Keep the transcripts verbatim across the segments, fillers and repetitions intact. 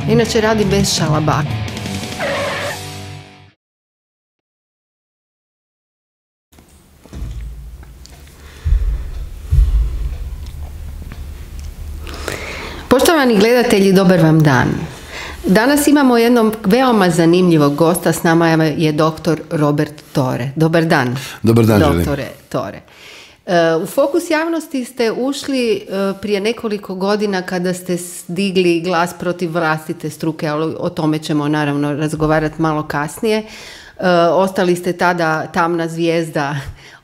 Inače radi bez šalabaka. Poštovani gledatelji, dobar vam dan. Danas imamo jednog veoma zanimljivog gosta, s nama je doktor Robert Tore. Dobar dan. Dobar dan, doktore Tore. U fokus javnosti ste ušli prije nekoliko godina kada ste digli glas protiv vlastite struke, ali o tome ćemo naravno razgovarati malo kasnije. Ostali ste tada tamna zvijezda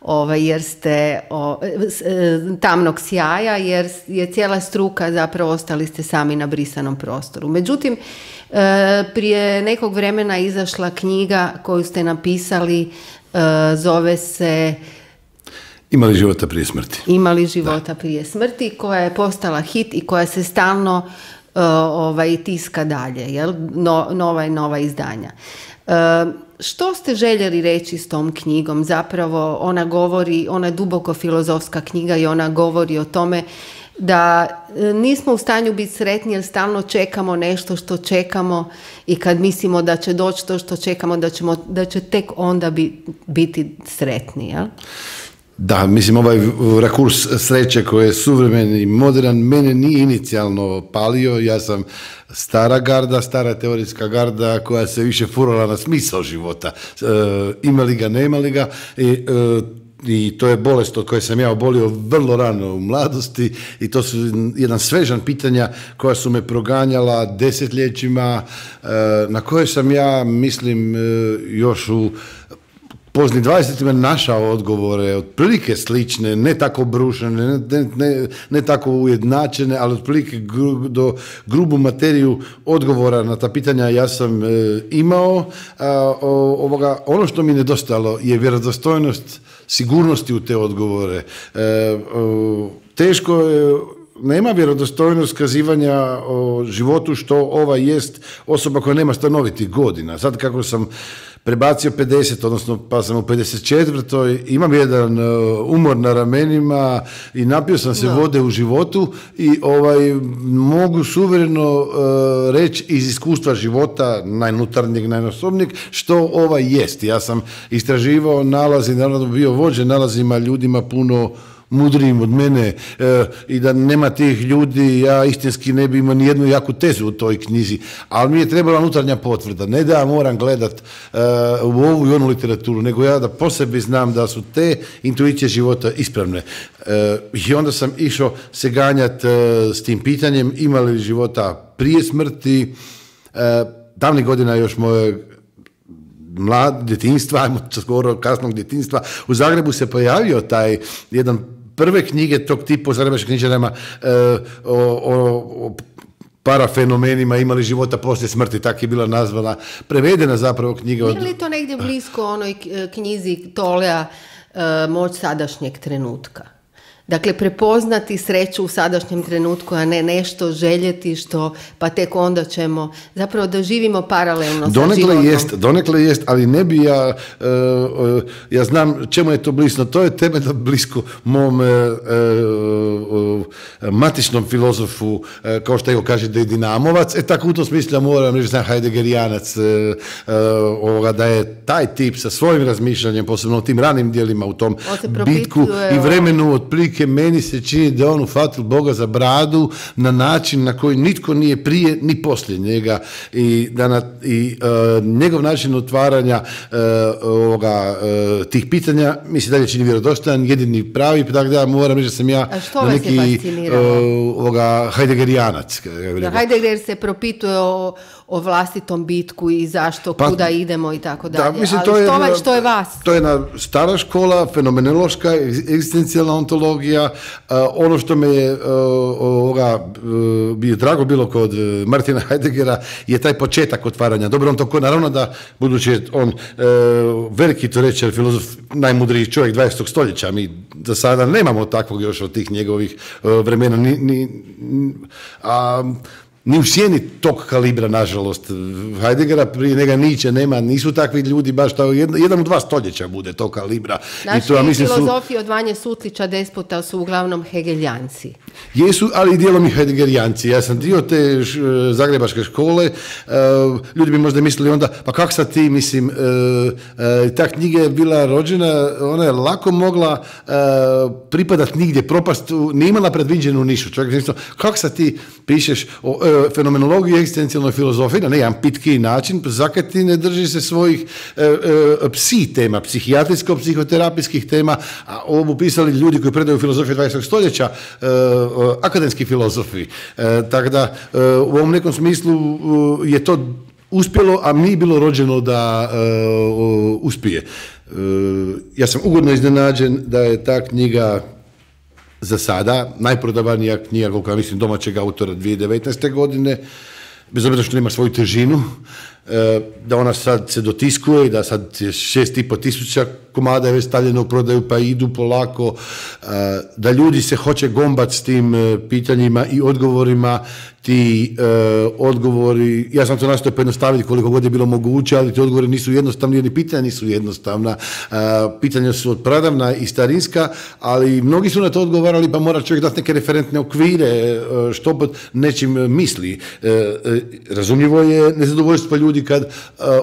Ovaj, jer ste o, tamnog sjaja, jer je cijela struka, zapravo ostali ste sami na brisanom prostoru. Međutim, e, prije nekog vremena izašla knjiga koju ste napisali, e, zove se Ima li života prije smrti? Ima li života da. prije smrti, koja je postala hit i koja se stalno e, ovaj, tiska dalje, jel? No, nova i nova izdanja. E, Što ste željeli reći s tom knjigom? Zapravo ona govori, ona je duboko filozofska knjiga i ona govori o tome da nismo u stanju biti sretni jer stalno čekamo nešto što čekamo i kad mislimo da će doći to što čekamo, da, ćemo, da će tek onda bi, biti sretni, jel? Da, mislim, ovaj rakurs sreće koji je suvremen i modern mene nije inicijalno palio. Ja sam stara garda, stara teorijska garda koja se više furala na smisao života. E, ima li ga, nema li ga. I, e, i to je bolest od koje sam ja obolio vrlo rano u mladosti i to su jedan svežan pitanja koja su me proganjala desetljećima, e, na koje sam ja, mislim, e, još u pozni dvadesetima našao odgovore, otprilike slične, ne tako brušene, ne, ne, ne tako ujednačene, ali otprilike gru, do grubu materiju odgovora na ta pitanja ja sam e, imao. A, o, ovoga, ono što mi nedostalo je vjerodostojnost sigurnosti u te odgovore. E, o, teško je, nema vjerodostojnost kazivanja o životu što ova jest osoba koja nema stanovitih godina. Sad kako sam prebacio pedeset, odnosno pa sam u pedeset četvrtoj imam jedan uh, umor na ramenima i napio sam se no. vode u životu i ovaj, mogu suvereno uh, reći iz iskustva života, najnutarnjeg, najnosobnijeg, što ovaj jest. Ja sam istraživao nalazi, naravno bio vođen nalazima ljudima puno mudrijim od mene e, i da nema tih ljudi, ja istinski ne bi imao ni jednu jaku tezu u toj knjizi, ali mi je trebala unutarnja potvrda, ne da ja moram gledat e, u ovu i onu literaturu, nego ja da po sebi znam da su te intuicije života ispravne. E, I onda sam išao se ganjati e, s tim pitanjem, ima li života prije smrti. E, davnih godina još moje mlad djetinjstva, ajmo skoro kasnog djetinjstva, u Zagrebu se pojavio taj jedan prve knjige tog tipa u zagrebačkim knjižarama e, o, o, o parafenomenima, imali života poslije smrti, tako je bila nazvana, prevedena zapravo knjiga. Nije li to negdje blisko onoj knjizi Tolea e, Moć sadašnjeg trenutka? Dakle, prepoznati sreću u sadašnjem trenutku, a ne nešto željeti što, pa tek onda ćemo, zapravo da živimo paralelno donekle sa životom. Jest, donekle jest, ali ne bi ja, uh, uh, ja znam čemu je to blisko, to je temeljno blisko mom uh, uh, matičnom filozofu, uh, kao što evo kaže da je Dinamovac, e tako u tom smislu moram reći, znam Heidegerijanac, uh, uh, ovoga, da je taj tip sa svojim razmišljanjem, posebno u tim ranim dijelima, u tom bitku i vremenu otprilike meni se čini da on ufatio Boga za bradu na način na koji nitko nije prije ni poslije njega i, da na, i uh, njegov način otvaranja uh, ovoga, uh, tih pitanja mi se dalje čini vjerodostojan, jedini pravi, tako da moram reći da sam ja na neki uh, Heidegerijanac. Da, Heidegger se propituje o, o vlastitom bitku i zašto, pa, kuda idemo i tako dalje. Da, mislim, ali to je, što, je, što je vas? To je jedna stara škola, fenomenološka, egzistencijalna ontologija. Uh, ono što me je uh, ovoga, uh, bi drago bilo kod uh, Martina Heideggera je taj početak otvaranja. Dobro, on to naravno da, budući je on uh, veliki teoretičar, filozof, najmudriji čovjek dvadesetog stoljeća, mi do sada nemamo takvog još od tih njegovih uh, vremena. Ni, ni, a, ni u sjeni tog kalibra, nažalost. Heideggera, prije njega Nietzsche nema, nisu takvi ljudi baš, to jedan, jedan u dva stoljeća bude tog kalibra. Naši I to, ja mislim, filozofi su, od Vanje Sutlića Despota su uglavnom hegeljanci. Jesu, ali i dijelom i heideggerijanci. Ja sam dio te š, zagrebačke škole, uh, ljudi bi možda mislili onda, pa kak sad ti, mislim, uh, uh, ta knjiga je bila rođena, ona je lako mogla uh, pripadat nigdje, propast, nije imala predviđenu nišu. Čovjek je mislio, kak sad ti pišeš o uh, fenomenologiji i egzistencijalnoj filozofiji na jedan pitki način, zakaj ti ne drži se svojih uh, uh, psi tema, psihijatrijsko-psihoterapijskih tema, a ovo pisali ljudi koji predaju filozofiju dvadesetog stoljeća, uh, akademski filozofi. E, tako da e, u ovom nekom smislu e, je to uspjelo, a nije bilo rođeno da e, o, uspije. E, ja sam ugodno iznenađen da je ta knjiga za sada najprodavanija knjiga, koliko ja mislim, domaćeg autora dvije tisuće devetnaeste. godine, bez obzira što nema svoju težinu, e, da ona sad se dotiskuje i da sad je šest i pol tisuća komada je već stavljeno u prodaju, pa idu polako, da ljudi se hoće gombat s tim pitanjima i odgovorima, ti uh, odgovori, ja sam to nastojao pojednostaviti koliko god je bilo moguće, ali ti odgovori nisu jednostavni, jer pitanja nisu jednostavna. Uh, pitanja su odpradavna i starinska, ali mnogi su na to odgovarali, pa mora čovjek dati neke referentne okvire, uh, što pod nečim misli. Uh, uh, razumljivo je nezadovoljstvo ljudi kad uh,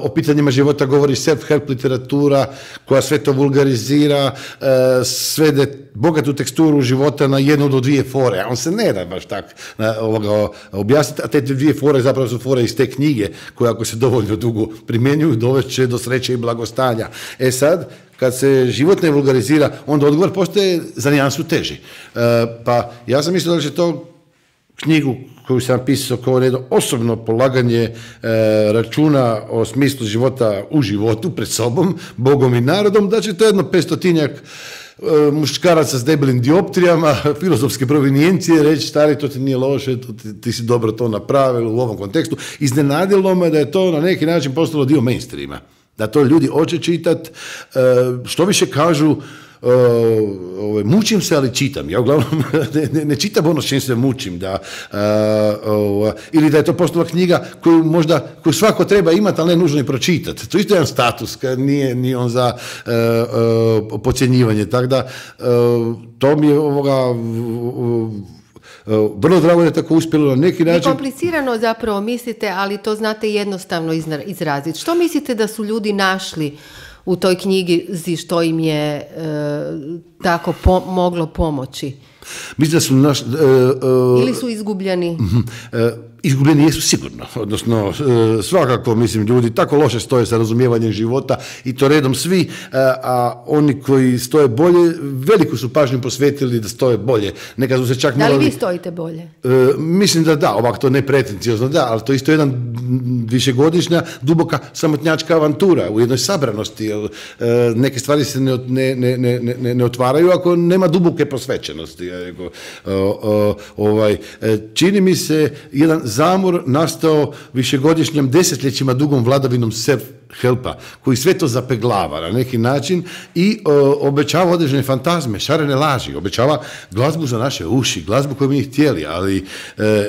o pitanjima života govori self-help literatura, koja sve to vulgarizira, uh, svede bogatu teksturu života na jednu do dvije fore, a on se ne da baš tak uh, ovoga objasniti, a te dvije fore zapravo su fore iz te knjige, koje ako se dovoljno dugo primjenjuju, dovešće do sreće i blagostanja. E sad, kad se život ne vulgarizira, onda odgovor postaje za nijansu teži. E, pa ja sam mislio da će to knjigu koju sam pisao kao jedno osobno polaganje e, računa o smislu života u životu, pred sobom, Bogom i narodom, da će to jedno petstotinjak muškaraca s debelim dioptrijama, filozofske provinijencije, reći stari, to ti nije loše, to ti, ti si dobro to napravili u ovom kontekstu. Iznenadilo me da je to na neki način postalo dio mainstreama. Da to ljudi hoće čitat, što više kažu, Uh, uh, mučim se, ali čitam. Ja uglavnom ne, ne, ne čitam ono s čim se mučim. Da, uh, uh, ili da je to postala knjiga koju možda koju svako treba imati, ali ne nužno i pročitati. To je isto jedan status, kad nije ni on za uh, uh, podcjenjivanje. Tako da, uh, to mi je ovoga... Uh, Uh, vrlo drago da je tako uspjelo na neki način. Komplicirano zapravo mislite, ali to znate jednostavno izraziti. Što mislite da su ljudi našli u toj knjigi što im je e, tako po, moglo pomoći? Mislim da su naš... E, e, Ili su izgubljeni? E, izgubljeni jesu sigurno, odnosno e, svakako, mislim, ljudi tako loše stoje sa razumijevanjem života i to redom svi, e, a oni koji stoje bolje, veliku su pažnju posvetili da stoje bolje. Nekad su se čak da li morali, vi stojite bolje? E, mislim da da, ovako to ne pretenciozno da, ali to isto jedan višegodišnja, duboka samotnjačka avantura u jednoj sabranosti, jer e, neke stvari se ne, ne, ne, ne, ne otvaraju ako nema duboke posvećenosti. Ego, o, o, ovaj, čini mi se jedan zamor nastao višegodišnjim desetljećima dugom vladavinom self-helpa, koji sve to zapeglava na neki način i o, obećava određene fantazme, šarene laži, obećava glazbu za naše uši, glazbu koju mi htjeli, ali e, e,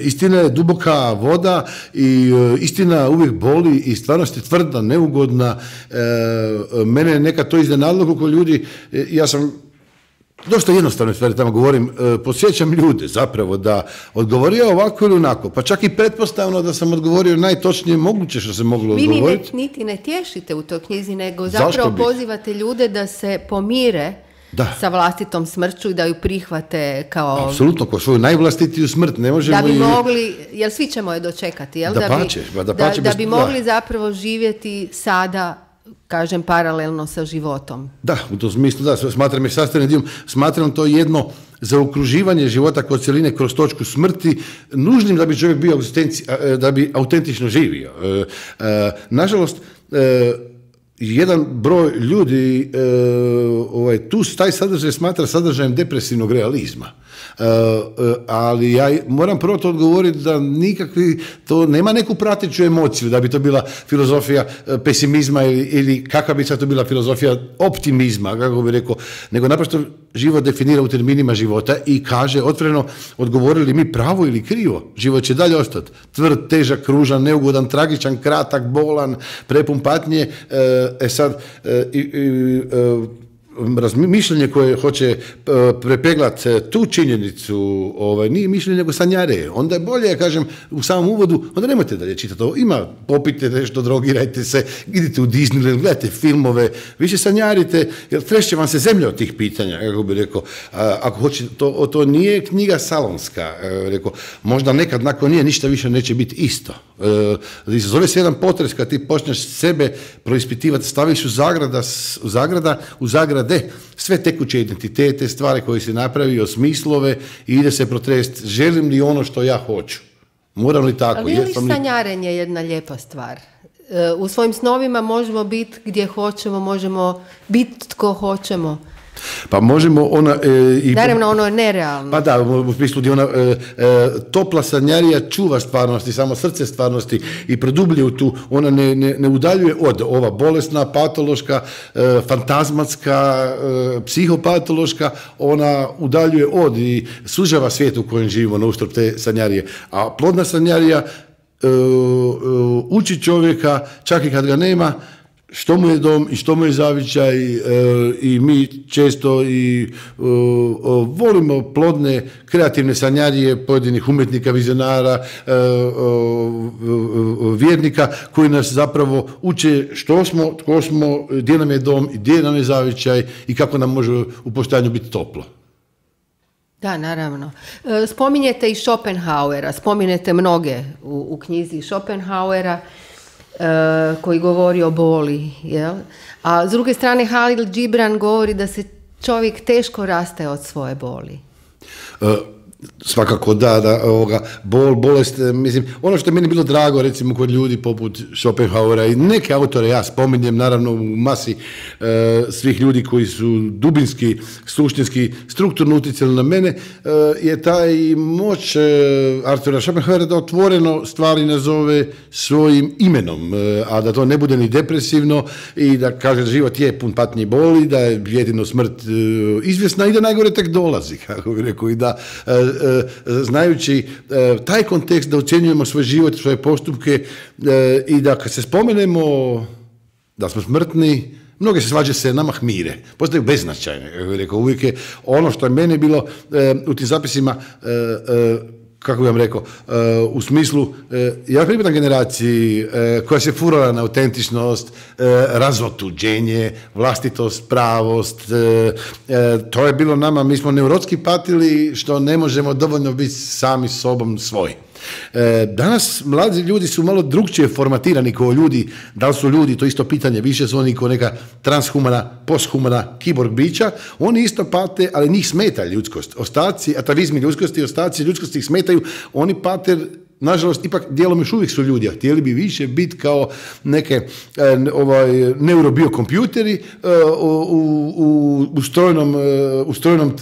istina je duboka voda i e, istina uvijek boli i stvarnost je tvrda, neugodna. E, mene je nekad to iznenadilo koliko ljudi, e, ja sam dosta jednostavne stvari tamo govorim, e, podsjećam ljude zapravo da odgovorio ovako ili onako, pa čak i pretpostavno da sam odgovorio najtočnije moguće što se moglo Vi odgovoriti. Vi niti ne tješite u toj knjizi, nego zapravo pozivate ljude da se pomire da. sa vlastitom smrću i da ju prihvate kao... Apsolutno, kao svoju najvlastitiju smrt. Ne možemo da bi i... mogli, jer svi ćemo je dočekati, jel? Da, da, pače, bi, da, pače, da, bez... da bi mogli zapravo živjeti sada, kažem, paralelno sa životom. Da, u tom smislu, da, smatram je sastavnim dijelom, smatram to jedno zaokruživanje života kod cjeline kroz točku smrti, nužnim da bi čovjek bio, da bi autentično živio. E, e, nažalost, e, jedan broj ljudi e, ovaj, tu taj sadržaj smatra sadržajem depresivnog realizma. Uh, uh, ali ja moram prvo to odgovoriti da nikakvi, to nema neku prateću emociju, da bi to bila filozofija uh, pesimizma ili, ili kakva bi sad to bila filozofija optimizma, kako bi rekao, nego naprosto život definira u terminima života i kaže otvoreno, odgovorili mi pravo ili krivo, život će dalje ostati. Tvrd, težak, kružan, neugodan, tragičan, kratak, bolan, prepun patnje. E sad, e, e, mišljenje koje hoće prepeglati tu činjenicu, ovaj, nije mišljenje nego sanjare. Onda je bolje, ja kažem, u samom uvodu, onda nemojte dalje čitati ovo. Ima, popite nešto, drogirajte se, idite u Disneyland, gledajte filmove, više sanjarite, jer trešće vam se zemlja od tih pitanja, kako bi rekao. A, ako hoćete, to, to nije knjiga salonska, rekao, možda nekad nakon nije ništa više neće biti isto. E, zove se jedan potres kad ti počneš sebe proispitivati, staviš u zagrada, u zagrada, u zagrade sve tekuće identitete, stvari koje si napravio, smislove i ide se protrest, želim li ono što ja hoću? Moram li tako? Ali je li sanjarenje jedna lijepa stvar? U svojim snovima možemo biti gdje hoćemo, možemo biti tko hoćemo. Pa možemo ona... E, i, Naravno, ono je nerealno. Pa da, u smislu gdje ona e, e, topla sanjarija čuva stvarnosti, samo srce stvarnosti i produblje u tu, ona ne, ne, ne udaljuje od ova bolesna, patološka, e, fantazmatska, e, psihopatološka, ona udaljuje od i sužava svijet u kojem živimo na uštrb te sanjarije. A plodna sanjarija e, e, uči čovjeka, čak i kad ga nema, što mu je dom i što mu je zavičaj e, i mi često i e, volimo plodne kreativne sanjarije pojedinih umjetnika, vizionara, e, e, vjernika koji nas zapravo uče što smo, tko smo, gdje nam je dom, gdje nam je zavičaj i kako nam može u postojanju biti toplo. Da, naravno. Spominjete i Schopenhauera, spominjete mnoge u, u knjizi Schopenhauera, koji govori o boli, jel? A s druge strane Halil Gibran govori da se čovjek teško rastaje od svoje boli. Uh, svakako da, da ovoga, bol, bolest, mislim, ono što je meni bilo drago, recimo, kod ljudi poput Schopenhauera i neke autore ja spominjem, naravno u masi uh, svih ljudi koji su dubinski, suštinski, strukturno utjecali na mene, uh, je taj moć uh, Artura Schopenhauera da otvoreno stvari nazove svojim imenom, uh, a da to ne bude ni depresivno i da kaže da život je pun patnje i boli, da je jedino smrt uh, izvjesna i da najgore tek dolazi, kako bih rekao, i da uh, znajući taj kontekst da ocjenjujemo svoj život, svoje postupke i da kad se spomenemo da smo smrtni, mnoge se svađe se nama hmire, postaju beznačajne. Rekao, uvijek je ono što je meni bilo u tim zapisima, kako bih vam rekao, u smislu, ja pripadam generaciji koja se furala na autentičnost, razotuđenje, vlastitost, pravost, to je bilo nama, mi smo neurotski patili što ne možemo dovoljno biti sami sobom svoji. Danas mladi ljudi su malo drugčije formatirani kao ljudi, da li su ljudi, to isto pitanje, više su oni kao neka transhumana, posthumana, kiborg bića, oni isto pate, ali njih smeta ljudskost. Ostaci, atavizmi ljudskosti, ostaci ljudskosti ih smetaju, oni pate, nažalost, ipak dijelom još uvijek su ljudi, a htjeli bi više biti kao neke e, ovaj, neurobiokompjuteri e, u, u, u, strojnom, e, u, strojnom,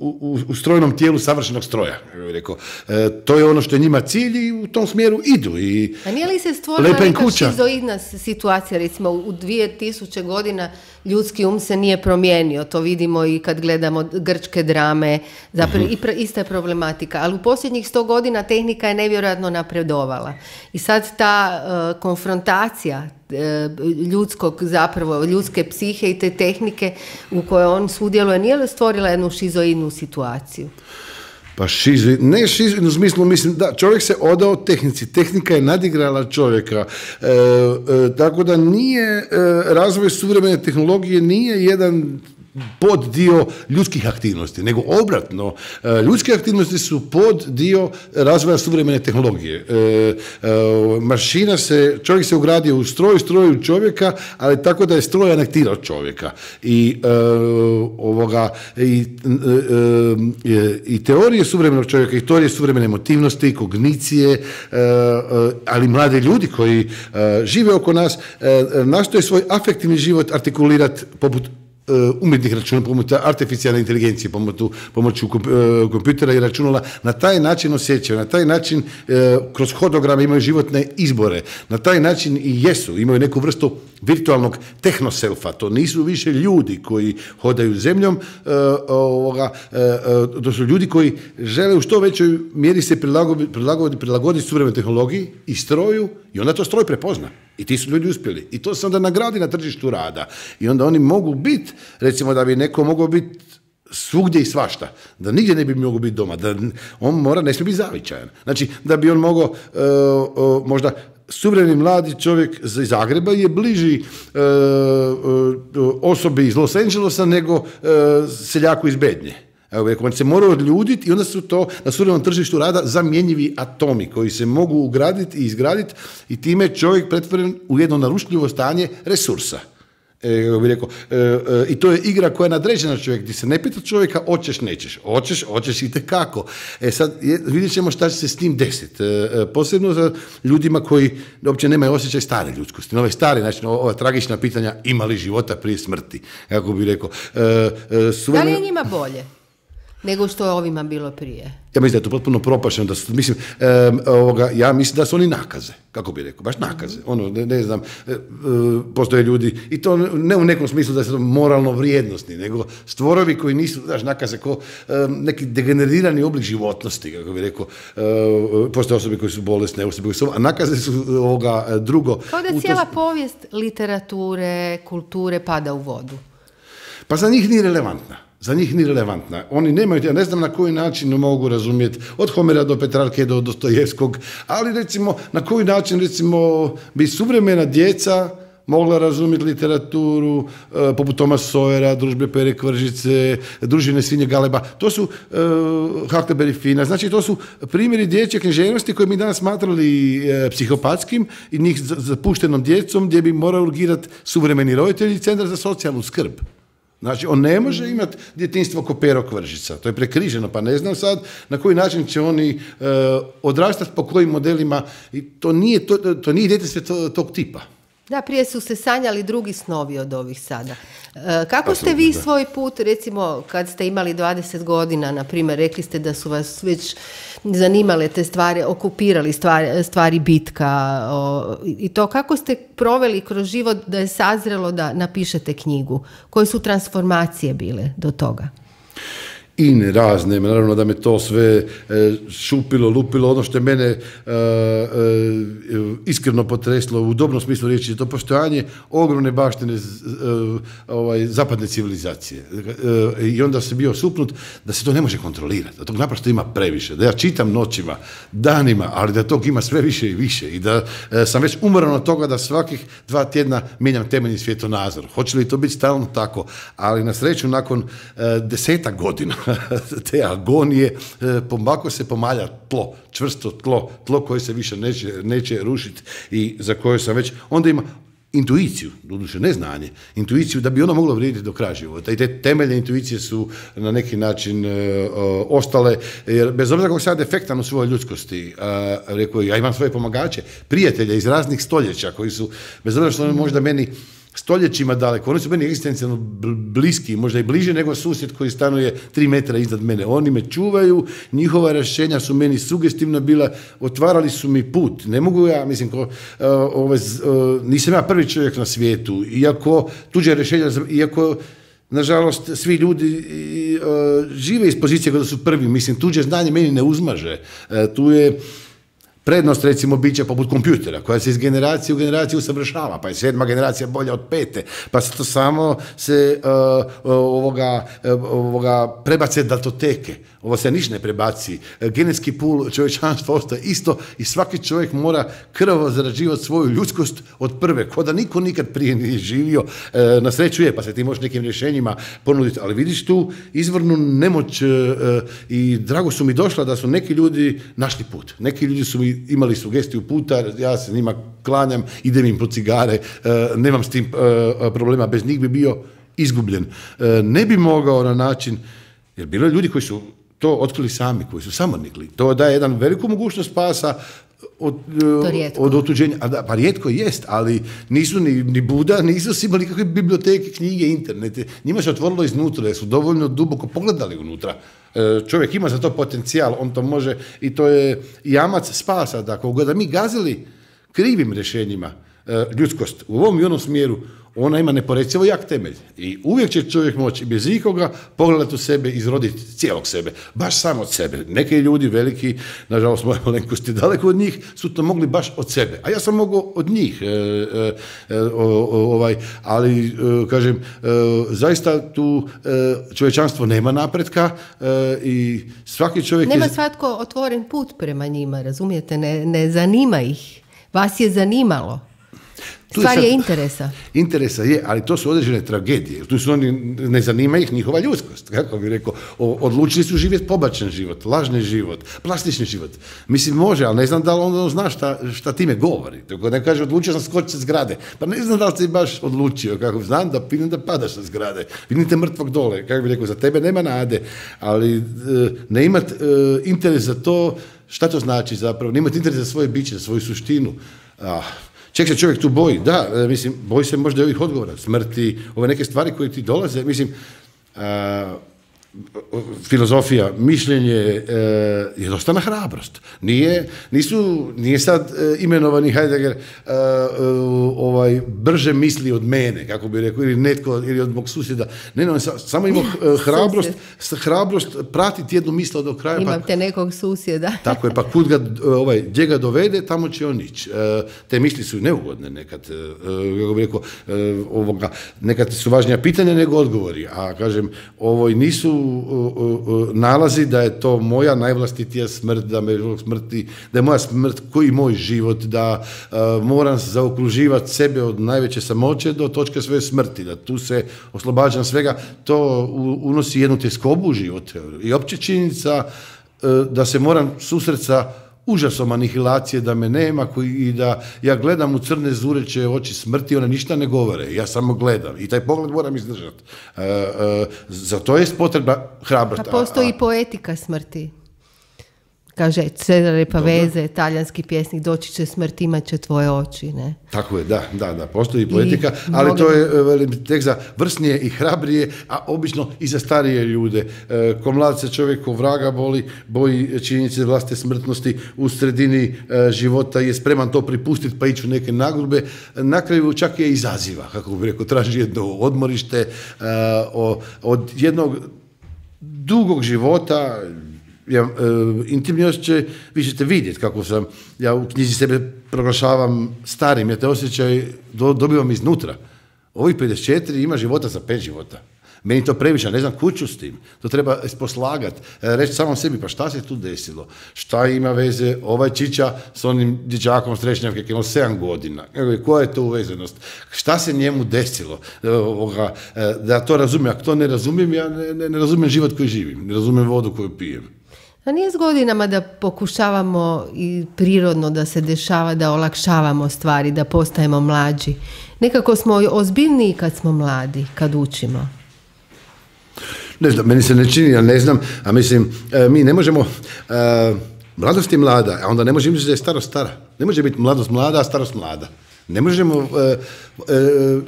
u, u strojnom tijelu savršenog stroja. Rekao. E, to je ono što je njima cilj i u tom smjeru idu. I a nije li se stvorila neka šizoidna situacija, recimo u dvije tisuće godina ljudski um se nije promijenio, to vidimo i kad gledamo grčke drame, zapravo uh-huh. i pra, ista je problematika, ali u posljednjih sto godina tehnika je nevjerojatno napredovala. I sad ta uh, konfrontacija uh, ljudskog, zapravo ljudske psihe i te tehnike u kojoj on sudjeluje, nije li stvorila jednu šizoidnu situaciju? Pa šizo, ne šizo, u smislu, mislim, da, čovjek se odao tehnici, tehnika je nadigrala čovjeka, e, e, tako da nije, e, razvoj suvremene tehnologije nije jedan pod dio ljudskih aktivnosti, nego obratno, ljudske aktivnosti su pod dio razvoja suvremene tehnologije. E, e, mašina se, čovjek se ugradio u stroj, stroj u čovjeka, ali tako da je stroj anektirao čovjeka. I, e, ovoga, i, e, i teorije suvremenog čovjeka, i teorije suvremene emotivnosti, kognicije, e, ali mladi ljudi koji e, žive oko nas, e, nastoje svoj afektivni život artikulirati poput umjetnih računa, pomoću artificijalne inteligencije, pomoću, pomoću kompjutera i računala, na taj način osjećaju, na taj način kroz hodograme imaju životne izbore, na taj način i jesu, imaju neku vrstu virtualnog tehnoselfa, to nisu više ljudi koji hodaju zemljom, ovoga, to su ljudi koji žele u što većoj mjeri se prilagoditi, prilagoditi, prilagoditi suvremenoj tehnologiji i stroju i onda to stroj prepozna. I ti su ljudi uspjeli. I to se onda nagradi na tržištu rada. I onda oni mogu biti, recimo da bi neko mogao biti svugdje i svašta, da nigdje ne bi mogao biti doma, da on mora, ne smije biti zavičajan. Znači, da bi on mogao uh, uh, možda suvremeni mladi čovjek iz Zagreba je bliži uh, uh, osobi iz Los Angelesa nego uh, seljaku iz Bednje. Evo, on se mora odljuditi i onda su to na suvremenom tržištu rada zamjenjivi atomi koji se mogu ugraditi i izgraditi i time je čovjek pretvoren u jedno narušljivo stanje resursa. E, bih rekao, e, e, i to je igra koja je nadređena čovjek, gdje se ne pita čovjeka hoćeš, nećeš, hoćeš, hoćeš i tekako. E sad je, vidjet ćemo šta će se s tim desiti. E, posebno za ljudima koji uopće nemaju osjećaj stare ljudskosti. Ove stare, znači ova tragična pitanja ima li života prije smrti, kako bih rekao. E, e, suvremeno... Da li je njima bolje nego što je ovima bilo prije? Ja mislim da je to potpuno propašeno, da su, mislim, e, ovoga, ja mislim da su oni nakaze, kako bi rekao, baš nakaze. Ono, ne, ne znam, e, e, postoje ljudi, i to ne u nekom smislu da su moralno vrijednosni, nego stvorovi koji nisu, znaš, nakaze, ko e, neki degenerirani oblik životnosti, kako bi rekao, e, postoje osobe koji su bolesne, osobe koji su, a nakaze su ovoga drugo. Kao da cijela to... povijest literature, kulture pada u vodu. Pa za njih nije relevantna. Za njih nije relevantna. Oni nemaju, ja ne znam na koji način mogu razumjeti, od Homera do Petrarke do Dostojevskog, ali recimo, na koji način, recimo, bi suvremena djeca mogla razumjeti literaturu, e, poput Thomas Sawyera, Družbe Pere Kvržice, Družine svinje Galeba. To su e, Huckleberry Fina. Znači, to su primjeri dječje književnosti koje mi danas smatrali e, psihopatskim i njih zapuštenom djecom, gdje bi morao urgirati suvremeni roditelji i Centar za socijalnu skrb. Znači, on ne može imati djetinjstvo ko Pero Kvržica. To je prekriženo, pa ne znam sad na koji način će oni e, odrastati, po kojim modelima. I to nije, to, to nije djetinjstvo tog tipa. Da, prije su se sanjali drugi snovi od ovih sada. E, kako ste vi svoj put, recimo, kad ste imali dvadeset godina, na primjer, rekli ste da su vas već zanimale te stvari, okupirali stvari, stvari bitka o, i to kako ste proveli kroz život da je sazrelo da napišete knjigu? Koje su transformacije bile do toga? I razne, naravno da me to sve e, šupilo, lupilo, ono što je mene e, e, iskreno potreslo u dobrom smislu riječi, to postojanje ogromne baštine e, ovaj, zapadne civilizacije. E, I onda se bio supnut da se to ne može kontrolirati, da tog naprosto ima previše, da ja čitam noćima, danima, ali da tog ima sve više i više i da e, sam već umoran od toga da svakih dva tjedna mijenjam temeljni svjetonazor. Hoće li to biti stalno tako? Ali na sreću nakon e, desetak godina te agonije, pomako se pomalja tlo, čvrsto tlo, tlo koje se više neće, neće rušiti i za koje sam već, onda ima intuiciju, doduše ne znanje, intuiciju da bi ono moglo vrijediti do kraja života. I te temeljne intuicije su na neki način e, o, ostale, jer bez obzira kako sam defektan u svojoj ljudskosti, a, rekao, ja imam svoje pomagače, prijatelje iz raznih stoljeća koji su, bez obzira što možda meni stoljećima daleko, oni su meni egzistencijalno bliski, možda i bliže nego susjed koji stanuje tri metra iznad mene. Oni me čuvaju, njihova rješenja su meni sugestivna bila, otvarali su mi put. Ne mogu ja, mislim, ko, uh, ove, uh, nisam ja prvi čovjek na svijetu, iako tuđe rješenja, iako nažalost, svi ljudi uh, žive iz pozicije kada su prvi, mislim, tuđe znanje meni ne uzmaže. Uh, tu je prednost, recimo, bića poput kompjutera, koja se iz generacije u generaciju usavršava, pa je sedma generacija bolja od pete, pa se to samo se uh, ovoga, ovoga prebace datoteke, ovo se niš ne prebaci, genetski pul čovječanstva ostaje isto i svaki čovjek mora krvavo zarađivati svoju ljudskost od prve, ko da niko nikad prije nije živio, uh, na sreću je, pa se ti možeš nekim rješenjima ponuditi, ali vidiš tu izvornu nemoć uh, i drago su mi došla da su neki ljudi našli put, neki ljudi su mi imali sugestiju puta, ja se njima klanjam, idem im po cigare, nemam s tim problema, bez njih bi bio izgubljen. Ne bi mogao na način, jer bilo je ljudi koji su to otkrili sami, koji su samo nikli. To daje jedan veliku mogućnost spasa, od, od otuđenja. A da, pa rijetko jest, ali nisu ni, ni Buda, nisu si imali kakve biblioteke, knjige, internete. Njima se otvorilo iznutra, jer su dovoljno duboko pogledali unutra. Čovjek ima za to potencijal, on to može i to je jamac spasa. Dakle, da mi gazili krivim rješenjima ljudskost u ovom i onom smjeru, ona ima neporecivo jak temelj. I uvijek će čovjek moći bez ikoga pogledati u sebe, izroditi cijelog sebe, baš samo od sebe. Neki ljudi veliki, nažalost moje malenkosti daleko od njih, su to mogli baš od sebe. A ja sam mogao od njih. E, e, e, o, o, ovaj, ali, e, kažem, e, zaista tu e, čovječanstvo nema napretka e, i svaki čovjek... Nema je... svatko otvoren put prema njima, razumijete? Ne, ne zanima ih. Vas je zanimalo. Stvar je, je interesa. Interesa je, ali to su određene tragedije. Tu su oni, ne zanima ih njihova ljudskost. Kako bih rekao, odlučili su živjeti pobačen život, lažni život, plastični život. Mislim, može, ali ne znam da li on zna šta, šta time govori. Tako ne kaže, odlučio sam skočiti sa zgrade. Pa ne znam da li si baš odlučio. Kako znam da vidim da padaš sa zgrade. Vidim te mrtvog dole. Kako bih rekao, za tebe nema nade. Ali ne imati interes za to, šta to znači zapravo? Ne imati interes za svoje biće, za svoju suštinu. Ah, ček se čovjek tu boji, da, mislim, boji se možda i ovih odgovora, smrti, ove neke stvari koje ti dolaze, mislim, a, filozofija, mišljenje e, je dosta na hrabrost. Nije, nisu, nije sad e, imenovani Heidegger e, e, ovaj, brže misli od mene, kako bi rekao, ili netko, ili od mog susjeda. Ne, ne, sa, samo imao e, hrabrost, hrabrost pratiti jednu misl do kraja. Imate pa, nekog susjeda. Tako je, pa kud ga, ovaj, gdje ga dovede, tamo će on ići. E, te misli su neugodne nekad, e, kako bi rekao, e, ovoga, nekad su važnija pitanja nego odgovori, a kažem, ovo nisu nalazi da je to moja najvlastitija smrt, da me smrti, da je moja smrt koji moj život, da uh, moram zaokruživati sebe od najveće samoće do točke svoje smrti, da tu se oslobađam svega, to unosi jednu tjeskobu u život. I opće činjenica uh, da se moram susreti sa užasom anihilacije, da me nema koji, i da ja gledam u crne zureće oči smrti, one ništa ne govore, ja samo gledam i taj pogled moram izdržati. E, e, za to je potrebna hrabrost. A postoji i poetika smrti. Kaže Cesare Pavese, talijanski pjesnik, doći će smrt, imat će tvoje oči, ne? Tako je, da, da, da, postoji poetika, I ali to je velim, tek za vrsnije i hrabrije, a obično i za starije ljude. E, ko mlad se čovjek ko vraga boli, boji činjenice vlastite smrtnosti, u sredini e, života je spreman to pripustiti pa ići u neke nagodbe, na kraju čak je izaziva, kako bih rekao, traži jedno odmorište e, o, od jednog dugog života. Ja, e, intimnost će, vi ćete vidjeti kako sam, ja u knjizi sebe proglašavam starim, ja te osjećaj do, dobivam iznutra. Ovih pedeset četiri ima života za pet života. Meni to previše, ne znam kuću s tim. To treba poslagati, reći samom sebi, pa šta se tu desilo? Šta ima veze ovaj čiča s onim dječakom Strešnjavke, koji ima sedam godina? Koja je to uvezenost? Šta se njemu desilo? Da to razumijem. Ako to ne razumijem, ja ne, ne, ne razumijem život koji živim. Ne razumijem vodu koju pijem. A nije s godinama da pokušavamo i prirodno da se dešava, da olakšavamo stvari, da postajemo mlađi. Nekako smo ozbiljniji kad smo mladi, kad učimo. Ne znam, meni se ne čini, ja ne znam, a mislim, mi ne možemo, uh, mladost je mlada, a onda ne može imati da je starost stara. Ne može biti mladost mlada, a starost mlada. Ne možemo, uh, uh,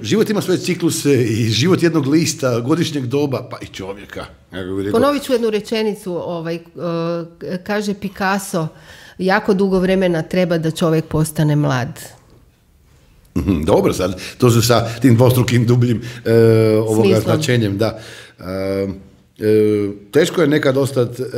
život ima svoje cikluse i život jednog lista, godišnjeg doba, pa i čovjeka. Ponovit ću jednu rečenicu, ovaj, uh, kaže Picasso, jako dugo vremena treba da čovjek postane mlad. Dobro, sad, to su sa tim dvostrukim dubljim uh, ovoga značenjem, da. Uh, uh, teško je nekad ostati uh,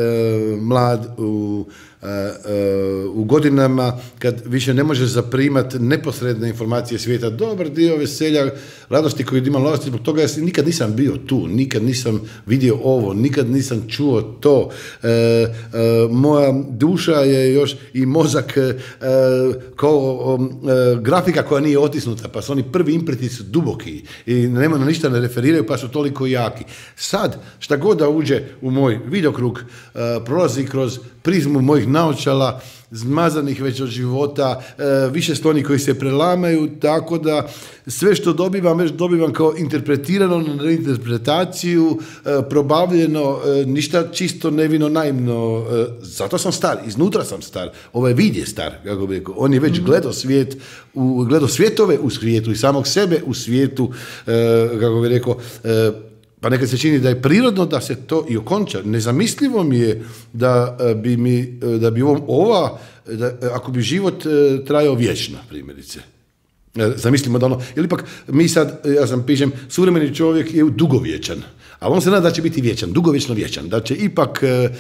mlad u, uh, uh, u godinama kad više ne možeš zaprimati neposredne informacije svijeta. Dobar dio veselja, radosti koju ima mladosti, zbog toga ja nikad nisam bio tu, nikad nisam vidio ovo, nikad nisam čuo to. Uh, uh, moja duša je još i mozak uh, kao um, uh, grafika koja nije otisnuta, pa su oni prvi impreti su duboki i nema na ništa ne referiraju, pa su toliko jaki. Sad, šta god da uđe u moj vidokrug, uh, prolazi kroz prizmu mojih naočala, zmazanih već od života, više sto onih koji se prelamaju, tako da sve što dobivam, već dobivam kao interpretirano na interpretaciju, probavljeno, ništa čisto nevino naivno. Zato sam star, iznutra sam star. Ovaj vid je star, kako bi rekao. On je već gledao svijet, u, gledao svjetove u svijetu i samog sebe u svijetu, kako bi rekao, pa nekad se čini da je prirodno da se to i okonča. Nezamislivo mi je da bi, mi, da bi ova, da, ako bi život trajao vječno, primjerice. Zamislimo da ono, ili ipak mi sad, ja sam pišem, suvremeni čovjek je dugovječan, ali on se nada da će biti vječan, dugovječno vječan, da će ipak eh,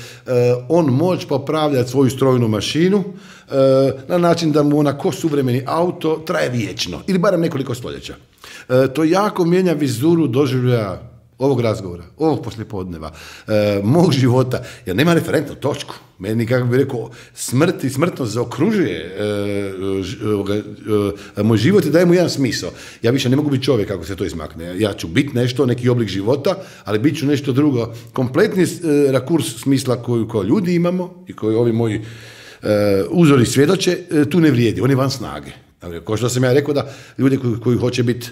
on moći popravljati svoju strojnu mašinu eh, na način da mu ona ko suvremeni auto traje vječno, ili barem nekoliko stoljeća. Eh, to jako mijenja vizuru doživljaja ovog razgovora, ovog poslijepodneva, e, mog života, jer nema referentnu točku. Meni, kako bih rekao, smrt i smrtnost zaokružuje e, e, e, moj život i daje mu jedan smisao. Ja više ne mogu biti čovjek kako se to izmakne. Ja ću biti nešto, neki oblik života, ali bit ću nešto drugo. Kompletni e, rakurs smisla koju kao ljudi imamo i koji ovi moji e, uzori svjedoče, e, tu ne vrijedi, on je van snage. Kao što sam ja rekao da ljudi koji, koji hoće biti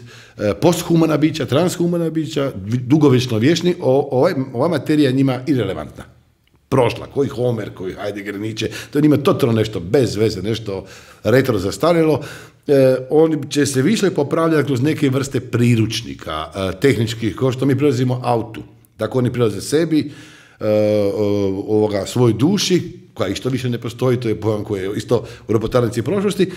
posthumana bića, transhumana bića, dugovječno vječni, ovaj, ova materija je njima irelevantna. Prošla, koji Homer, koji Heidegger, Nietzsche, to je njima totalno nešto bez veze, nešto retro zastarjelo. E, oni će se više popravljati kroz neke vrste priručnika, e, tehničkih, kao što mi prilazimo autu. Tako oni prilaze sebi, e, ovoga, svoj duši, koja isto više ne postoji, to je pojam koji je isto u robotarnici prošlosti, e, e,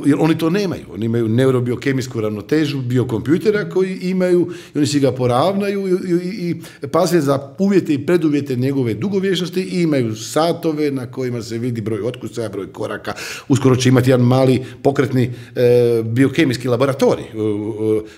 jer oni to nemaju. Oni imaju neurobiokemijsku ravnotežu biokompjutera koji imaju i oni si ga poravnaju i, i, i paze za uvjete i preduvjete njegove dugovječnosti i imaju satove na kojima se vidi broj otkucaja, broj koraka. Uskoro će imati jedan mali pokretni e, biokemijski laboratorij e, e,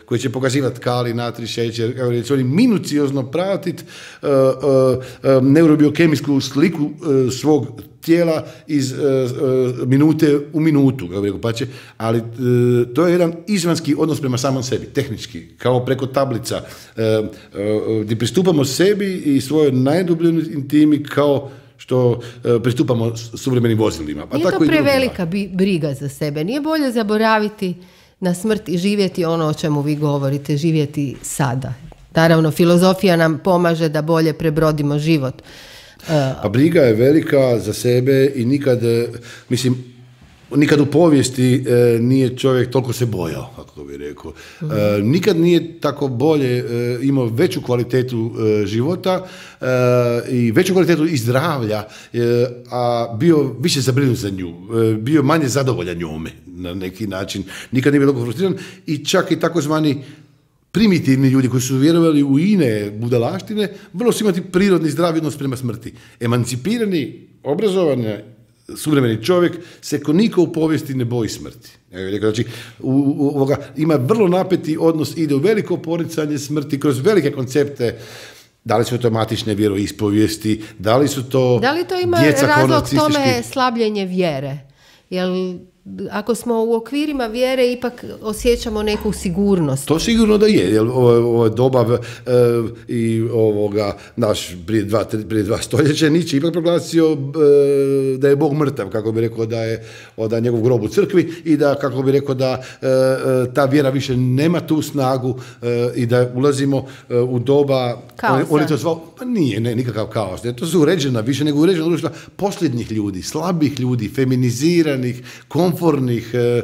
koji će pokazivati kali, natri, šećer, kako će oni minuciozno pratiti e, e, neurobiokemijsku sliku svog tijela iz uh, uh, minute u minutu, pa će, ali uh, to je jedan izvanski odnos prema samom sebi, tehnički, kao preko tablica, uh, uh, gdje pristupamo sebi i svojoj najdubljoj intimi kao što uh, pristupamo suvremenim vozilima. Pa nije tako to prevelika briga za sebe, nije bolje zaboraviti na smrt i živjeti ono o čemu vi govorite, živjeti sada. Naravno, filozofija nam pomaže da bolje prebrodimo život. Pa briga je velika za sebe i nikad, mislim, nikad u povijesti e, nije čovjek toliko se bojao, kako bih rekao. E, nikad nije tako bolje e, imao veću kvalitetu e, života e, i veću kvalitetu i zdravlja, e, a bio više zabrinut za nju, e, bio manje zadovoljan njome na neki način. Nikad nije bio toliko frustriran i čak i takozvani primitivni ljudi koji su vjerovali u ine budalaštine, vrlo su imati prirodni zdravi odnos prema smrti. Emancipirani, obrazovani, suvremeni čovjek se ko niko u povijesti ne boji smrti. Znači, u, u, ovoga, ima vrlo napeti odnos, ide u veliko poricanje smrti kroz velike koncepte. Da li su to matične vjeroispovijesti, da li su to da li to ima djeca razlog tome slabljenje vjere? Jel ako smo u okvirima vjere ipak osjećamo neku sigurnost? To sigurno da je, jer ovo doba e, i ovoga naš prije dva, prije dva stoljeća Nietzsche ipak proglasio e, da je Bog mrtav, kako bi rekao da je da je njegov grob u crkvi i da, kako bi rekao da e, ta vjera više nema tu snagu e, i da ulazimo e, u doba on, on je to zvao, pa nije, ne, nikakav kaos, ne, to su uređena, više nego uređena društva posljednjih ljudi, slabih ljudi, feminiziranih, komfornih, e, e,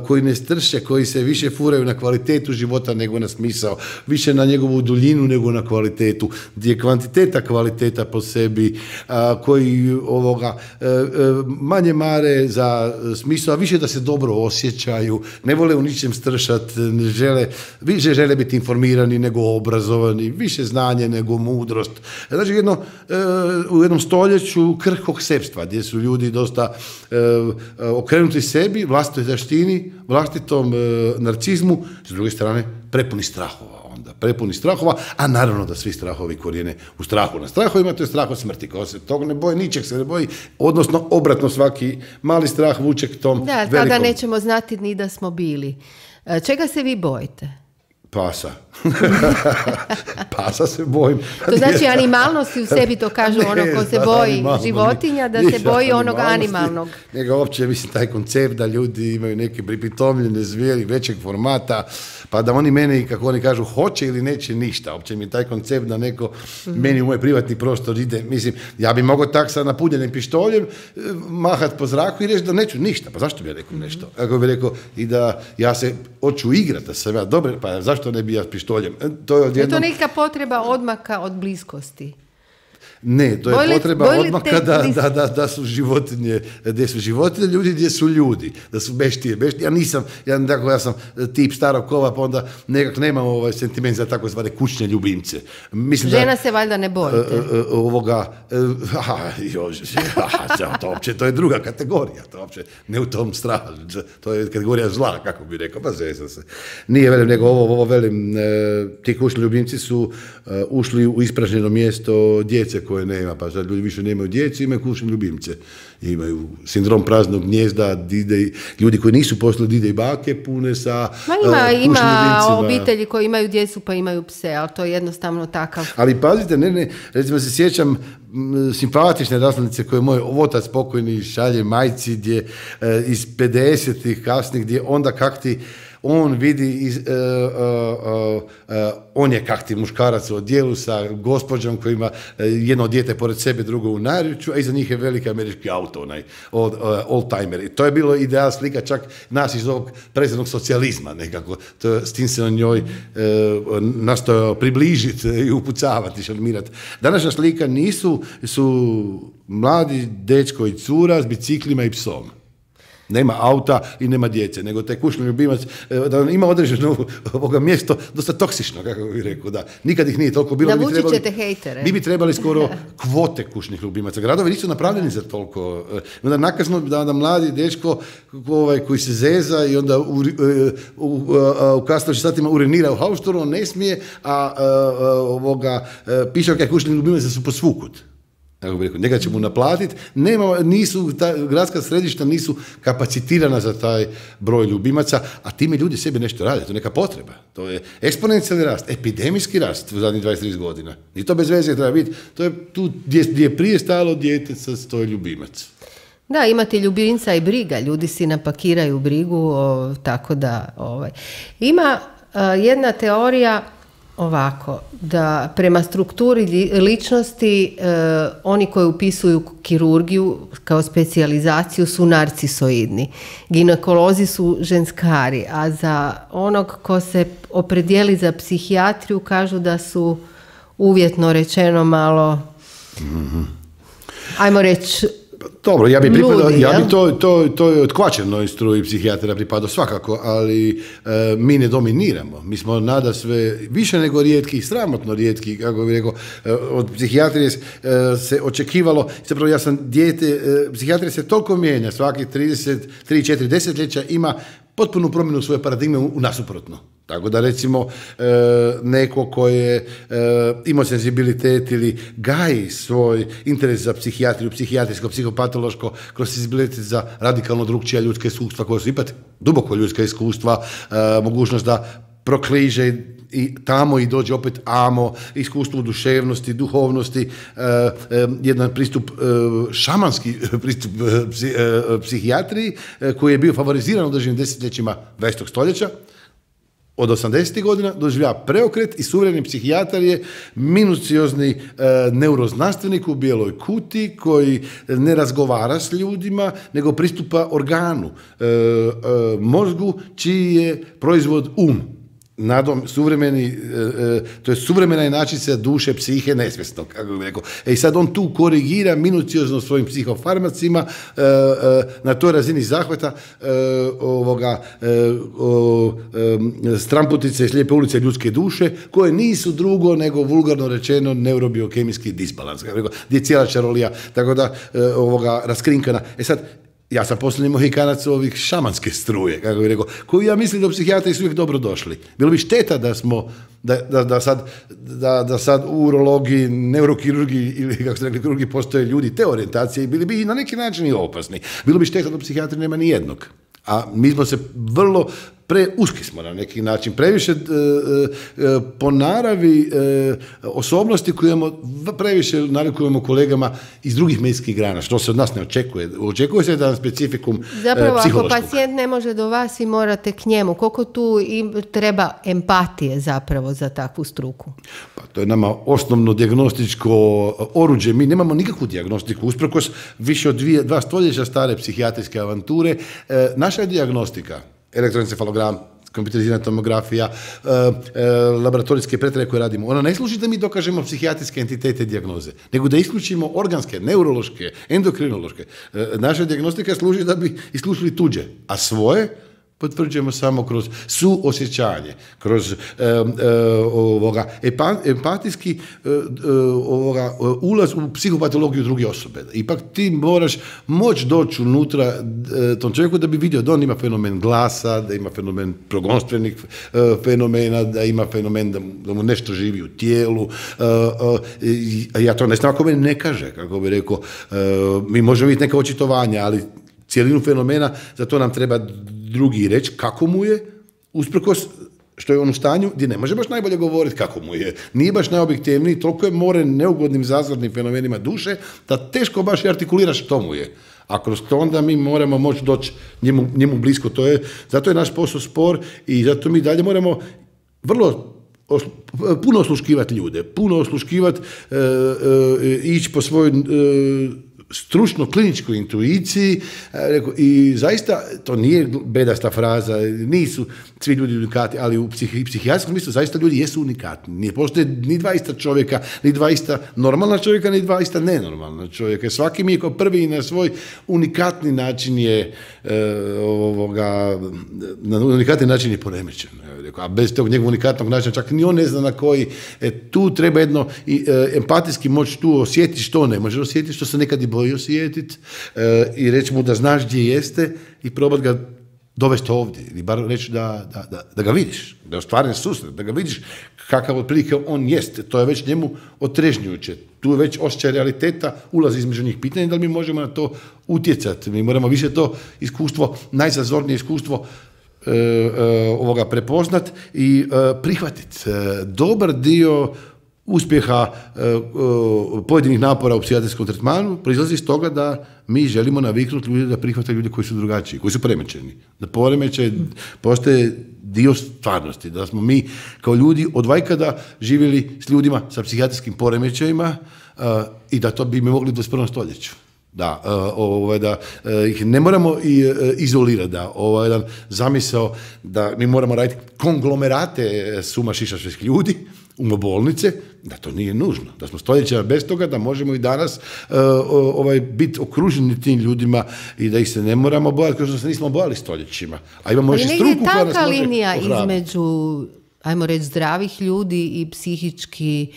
koji ne strše, koji se više furaju na kvalitetu života nego na smisao, više na njegovu duljinu nego na kvalitetu, gdje je kvantiteta kvaliteta po sebi, a, koji ovoga e, e, manje mare za smisao, a više da se dobro osjećaju, ne vole u ničem stršati, ne žele, više žele biti informirani nego obrazovani, više znanje nego mudrost. Znači jedno, e, u jednom stoljeću krhkog sepstva, gdje su ljudi dosta e, okrenuti sebi, vlastitoj zaštini, vlastitom e, narcizmu, s druge strane prepuni strahova onda, prepuni strahova, a naravno da svi strahovi korijene u strahu. Na strahovima to je strah od smrti, ko se tog ne boji, ničeg se ne boji, odnosno obratno svaki mali strah vuče k tom da, velikom. Da, tada nećemo znati ni da smo bili. Čega se vi bojite? Pasa. Pasa se bojim. To znači animalnosti u sebi, to kažu ono ko se boji životinja, da se boji onog animalnog. Nego uopće, mislim, taj koncept da ljudi imaju neke pripitomljene zvijeri većeg formata, pa da oni mene, kako oni kažu, hoće ili neće ništa. Uopće mi je taj koncept da neko mm-hmm. meni u moj privatni prostor ide, mislim, ja bi mogao tak sa napunjenim pištoljem mahat po zraku i reći da neću ništa. Pa zašto bi ja rekao nešto? Ako bi rekao i da ja se hoću igrati, da sam ja dobar, pa zašto ne bi ja s pištoljem? To je, odjednom... je to neka potreba odmaka od bliskosti? Ne, to je bojli, potreba bojli odmaka da, da, da, da su životinje, gdje su životinje, ljudi gdje su ljudi, da su beštije, beštije. Ja nisam, ja, dakle, ja sam tip starog kova, pa onda nekak nemam ovaj sentiment za tako zvane kućne ljubimce. Mislim Žena da, se valjda ne bojite. Uh, uh, ovoga, uh, aha, jo, aha, to uopće, to je druga kategorija, to uopće ne u tom strahu, to je kategorija zla, kako bi rekao, pa zezam se. Nije, velim, nego ovo, ovo velim, uh, ti kućni ljubimci su uh, ušli u ispražnjeno mjesto djece koje nema, pa sad ljudi više nemaju djece, imaju kućne ljubimce. Imaju sindrom praznog gnjezda, dide, ljudi koji nisu poslali dide i bake pune sa Ma ima, uh, ima obitelji koji imaju djecu pa imaju pse, ali to je jednostavno takav. Ali pazite, ne, ne, recimo se sjećam m, simpatične naslovnice koje moj otac pokojni šalje majci gdje uh, iz pedesetih kasnih, gdje onda kak ti on vidi, iz, uh, uh, uh, uh, on je kakti muškarac u odjelu sa gospođom koji ima uh, jedno dijete pored sebe, drugo u naručju, a iza njih je veliki američki auto, onaj old, uh, oldtimer. I to je bilo ideal slika čak nas iz ovog prezrednog socijalizma nekako. To, s tim se on njoj uh, nastojao približiti i upucavati, šalmirati. Današnja slika nisu, su mladi dečko i cura s biciklima i psom. Nema auta i nema djece, nego taj kućni ljubimac da ima određeno ovoga mjesto dosta toksično, kako bih rekao, da nikad ih nije toliko bilo. Navučit ćete trebali, hejtere. Mi bi trebali skoro kvote kućnih ljubimaca. Gradovi nisu napravljeni za toliko. Onda nakazno da, da mladi dečko ovaj, koji se zeza i onda u, u, u, u kasnim satima urinira u hauštoru, on ne smije, a, a, a ovoga pišavke kućnih ljubimaca su posvukut. Kako bi rekao, njega će mu naplatiti, nema, nisu, ta gradska središta nisu kapacitirana za taj broj ljubimaca, a time ljudi sebi nešto rade, to je neka potreba. To je eksponencijalni rast, epidemijski rast u zadnjih dvadeset trideset godina. I to bez veze treba biti, to je tu gdje, gdje je prije stalo dijete, sad stoji ljubimac. Da, imate ljubimca i briga, ljudi si napakiraju brigu, o, tako da... Ovaj. Ima uh, jedna teorija ovako, da prema strukturi ličnosti e, oni koji upisuju kirurgiju kao specijalizaciju su narcisoidni. Ginekolozi su ženskari, a za onog ko se opredijeli za psihijatriju kažu da su uvjetno rečeno malo, mm-hmm. ajmo reći, dobro, ja bi pripadao, ja bi to, to, to je otkvačenoj struji psihijatra pripadao svakako, ali e, mi ne dominiramo. Mi smo nada sve više nego rijetki, sramotno rijetki, kako bih rekao, e, od psihijatrije e, se očekivalo, zapravo ja sam dijete, e, psihijatrija se toliko mijenja, svaki trideset tri četiri desetljeća ima potpunu promjenu svoje paradigme u, u nasuprotno. Tako da recimo e, neko ko je e, imao senzibilitet ili gaji svoj interes za psihijatriju, psihijatrijsko, psihopatološko, kroz senzibilitet za radikalno drukčija ljudska iskustva koja su ipak duboko ljudska iskustva, e, mogućnost da prokliže i tamo i dođe opet amo, iskustvo duševnosti, duhovnosti, e, e, jedan pristup, e, šamanski pristup e, psi, e, psihijatriji e, koji je bio favoriziran u određenim desetljećima dvadesetog stoljeća. Od osamdesetih godina doživlja preokret i suvremeni psihijatar je minuciozni e, neuroznanstvenik u bijeloj kuti koji ne razgovara s ljudima, nego pristupa organu, e, e, mozgu, čiji je proizvod um. Nadom, suvremeni, e, e, to je suvremena inačica duše, psihe, nesvjesnog, kako bih rekao. E i sad on tu korigira minuciozno svojim psihofarmacima e, e, na toj razini zahvata e, ovoga e, o, e, stramputice i slijepe ulice ljudske duše, koje nisu drugo nego vulgarno rečeno neurobiokemijski disbalans, kako bih rekao, gdje je cijela čarolija, tako da e, ovoga raskrinkana. E sad, ja sam posljednji mohikanac ovih šamanske struje, kako bih rekao, koju ja mislim da u psihijatriji su uvijek dobro došli. Bilo bi šteta da smo, da, da, da, sad, da, da sad u urologiji, neurokirurgiji ili kako ste rekli, kirurgiji postoje ljudi te orijentacije i bili bi i na neki način i opasni. Bilo bi šteta da u psihijatriji nema ni jednog. A mi smo se vrlo preuski smo na neki način, previše e, e, po naravi e, osobnosti koje imamo, previše nalikujemo kolegama iz drugih medijskih grana, što se od nas ne očekuje. Očekuje se da nam specifikum Zapravo, e, psihološkog. ako pacijent ne može do vas i morate k njemu, koliko tu im treba empatije zapravo za takvu struku? Pa to je nama osnovno dijagnostičko oruđe. Mi nemamo nikakvu dijagnostiku, usprkos više od dvije, dva stoljeća stare psihijatrijske avanture. E, naša je dijagnostika, elektroencefalogram, kompjuterizirana tomografija, e, e, laboratorijske pretrage koje radimo, ona ne služi da mi dokažemo psihijatrijske entitete dijagnoze, nego da isključimo organske, neurološke, endokrinološke. E, naša dijagnostika služi da bi isključili tuđe, a svoje potvrđujemo samo kroz suosjećanje, kroz e, e, ovoga, empatijski e, ovoga, ulaz u psihopatologiju druge osobe. Ipak ti moraš moći doći unutra e, tom čovjeku da bi vidio da on ima fenomen glasa, da ima fenomen progonstvenih e, fenomena, da ima fenomen da, da mu nešto živi u tijelu. E, e, ja to ne znam ako meni ne kaže, kako bi rekao, e, mi možemo vidjeti neka očitovanja, ali cijelinu fenomena, za to nam treba drugi reći kako mu je, usprkos što je on u stanju gdje ne može baš najbolje govoriti kako mu je. Nije baš najobjektivniji, toliko je more neugodnim zazornim fenomenima duše, da teško baš i artikulira što mu je. A kroz to onda mi moramo moći doći njemu, njemu blisko. To je, zato je naš posao spor i zato mi dalje moramo vrlo oslu, puno osluškivati ljude, puno osluškivati, e, e, ići po svojoj e, stručno kliničkoj intuiciji i zaista to nije bedasta fraza, nisu svi ljudi unikati, ali u psih, psihijatrijskom smislu zaista ljudi jesu unikatni. Nije postoje ni dva ista čovjeka, ni dva ista normalna čovjeka, ni dva ista nenormalna čovjeka. Svaki mi je kao prvi na svoj unikatni način je e, ovoga, na unikatni način je poremećen. A bez tog njegovog unikatnog načina čak ni on ne zna na koji. E, tu treba jedno i, e, empatijski moći tu osjetiti što ne može osjetiti, što se nekad i boji osjetiti e, i reći mu da znaš gdje jeste i probati ga dovesti ovdje ili bar reći da, da, da, da ga vidiš, da je ostvaren susret, da ga vidiš kakav otprilike on jest. To je već njemu otrežnjujuće. Tu je već osjećaj realiteta, ulazi između njih. Pitanje da li mi možemo na to utjecati. Mi moramo više to iskustvo, najzazornije iskustvo E, e, ovoga prepoznat i e, prihvatit. E, dobar dio uspjeha e, e, pojedinih napora u psihijatrijskom tretmanu proizlazi iz toga da mi želimo naviknuti ljude da prihvate ljude koji su drugačiji, koji su poremećeni. Da poremećaj postaje dio stvarnosti, da smo mi kao ljudi od vajkada živjeli s ljudima sa psihijatrijskim poremećajima e, i da to bi mi mogli u dvadeset prvom stoljeću. Da, ovaj, da ih ne moramo i izolirati, da ovaj jedan zamisao da mi moramo raditi konglomerate suma šišašvih ljudi, umobolnice, da to nije nužno, da smo stoljeća bez toga, da možemo i danas ovaj, biti okruženi tim ljudima i da ih se ne moramo bojati, kao što se nismo bojali stoljećima. A imamo još i struku koja nas može tanka linija ohrabiti. Između, ajmo reći, zdravih ljudi i psihički.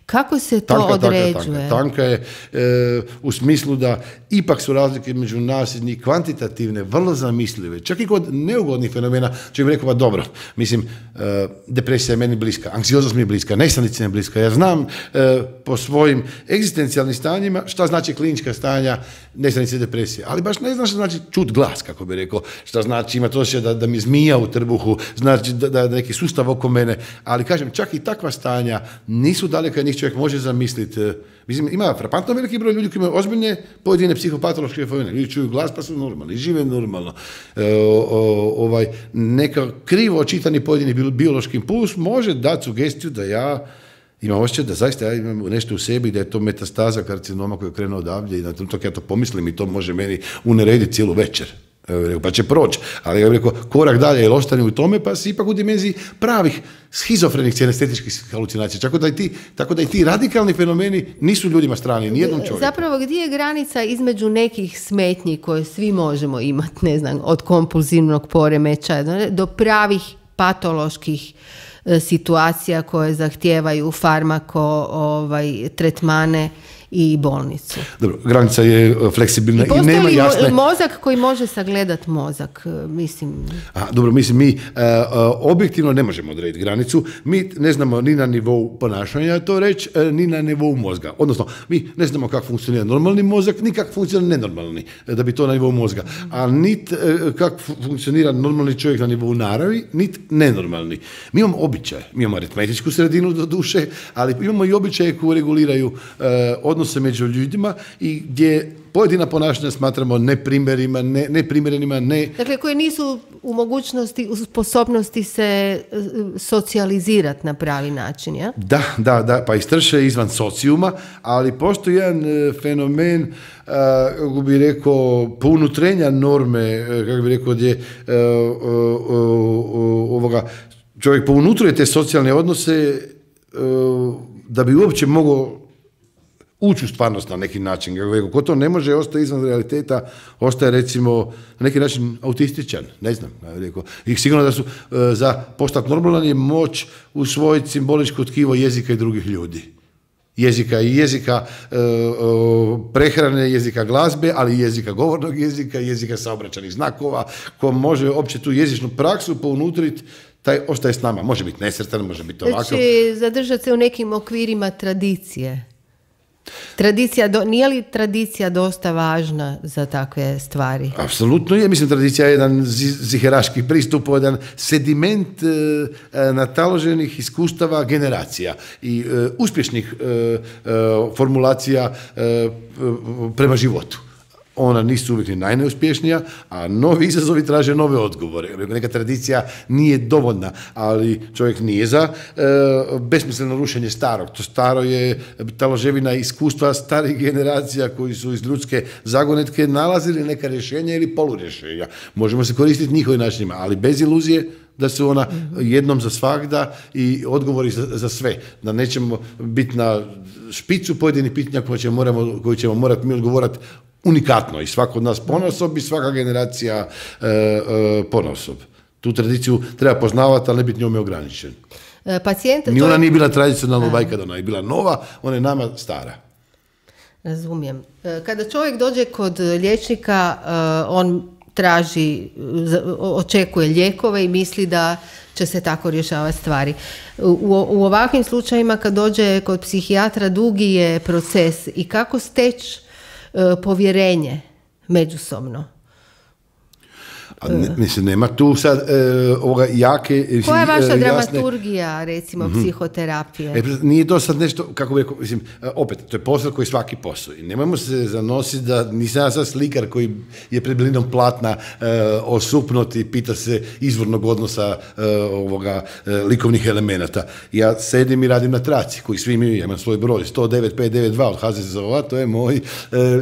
Kako se to tanka, određuje? Tanka, tanka. tanka je e, u smislu da ipak su razlike među nas i kvantitativne, vrlo zamislive. Čak i kod neugodnih fenomena, čovjek bi rekao, pa dobro, mislim, e, depresija je meni bliska, anksioznost mi je bliska, nesanice mi je bliska. Ja znam e, po svojim egzistencijalnim stanjima šta znači klinička stanja nesanice i depresije, ali baš ne znam šta znači čut glas, kako bi rekao, šta znači imati osjećaj da, da mi zmija u trbuhu, znači da, da neki sustav oko mene, ali kažem, čak i takva stanja nisu daleka njih čovjek može zamisliti. Mislim, ima frapantno veliki broj ljudi koji imaju ozbiljne pojedine psihopatološke fenomene. Ljudi čuju glas pa su normalni, žive normalno. E, o, o, ovaj, neka krivo očitani pojedini biološki impuls može dati sugestiju da ja imam osjećaj da zaista ja imam nešto u sebi, da je to metastaza karcinoma koja je krenuo odavdje i na trenutak ja to pomislim i to može meni unerediti cijelu večer. Pa će proći, ali ja bih rekao korak dalje jer ostane u tome pa si ipak u dimenziji pravih schizofrenih cijestetičkih halucinacija. Tako da, i ti, tako da i ti radikalni fenomeni nisu ljudima strani, nijednom čovjeku. Zapravo gdje je granica između nekih smetnji koje svi možemo imati, ne znam, od kompulzivnog poremećaja do pravih patoloških situacija koje zahtijevaju farmako ovaj, tretmane i bolnicu. Dobro, granica je fleksibilna i, i nema jasne... Postoji mozak koji može sagledat mozak, mislim... A, dobro, mislim, mi uh, uh, objektivno ne možemo odrediti granicu, mi ne znamo ni na nivou ponašanja to reći, uh, ni na nivou mozga. Odnosno, mi ne znamo kako funkcionira normalni mozak, ni kako funkcionira nenormalni, da bi to na nivou mozga. A nit uh, kako funkcionira normalni čovjek na nivou naravi, nit nenormalni. Mi imamo običaje, mi imamo aritmetičku sredinu do duše, ali imamo i običaje koji reguliraju uh, odnose među ljudima i gdje pojedina ponašanja smatramo neprimjerenima, ne, neprimjerenima, ne... Dakle, koji nisu u mogućnosti, u sposobnosti se socijalizirati na pravi način, ja? Da, da, da, pa istrše izvan socijuma, ali postoji jedan e, fenomen, e, kako bi rekao, pounutrenja norme, e, kako bi rekao, gdje e, e, e, ovoga, čovjek pounutruje te socijalne odnose e, da bi uopće mogao ući u stvarnost na neki način. Ko to ne može, ostaje izvan realiteta, ostaje recimo na neki način autističan, ne znam. I sigurno da su za postat normalan je moć usvojiti simboličko tkivo jezika i drugih ljudi. Jezika i jezika e, prehrane, jezika glazbe, ali i jezika govornog jezika, jezika saobraćajnih znakova, ko može opće tu jezičnu praksu pounutriti, taj ostaje s nama. Može biti nesretan, može biti ovakav. Znači, zadržati se u nekim okvirima tradicije. Tradicija, do, nije li tradicija dosta važna za takve stvari? Apsolutno je. Mislim, tradicija je jedan ziheraški pristup, jedan sediment e, nataloženih iskustava generacija i e, uspješnih e, e, formulacija e, prema životu. Ona nisu uvijek ni najneuspješnija, a novi izazovi traže nove odgovore. Neka tradicija nije dovoljna, ali čovjek nije za e, besmisleno rušenje starog. To staro je taloževina iskustva starih generacija koji su iz ljudske zagonetke nalazili neka rješenja ili polurješenja. Možemo se koristiti njihovim načinima, ali bez iluzije da su ona jednom za svagda i odgovori za, za sve. Da nećemo biti na špicu pojedinih pitanja koje ćemo, moramo, koje ćemo morati mi odgovorati unikatno i svako od nas ponosob i svaka generacija e, e, ponosob. Tu tradiciju treba poznavati, ali ne biti njome ograničen. Pacijent, Ni ona je... nije bila tradicionalna vajka, ona je bila nova, ona je nama stara. Razumijem. Kada čovjek dođe kod liječnika, on traži, očekuje lijekove i misli da će se tako rješavati stvari. U, u ovakvim slučajima kad dođe kod psihijatra dugi je proces i kako steći povjerenje međusobno. A ne, mislim, nema tu sad e, ovoga jake... Mislim, koja je vaša e, dramaturgija, jasne... recimo, mm-hmm. psihoterapije? E, nije to sad nešto, kako bi rekao, mislim, opet, to je posao koji svaki posao. I nemojmo se zanositi da nisam ja sad slikar koji je pred blinom platna e, osupnut i pita se izvornog odnosa e, ovoga e, likovnih elemenata. Ja sedim i radim na traci, koji svi imaju, ja imam svoj broj, sto devet pet devet dva od ha ze zet o, to je moj e,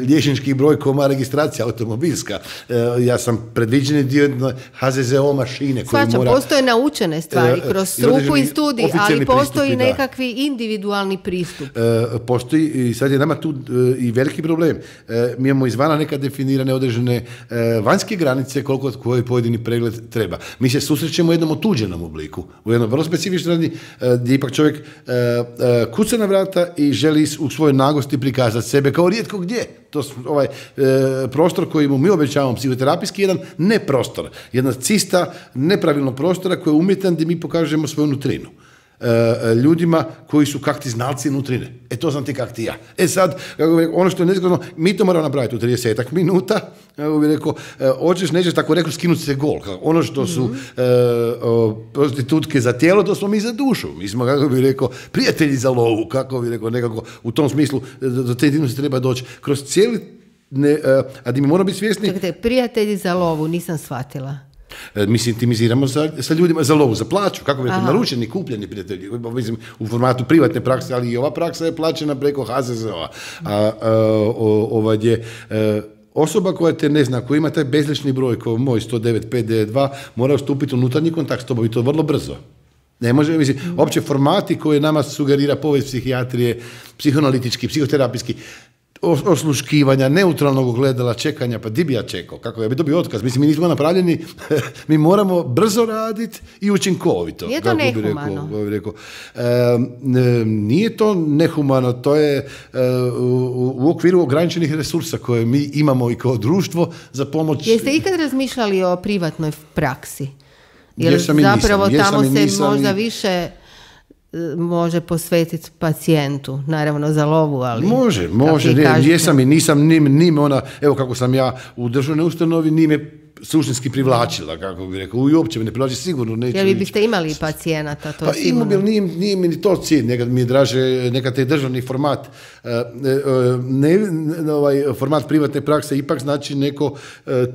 liječnički broj ko ima registracija automobilska. E, ja sam predviđeni dio ha ze zet o mašine koji Svača, mora... postoje naučene stvari kroz struku i studij, ali postoji pristupi, nekakvi da. individualni pristup. E, postoji i sad je nama tu e, i veliki problem. E, mi imamo izvana neka definirane određene e, vanjske granice koliko koji pojedini pregled treba. Mi se susrećemo u jednom otuđenom obliku, u jednom vrlo specifičnom radi, e, gdje ipak čovjek e, e, kuca na vrata i želi u svojoj nagosti prikazati sebe kao rijetko gdje. To ovaj e, prostor koji mu mi obećavamo psihoterapijski jedan neprostor, jedna cista nepravilnog prostora koji je umjetan gdje mi pokažemo svoju nutrinu. E, ljudima koji su kakti znalci nutrine. E to sam ti kakti ja. E sad, kako bi rekao, ono što je nezgodno, mi to moramo napraviti u tridesetak minuta, kako bi rekao, e, hoćeš, nećeš tako rekao skinuti se gol. Ono što su mm-hmm. e, o, prostitutke za tijelo, to smo mi za dušu. Mi smo, kako bi rekao, prijatelji za lovu, kako bi rekao, nekako u tom smislu do te intimnosti treba doći. Kroz cijeli, ne, a da mi moramo biti svjesni... Čekajte, prijatelji za lovu, nisam shvatila. Mi se intimiziramo sa, sa ljudima za lovu, za plaću, kako bi rekao, naručeni, kupljeni prijatelji, mislim, u formatu privatne prakse, ali i ova praksa je plaćena preko ha ze zet o. A, a, o, ovaj je, a, osoba koja te ne zna, koja ima taj bezlični broj, kao moj sto devet pet devet dva, mora stupiti u unutarnji kontakt s tobom i to vrlo brzo. Ne može, mislim, opće formati koje nama sugerira povijest psihijatrije, psihoanalitički, psihoterapijski, osluškivanja, neutralnog gledala, čekanja, pa di bi ja čekao, kako ja bi dobio otkaz, mislim, mi nismo napravljeni, mi moramo brzo raditi i učinkovito. Nije to nehumano? Bi rekao, bi rekao. E, nije to nehumano, to je e, u, u okviru ograničenih resursa koje mi imamo i kao društvo za pomoć. Jeste ikad razmišljali o privatnoj praksi? Jer jesam i zapravo nisam, tamo jesam i se nisam možda i... više može posvetiti pacijentu, naravno za lovu, ali... Može, može, ne, jesam i nisam, nim, nim ona, evo kako sam ja u državnoj ustanovi, nim je suštinski privlačila, kako bih rekao, i uopće me ne privlači, sigurno neće... Jer vi biste imali pacijenata, to pa sigurno... Pa nije, nije mi ni to cilj, nekad mi je draže, nekad taj državni format, ne, ne, ovaj format privatne prakse ipak znači neko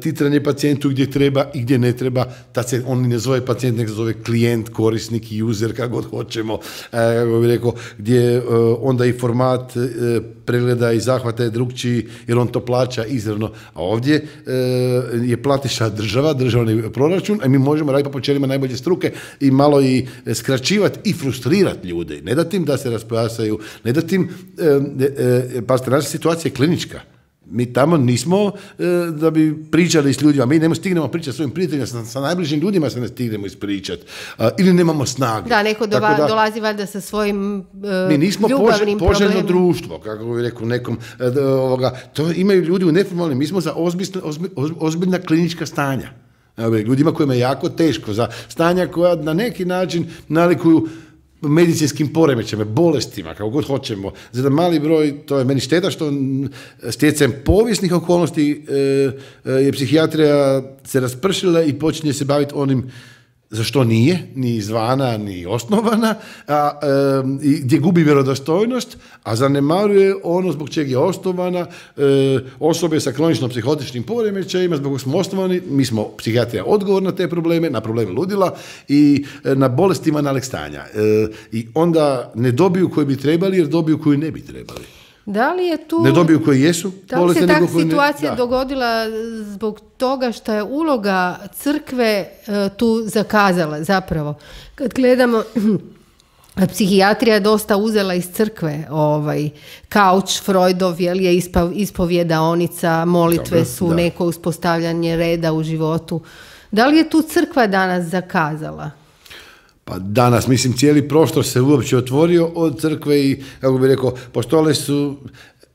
titranje pacijentu gdje treba i gdje ne treba, tad se on ne zove pacijent, nek se zove klijent, korisnik, user, kako god hoćemo, kako bih rekao, gdje onda i format pregleda i zahvata je drugčiji, jer on to plaća izravno, a ovdje je platiš država, državni proračun, a mi možemo raditi po počelima najbolje struke i malo i skraćivati i frustrirati ljude. Ne dati im da se raspojasaju, ne dati im, e, e, pa naša situacija je klinička. Mi tamo nismo e, da bi pričali s ljudima, mi ne stignemo pričati s svojim prijateljima, sa, sa najbližim ljudima se ne stignemo ispričati. A, ili nemamo snage. Da, neko dova, da, dolazi valjda sa svojim e, mi nismo ljubavnim pož, poželjno problemima. društvo, kako bih rekao nekom, e, ovoga, to imaju ljudi u neformalnim, mi smo za ozbiljna, ozbiljna klinička stanja. Ljudima kojima je jako teško, za stanja koja na neki način nalikuju medicinskim poremećajima, bolestima, kako god hoćemo. Za jedan mali broj, to je meni šteta što stjecajem povijesnih okolnosti e, je psihijatrija se raspršila i počinje se baviti onim za što nije, ni izvana, ni osnovana, a, e, gdje gubi vjerodostojnost, a zanemaruje ono zbog čega je osnovana, e, osobe sa kronično psihotičnim poremećajima, zbog smo osnovani, mi smo psihijatrija odgovor na te probleme, na probleme ludila i e, na bolestima nalog stanja. E, I onda ne dobiju koji bi trebali, jer dobiju koji ne bi trebali. Da li je tu... Ne dobiju koji jesu. Da li se takva situacija ne, dogodila zbog toga što je uloga crkve uh, tu zakazala zapravo? Kad gledamo... Psihijatrija je dosta uzela iz crkve, ovaj, kauč Freudov, jel, je ispo, ispovjedaonica, molitve Dobro, su da. neko uspostavljanje reda u životu. Da li je tu crkva danas zakazala? Pa danas, mislim, cijeli prostor se uopće otvorio od crkve i, kako bih rekao, postojale su,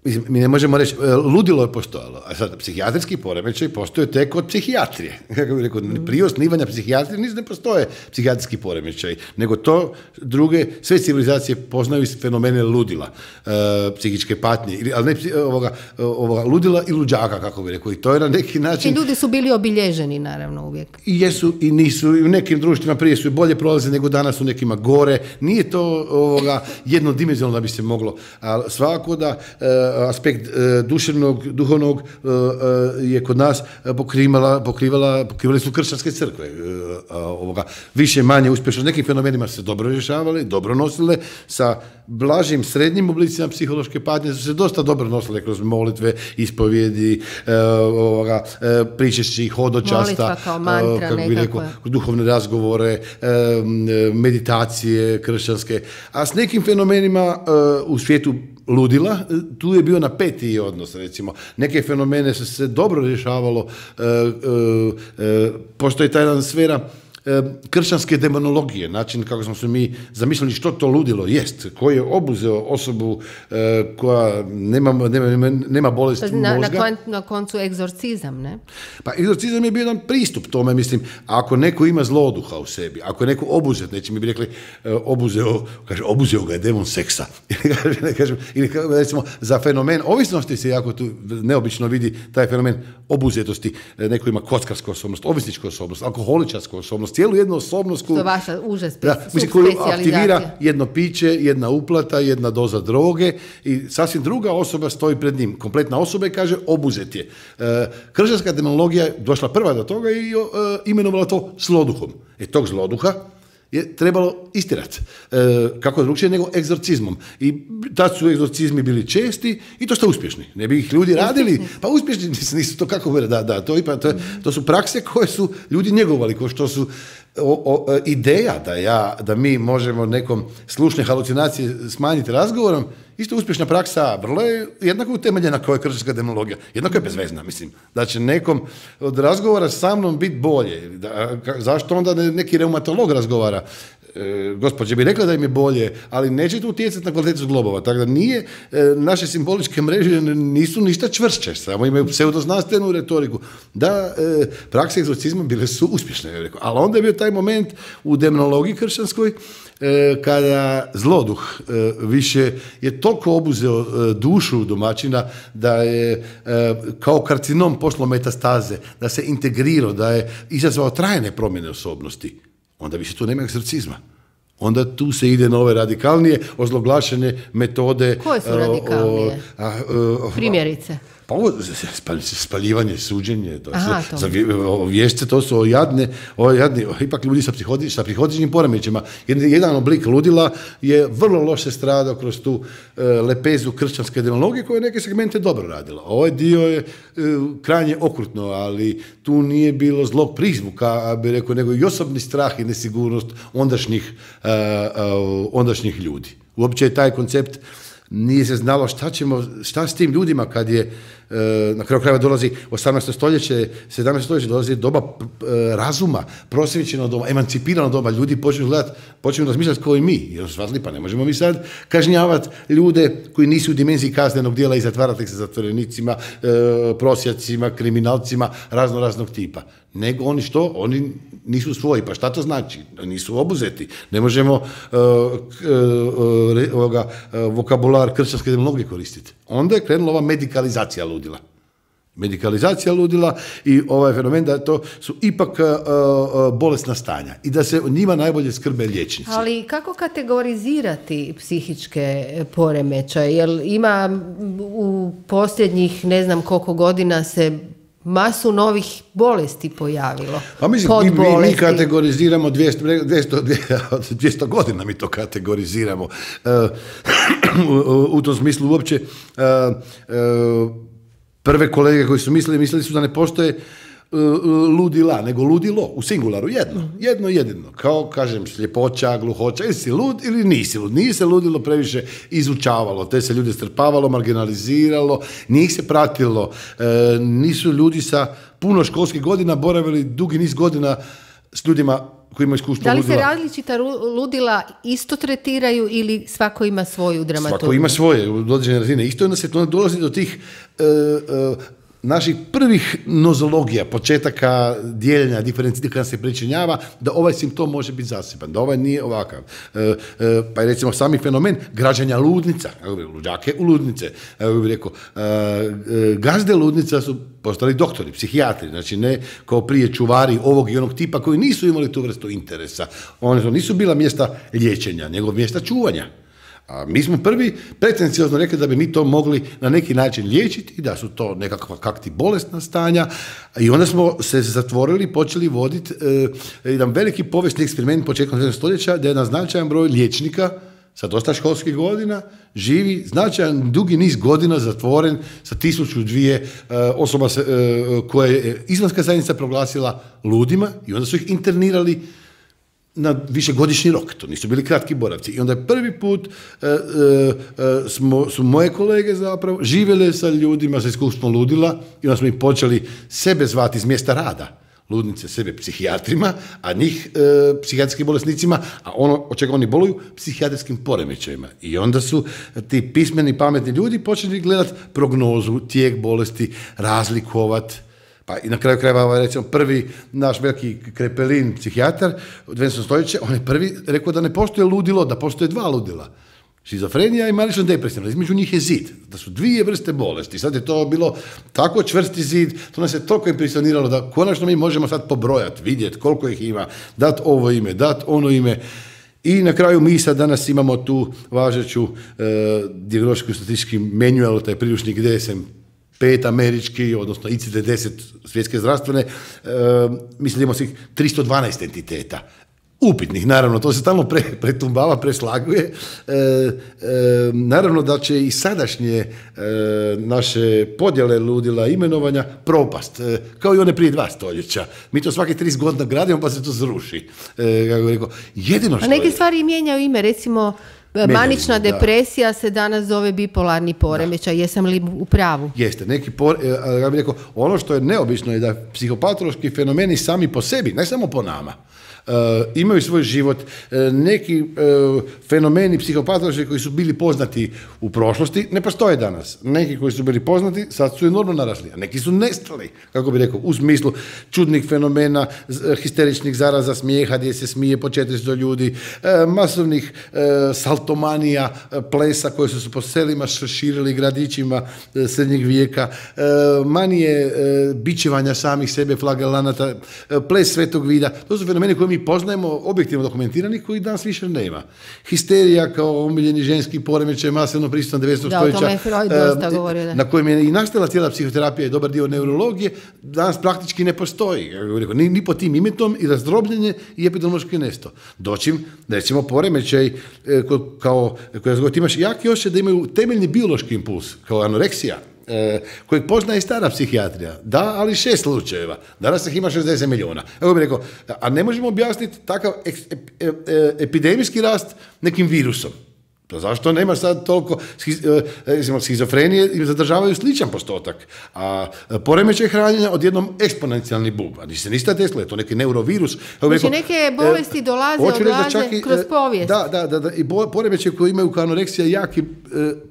mislim, mi ne možemo reći, ludilo je postojalo, a sad psihijatrijski poremećaj postoje tek od psihijatrije. Kako bih rekao, prije osnivanja psihijatrije nisu ne postoje psihijatrijski poremećaj, nego to druge, sve civilizacije poznaju fenomene ludila, e, psihičke patnje, ali ne ovoga, ovoga ludila i luđaka, kako bih rekao, i to je na neki način... I ljudi su bili obilježeni, naravno, uvijek. I jesu i nisu, i u nekim društvima prije su bolje prolaze nego danas, u nekima gore, nije to ovoga, jednodimenzionalno da bi se moglo, ali svako da e, aspekt e, duševnog, duhovnog e, e, je kod nas pokrivala, pokrivala, pokrivali su kršćanske crkve. E, ovoga, više manje uspješno. S nekim fenomenima se dobro rješavali, dobro nosile, sa blažim srednjim oblicima psihološke patnje su se dosta dobro nosile kroz molitve, ispovjedi, e, ovoga, e, pričešći, hodočasta, molitva kao mantra, kako bi rekao, duhovne razgovore, e, meditacije kršćanske. A s nekim fenomenima e, u svijetu ludila, tu je bio napetiji odnos, recimo. Neke fenomene su se dobro rješavalo, e, e, e, postoji ta jedna sfera e, kršćanske demonologije, način kako smo se mi zamislili što to ludilo jest, koji je obuzeo osobu e, koja nema, nema, nema bolesti na, mozga. Na, kon, na koncu egzorcizam, ne? Pa egzorcizam je bio jedan pristup tome, mislim, ako neko ima zloduha u sebi, ako je neko obuzet, neće mi bi rekli e, obuzeo, kaže, obuzeo ga je demon seksa. Ili recimo za fenomen ovisnosti se jako tu neobično vidi taj fenomen obuzetosti, neko ima kockarsku osobnost, ovisničku osobnost, alkoholičarsku osobnost, cijelu jednu osobnost koju, to je vaša uža spe, da, mislim, koju aktivira jedno piće, jedna uplata, jedna doza droge i sasvim druga osoba stoji pred njim. Kompletna osoba i kaže obuzet je. E, kršćanska demonologija je došla prva do toga i e, imenovala to zloduhom. E tog zloduha je trebalo istirati. E, kako drugčije nego egzorcizmom. I tad su egzorcizmi bili česti i to što uspješni. Ne bi ih ljudi radili, pa uspješni nisu to kako bude, da, da, to, ipa, to, to su prakse koje su ljudi njegovali, kao što su o, o, ideja da, ja, da mi možemo nekom slušne halucinacije smanjiti razgovorom, isto uspješna praksa, vrlo je jednako utemeljena kao je kršćanska demonologija. Jednako je bezvezna, mislim. Da će nekom od razgovora sa mnom biti bolje. Da, ka, zašto onda neki reumatolog razgovara? E, gospođe bi rekla da im je bolje, ali neće to utjecati na kvalitetu zglobova. Tako da nije, e, naše simboličke mreže nisu ništa čvršće, samo imaju pseudoznanstvenu retoriku. Da, e, prakse egzorcizma bile su uspješne, rekao. Ali onda je bio taj moment u demonologiji kršćanskoj, e, kada zloduh e, više je toliko obuzeo e, dušu domaćina da je e, kao karcinom pošlo metastaze, da se integrirao, da je izazvao trajne promjene osobnosti. Onda više tu nema egzorcizma. Onda tu se ide na ove radikalnije, ozloglašene metode. Koje su radikalnije? O, a, a, Primjerice. Pa ovo, spaljivanje, suđenje, to Aha, su, to. Za vješće, to su jadne, o, jadni, o, ipak ljudi sa, psihoti, sa psihotičnim poremećima. Jedan, jedan oblik ludila je vrlo loše stradao kroz tu e, lepezu kršćanske demonologije koja je neke segmente dobro radila. Ovaj dio je e, krajnje okrutno, ali tu nije bilo zlog prizvuka, bi rekao, nego i osobni strah i nesigurnost ondašnjih, a, a, ondašnjih ljudi. Uopće je taj koncept, nije se znalo šta ćemo, šta s tim ljudima kad je, e, na kraju krajeva dolazi osamnaesto stoljeće, sedamnaesto stoljeće, dolazi doba e, razuma, prosvjećeno doba, emancipirano doba, ljudi počinju gledati, počinju razmišljati kao i mi, jer su shvatili, pa ne možemo mi sad kažnjavati ljude koji nisu u dimenziji kaznenog djela i zatvarati ih sa zatvorenicima, e, prosjacima, kriminalcima, razno raznog tipa. Nego oni što? Oni nisu svoji. Pa šta to znači? Nisu obuzeti. Ne možemo uh, uh, uh, ovoga, uh, vokabular kršćanske demonologije koristiti. Onda je krenula ova medikalizacija ludila. Medikalizacija ludila i ovaj fenomen da to su ipak uh, uh, bolesna stanja i da se o njima najbolje skrbe liječnici. Ali kako kategorizirati psihičke poremećaje? Jer ima u posljednjih ne znam koliko godina se masu novih bolesti pojavilo. Pa mislim, mi, mi, mi kategoriziramo dvjesto, dvjesto, dvjesto godina mi to kategoriziramo. Uh, u, u tom smislu uopće uh, uh, prve kolege koji su mislili, mislili su da ne postoje uh, ludila, nego ludilo, u singularu, jedno, mm-hmm. jedno jedino. Kao, kažem, sljepoća, gluhoća, ili si lud ili nisi lud. Nije se ludilo previše izučavalo, te se ljude strpavalo, marginaliziralo, nije ih se pratilo, e, nisu ljudi sa puno školskih godina boravili dugi niz godina s ljudima koji imaju iskustvo ludila. Da li se različita ludila isto tretiraju ili svako ima svoju dramaturgiju? Svako ima svoje, u određene razine. Isto onda se dolazi do tih e, e, naših prvih nozologija, početaka dijeljenja, diferencijaka kada se pričinjava, da ovaj simptom može biti zaseban, da ovaj nije ovakav. E, e, pa je recimo sami fenomen građanja ludnica, luđake u ludnice. Evo bih rekao, e, e, gazde ludnica su postali doktori, psihijatri, znači ne kao prije čuvari ovog i onog tipa koji nisu imali tu vrstu interesa. One nisu bila mjesta liječenja, nego mjesta čuvanja. A mi smo prvi pretenciozno rekli da bi mi to mogli na neki način liječiti i da su to nekakva kakti bolesna stanja i onda smo se zatvorili i počeli voditi e, jedan veliki povijesni eksperiment početkom sedamnaestog stoljeća da je jedan značajan broj liječnika sa dosta školskih godina živi značajan dugi niz godina zatvoren sa tisuću dvije e, osoba se, e, koje je islamska zajednica proglasila ludima i onda su ih internirali na višegodišnji rok, to nisu bili kratki boravci. I onda je prvi put e, e, smo, su moje kolege zapravo živjele sa ljudima sa iskustvom ludila i onda smo ih počeli sebe zvati iz mjesta rada. Ludnice sebe psihijatrima, a njih e, psihijatrijskim bolesnicima, a ono od čega oni boluju, psihijatrijskim poremećajima. I onda su ti pismeni, pametni ljudi počeli gledati prognozu, tijek bolesti, razlikovati. Pa i na kraju krajeva, recimo, prvi naš veliki Krepelin, psihijatar u dvanaestom stoljeću, on je prvi rekao da ne postoje ludilo, da postoje dva ludila. Šizofrenija i manična depresija, između njih je zid, da su dvije vrste bolesti. Sad je to bilo tako čvrsti zid, to nas je toliko impresioniralo da konačno mi možemo sad pobrojati, vidjeti koliko ih ima, dati ovo ime, dati ono ime. I na kraju mi sad danas imamo tu važeću e, dijagnostičku statistički manual, taj priručnik D S M pet američki, odnosno I C D deset svjetske zdravstvene, e, mislim da imamo svih tristo dvanaest entiteta. upitnih, naravno, to se stalno pre, pretumbava, preslaguje. E, e, naravno da će i sadašnje e, naše podjele ludila, imenovanja propast, e, kao i one prije dva stoljeća. Mi to svake trideset godina gradimo pa se to zruši. E, kako rekao, jedino što A neke je... stvari mijenjaju ime, recimo manična depresija se danas zove bipolarni poremećaj. Jesam li u pravu? Jeste. Neki por, ja bih rekao, ono što je neobično je da psihopatološki fenomeni sami po sebi, ne samo po nama, Uh, imaju svoj život, uh, neki uh, fenomeni psihopatološki koji su bili poznati u prošlosti ne postoje danas. Neki koji su bili poznati sad su enormno narasli, a neki su nestali, kako bi rekao, u smislu čudnih fenomena, histeričnih zaraza smijeha gdje se smije po četiristo ljudi, uh, masovnih uh, saltomanija, uh, plesa koje su se po selima širili gradićima uh, srednjeg vijeka, uh, manije uh, bičevanja samih sebe, flagelanata, uh, ples svetog vida. To su fenomeni koje mi poznajemo, objektivno dokumentirani, koji danas više nema. Histerija kao omiljeni ženski poremećaj masivno prisutan devetnaestog da, stoljeća. O tome je Freud dosta govorio, da. Na kojem je i nastala cijela psihoterapija i dobar dio neurologije, danas praktički ne postoji. Ni, ni po tim imetom i razdrobljenje i epidemiološki nesto. Doćim, recimo, poremećaj kao, koji ti imaš jaki osjećaj da imaju temeljni biološki impuls, kao anoreksija, E, kojeg poznaje i stara psihijatrija. Da, ali šest slučajeva. Danas ih ima šezdeset milijuna. Evo bih rekao, a ne možemo objasniti takav ek, ep, ep, epidemijski rast nekim virusom. Pa zašto nema sad toliko e, schizofrenije i zadržavaju sličan postotak, a poremećaj hranjenja odjednom eksponencijalni bub. A ni se nista Tesla, je to neki neurovirus. Znači neke bolesti dolaze, odlaze i, kroz povijest. Da, da, da, da i poremećaj koji imaju kao anoreksija jaki e,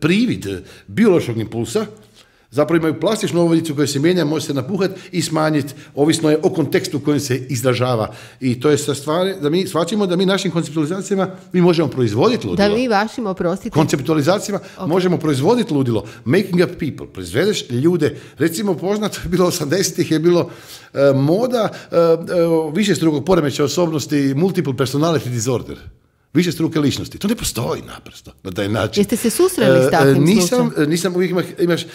privid biološkog impulsa, zapravo imaju plastičnu ovojnicu koja se mijenja, može se napuhati i smanjiti, ovisno je o kontekstu u kojem se izražava. I to je sa stvari, da mi shvaćamo da mi našim konceptualizacijama mi možemo proizvoditi ludilo. Da vi vašim, oprostite. Konceptualizacijama okay. možemo proizvoditi ludilo. Making up people. Proizvedeš ljude. Recimo, poznato je bilo osamdesetih je bilo uh, moda uh, uh, višestrukog poremećaja osobnosti, multiple personality disorder. Više struke ličnosti. To ne postoji naprosto na taj način. Jeste se susreli s takvim nisam, nisam uvijek imaš, imaš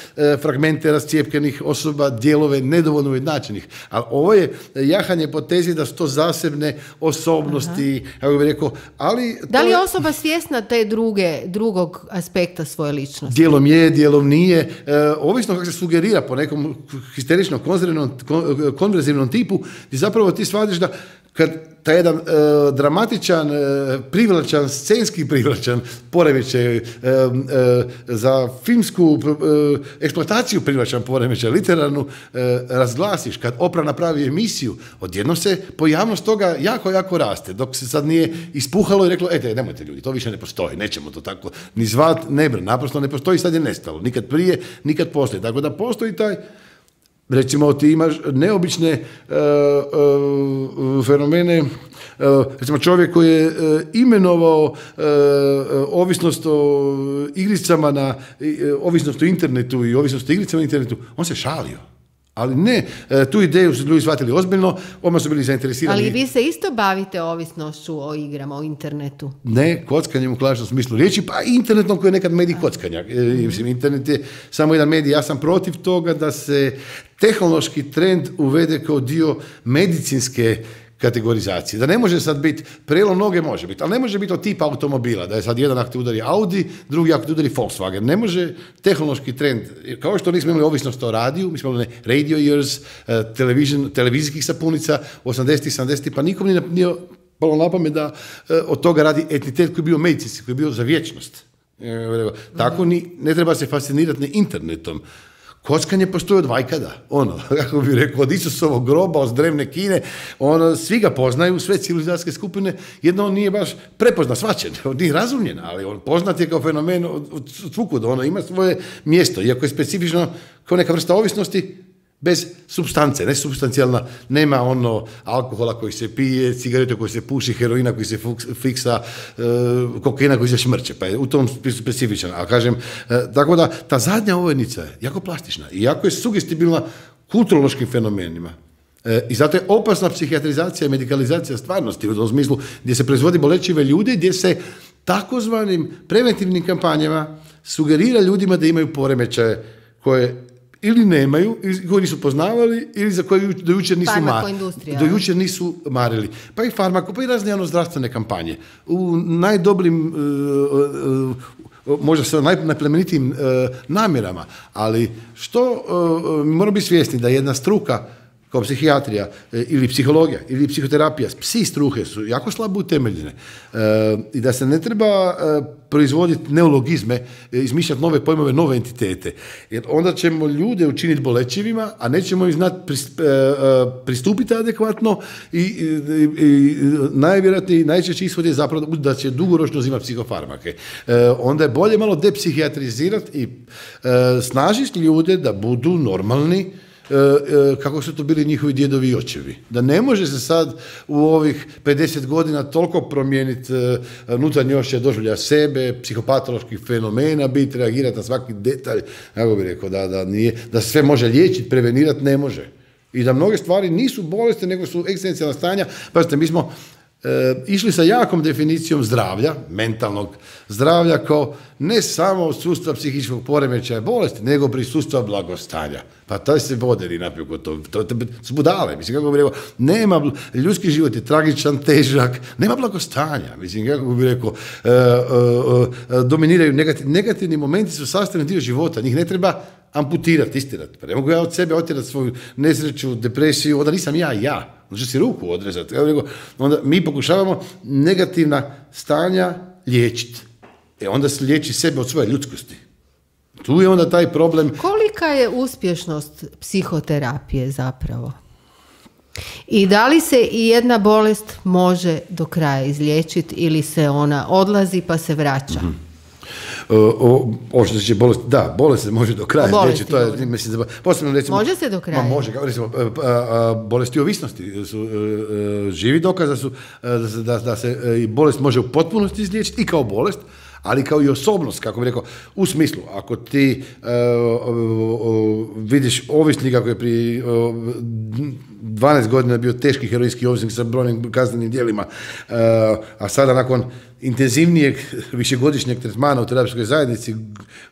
fragmente rascijepkanih osoba, dijelove nedovoljno ujednačenih. Ali ovo je jahanje po tezi da su to zasebne osobnosti, kako bih rekao, ali... Da li je osoba svjesna te druge, drugog aspekta svoje ličnosti? Dijelom je, dijelom nije. E, ovisno kako se sugerira po nekom histeričnom, konverzivnom tipu, gdje zapravo ti shvatiš da kad taj jedan e, dramatičan, e, privlačan, scenski privlačan poremećaj, e, e, za filmsku e, eksploataciju privlačan poremećaj, literarnu, e, razglasiš, kad Oprah napravi emisiju, odjednom se pojavnost toga jako, jako raste, dok se sad nije ispuhalo i reklo, ete, nemojte ljudi, to više ne postoji, nećemo to tako ni zvat, ne bre, naprosto ne postoji, sad je nestalo, nikad prije, nikad poslije, tako da postoji taj. Recimo, ti imaš neobične uh, uh, fenomene, uh, recimo čovjek koji je uh, imenovao uh, ovisnost o igricama na, uh, ovisnost o internetu i ovisnost o igricama na internetu, on se šalio. Ali ne, tu ideju su ljudi shvatili ozbiljno, odmah su bili zainteresirani. Ali vi se isto bavite ovisnošću o igrama, o internetu? Ne, kockanjem u klasičnom smislu riječi, pa i internetom koji je nekad medij kockanja. Mislim, internet je samo jedan medij. Ja sam protiv toga da se tehnološki trend uvede kao dio medicinske kategorizacije. Da ne može sad biti, prelom noge može biti, ali ne može biti od tipa automobila, da je sad jedan ako te udari Audi, drugi ako te udari Volkswagen. Ne može tehnološki trend, kao što nismo imali ovisnost o radiju, mi smo imali radio years, televizijskih sapunica, osamdesetih, sedamdesetih, pa nikom nije, nije palo na pamet da od toga radi entitet koji je bio medicinski, koji je bio za vječnost. Tako ni, ne treba se fascinirati ni internetom. Kockanje postoji od vajkada, ono, kako bih rekao, od Isusovog groba, od drevne Kine, ono, svi ga poznaju, sve civilizacijske skupine, jedno on nije baš prepozna, shvaćen, on nije razumljen, ali on poznat je kao fenomen od svukuda, ono ima svoje mjesto, iako je specifično kao neka vrsta ovisnosti, bez supstance, ne supstancijalna, nema ono alkohola koji se pije, cigarete koji se puši, heroina koji se fiksa, e, kokaina koji se šmrče, pa je u tom specifičan. A kažem, e, tako da ta zadnja ovojnica je jako plastična i jako je sugestibilna kulturološkim fenomenima. E, I zato je opasna psihijatrizacija i medikalizacija stvarnosti u tom smislu gdje se proizvodi bolečive ljude, gdje se takozvanim preventivnim kampanjama sugerira ljudima da imaju poremećaje koje ili nemaju, ili koji nisu poznavali, ili za koje do jučer nisu, Farmakoindustrija, do jučer nisu marili. Pa i farmako, pa i razne javno-zdravstvene kampanje. U najdobrim, uh, uh, možda sa najplemenitijim uh, namjerama, ali što uh, mi moramo biti svjesni da jedna struka kao psihijatrija ili psihologija ili psihoterapija, psi struke su jako slabo utemeljene e, i da se ne treba e, proizvoditi neologizme, e, izmišljati nove pojmove, nove entitete. Jer onda ćemo ljude učiniti bolečivima, a nećemo im znati prist, e, e, pristupiti adekvatno i, i, i najvjerojatniji, najčešći ishod je zapravo da će dugoročno uzimati psihofarmake. E, onda je bolje malo depsihijatrizirati i e, snažiti ljude da budu normalni, kako su to bili njihovi djedovi i očevi. Da ne može se sad u ovih pedeset godina toliko promijeniti unutarnji osjećaj doživljaja sebe, psihopatoloških fenomena, biti, reagirati na svaki detalj, kako bih rekao, da, da, nije, da se sve može liječiti, prevenirati, ne može. I da mnoge stvari nisu bolesti, nego su egzistencijalna stanja. Pazite, mi smo E, išli sa jakom definicijom zdravlja, mentalnog zdravlja, kao ne samo sustav psihičkog poremećaja bolesti, nego prisustva blagostanja. Pa taj se voderi napiju kod to, to, to su budale, mislim, kako bi rekao, nema, ljudski život je tragičan, težak, nema blagostanja, mislim, kako bi rekao, e, e, e, dominiraju negativ, negativni momenti su sastavni dio života, njih ne treba amputirati, istirati. Pa ne mogu ja od sebe otjerati svoju nesreću, depresiju, onda nisam ja, ja. Može si ruku odrezati. Onda mi pokušavamo negativna stanja liječiti. E onda se liječi sebe od svoje ljudskosti. Tu je onda taj problem. Kolika je uspješnost psihoterapije zapravo? I da li se i jedna bolest može do kraja izliječiti ili se ona odlazi pa se vraća? Mm-hmm. O, o što se bolest, da, bolest se može do kraja liječiti, to je, mislim, da, posebno recimo, može se do kraja? Ma može, recimo, bolesti ovisnosti su, živi dokaz da su, da, da se i bolest može u potpunosti izliječiti i kao bolest, ali kao i osobnost, kako bih rekao, u smislu, ako ti uh, uh, uh, vidiš ovisnika koji je prije uh, dvanaest godina bio teški heroinski ovisnik sa brojnim kaznenim djelima, uh, a sada nakon intenzivnijeg višegodišnjeg tretmana u terapijskoj zajednici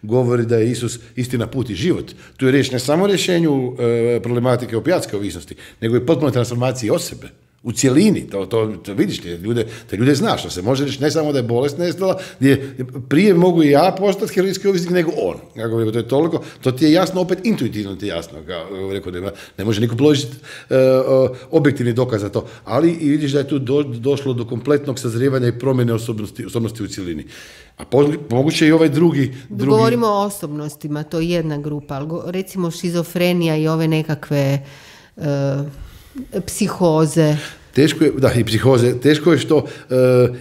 govori da je Isus istina, put i život. Tu je riječ ne samo o rješenju uh, problematike opijatske ovisnosti, nego i potpunoj transformaciji osobe. U cjelini, to, to, to vidiš, te ljude, te ljude znaš, što se može reći ne samo da je bolest nestala, gdje prije mogu i ja postati heroinski ovisnik nego on. Kako rekao, to je toliko, to ti je jasno, opet intuitivno ti je jasno, kako rekao, ne, ne može niko položiti uh, uh, objektivni dokaz za to, ali i vidiš da je tu do, došlo do kompletnog sazrijevanja i promjene osobnosti, osobnosti u cjelini. A moguće i ovaj drugi, drugi... Govorimo o osobnostima, to je jedna grupa, ali go, recimo šizofrenija i ove nekakve... Uh, psihoze. Teško je, da, i psihoze, teško je što, uh,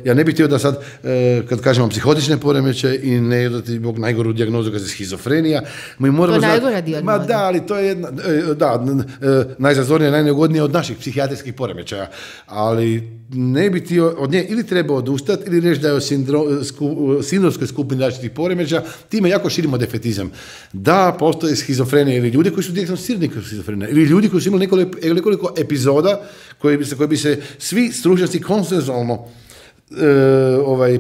ja ne bih htio da sad, uh, kad kažemo psihotične poremećaje i ne dati Bog najgoru dijagnozu kad je schizofrenija, mi moramo to je najgora dijagnoza. Ma da, ali to je jedna, uh, da, uh, najzazornija, najneugodnija od naših psihijatrijskih poremećaja, ali ne bi ti od nje ili treba odustati ili reći da je o sindro, sku, sindromskoj skupini različitih poremećaja, time jako širimo defetizam. Da, postoje schizofrenija ili ljudi koji su dijagnosticirani kao schizofrenija ili ljudi koji su imali nekoliko, nekoliko epizoda koji bi se, koji bi se svi stručnjaci konsenzualno e, ovaj, e,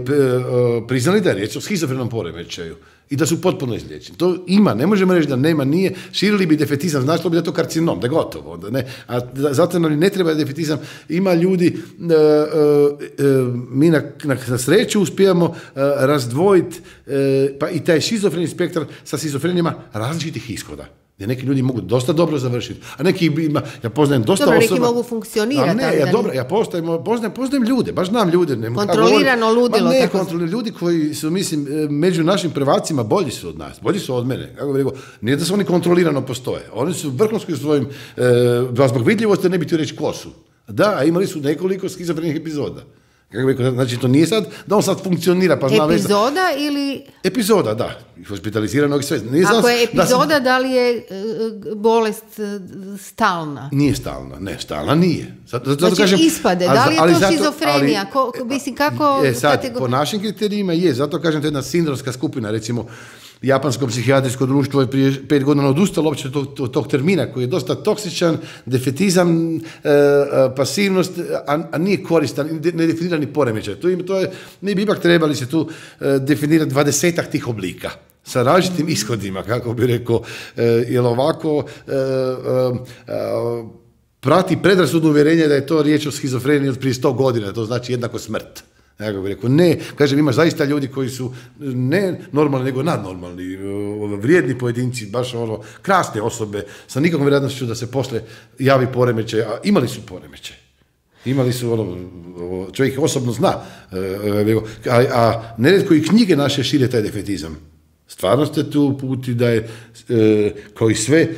priznali da je riječ o schizofrenom poremećaju i da su potpuno izliječeni. To ima, ne možemo reći da nema, nije, širili bi defetizam, značilo bi da je to karcinom, da je gotovo. Da ne, a da, zato nam ne treba defetizam. Ima ljudi, e, e, mi na, na, na sreću uspijemo e, razdvojiti e, pa i taj šizofreni spektar sa šizofrenijama različitih ishoda. Gdje neki ljudi mogu dosta dobro završiti, a neki ima, ja poznajem dosta dobro, osoba... Dobro, neki mogu funkcionirati. A ne, ja dobro, ja poznajem, poznajem, poznajem ljude, baš znam ljude. Ne, kontrolirano ludilo. Ne, kontrolirano ljudi koji su, mislim, među našim prvacima bolji su od nas, bolji su od mene. Kako bih rekao, nije da su oni kontrolirano postoje. Oni su vrhunski u svojim, e, zbog vidljivosti ne bi htio reći ko su. Da, imali su nekoliko schizofrenih epizoda. Kako bih rekao, znači to nije sad da on sad funkcionira pa zna već... Epizoda ili... Epizoda, da. Hospitaliziranog i sve. Nije Ako znam, je epizoda, da, sam... da li je uh, bolest uh, stalna? Nije stalna, ne, stalna nije. Zato, zato znači kažem, ispade, da li je ali to zato, šizofrenija? Ali, Ko, mislim, kako... E, sad, kategor... po našim kriterijima je, zato kažem, to je jedna sindromska skupina, recimo, Japansko psihijatrijsko društvo je prije pet godina odustalo uopće tog, tog, tog termina koji je dosta toksičan, defetizam, e, pasivnost, a, a nije koristan, nedefinirani poremećaj. To, to je, mi bi ipak trebali se tu e, definirati dvadesetak tih oblika. sa različitim ishodima, kako bi rekao, e, jer ovako e, e, e, prati predrasudno uvjerenje da je to riječ o schizofreniji od prije sto godina, to znači jednako smrt. Ja bih rekao, ne, kažem, ima zaista ljudi koji su ne normalni, nego nadnormalni, vrijedni pojedinci, baš ono, krasne osobe, sa nikakvom vjerojatnošću da se posle javi poremećaj, a imali su poremećaj. Imali su, ono, čovjek ih osobno zna, a, a neretko i knjige naše šire taj defetizam. Stvarno ste tu puti da je, kao i sve,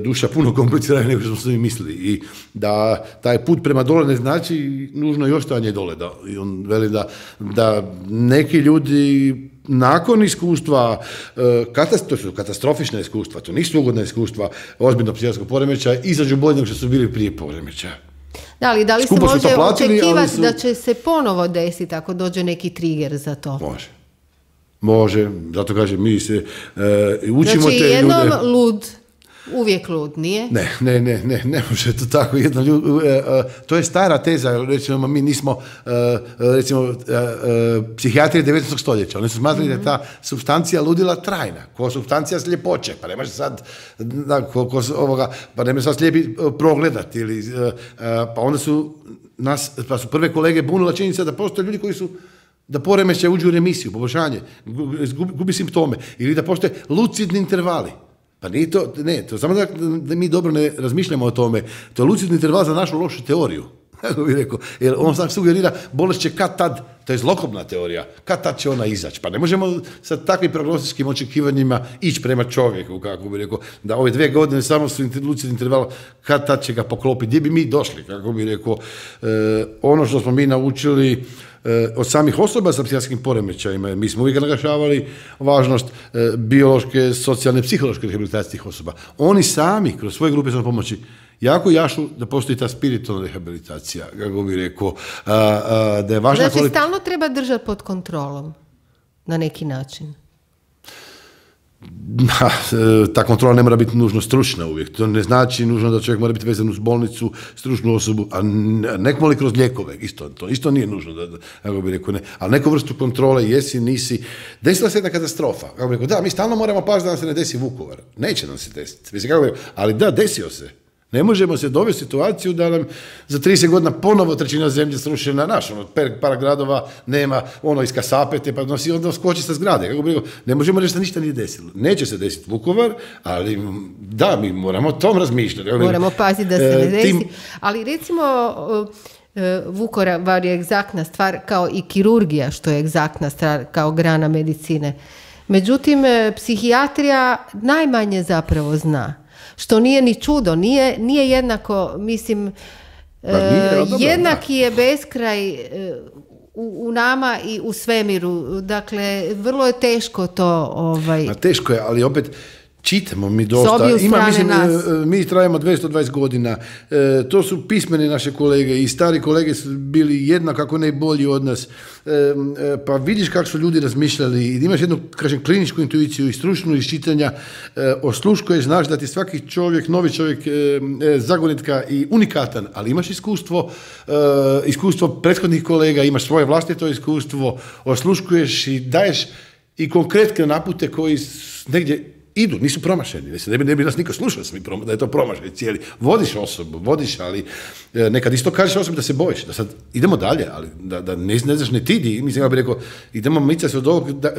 duša puno komplicirana nego što smo mi mislili i da taj put prema dole ne znači nužno i ostajanje dole. Da, i on veli da, da neki ljudi nakon iskustva, to su katastrofična iskustva, to nisu ugodna iskustva ozbiljnog psihijatrijskog poremećaja, izađu bolje nego što su bili prije poremećaja. Da, ali da li se može platili, očekivati su... da će se ponovo desiti ako dođe neki trigger za to? Može. Može, zato kažem, mi se uh, učimo znači, te ljude... Znači, jednom lud, uvijek lud, nije? Ne, ne, ne, ne, ne može to tako jedno ljud... Uh, uh, to je stara teza, recimo, mi nismo, uh, recimo, uh, uh, psihijatrije devetnaestog stoljeća, oni su smatrali mm-hmm. da je ta supstancija ludila trajna, ko supstancija sljepoće, pa ne može sad, da, ko, ko, ovoga, pa ne može sad slijepi progledati, ili, uh, uh, pa onda su nas, pa su prve kolege bunila činjenica da postoje ljudi koji su da poremećaj uđu u remisiju, poboljšanje, gubi, gubi simptome, ili da postoje lucidni intervali. Pa nije to, ne, to samo da, da mi dobro ne razmišljamo o tome, to je lucidni interval za našu lošu teoriju. Kako bih rekao, jer on sam sugerira, bolest će kad tad, to je zlokobna teorija, kad tad će ona izaći. Pa ne možemo sa takvim prognostičkim očekivanjima ići prema čovjeku, kako bih rekao, da ove dvije godine samo su lucidni interval, kad tad će ga poklopiti, gdje bi mi došli, kako bih rekao. E, ono što smo mi naučili od samih osoba sa psihijatrijskim poremećajima. Mi smo uvijek naglašavali važnost biološke, socijalne, psihološke rehabilitacije tih osoba. Oni sami, kroz svoje grupe samopomoći, jako jašu da postoji ta spiritualna rehabilitacija, kako bih rekao, a, a, da je važna... Znači, kvalit... stalno treba držati pod kontrolom, na neki način. Ta kontrola ne mora biti nužno stručna uvijek. To ne znači nužno da čovjek mora biti vezan uz bolnicu, stručnu osobu, a nekom li kroz lijekove. Isto, to isto nije nužno. Da, da, kako bi rekao, ne. Ali neku vrstu kontrole, jesi, nisi. Desila se jedna katastrofa. Kako bi rekao, da, mi stalno moramo paziti da nam se ne desi Vukovar. Neće nam se desiti. Mislim, kako bi rekao, ali da, desio se. Ne možemo se dovesti u situaciju da nam za trideset godina ponovo trećina zemlje srušena naš, ono, par gradova nema, ono, iz kasapete, pa nosi, onda skoči sa zgrade. Kako bi rekao, ne možemo reći da ništa nije desilo. Neće se desiti Vukovar, ali da, mi moramo o tom razmišljati. Moramo paziti da se ne desi. Tim... Ali recimo, Vukovar je egzaktna stvar kao i kirurgija, što je egzaktna stvar kao grana medicine. Međutim, psihijatrija najmanje zapravo zna. Što nije ni čudo, nije, nije jednako, mislim, nije, uh, jednaki je beskraj uh, u, u nama i u svemiru. Dakle, vrlo je teško to... Ovaj... Ma teško je, ali opet... Čitamo mi dosta, ima, mislim, nas. Mi trajamo dvjesto dvadeset godina, e, to su pismeni naše kolege i stari kolege su bili jednako kako ne bolji od nas, e, e, pa vidiš kako su ljudi razmišljali i imaš jednu, kažem, kliničku intuiciju i stručnu iščitanja, e, osluškuješ, znaš da ti svaki čovjek, novi čovjek, e, e, zagonetka i unikatan, ali imaš iskustvo, e, iskustvo prethodnih kolega, imaš svoje vlastito iskustvo, osluškuješ i daješ i konkretne napute koji negdje idu, nisu promašeni, ne bi, ne bi nas niko slušao da je to promašaj cijeli. Vodiš osobu, vodiš, ali nekad isto kažeš osobi da se bojiš, da sad idemo dalje, ali da, da ne, ne znaš ne ti di, mislim, ja bih rekao, idemo mica se od ovog, da,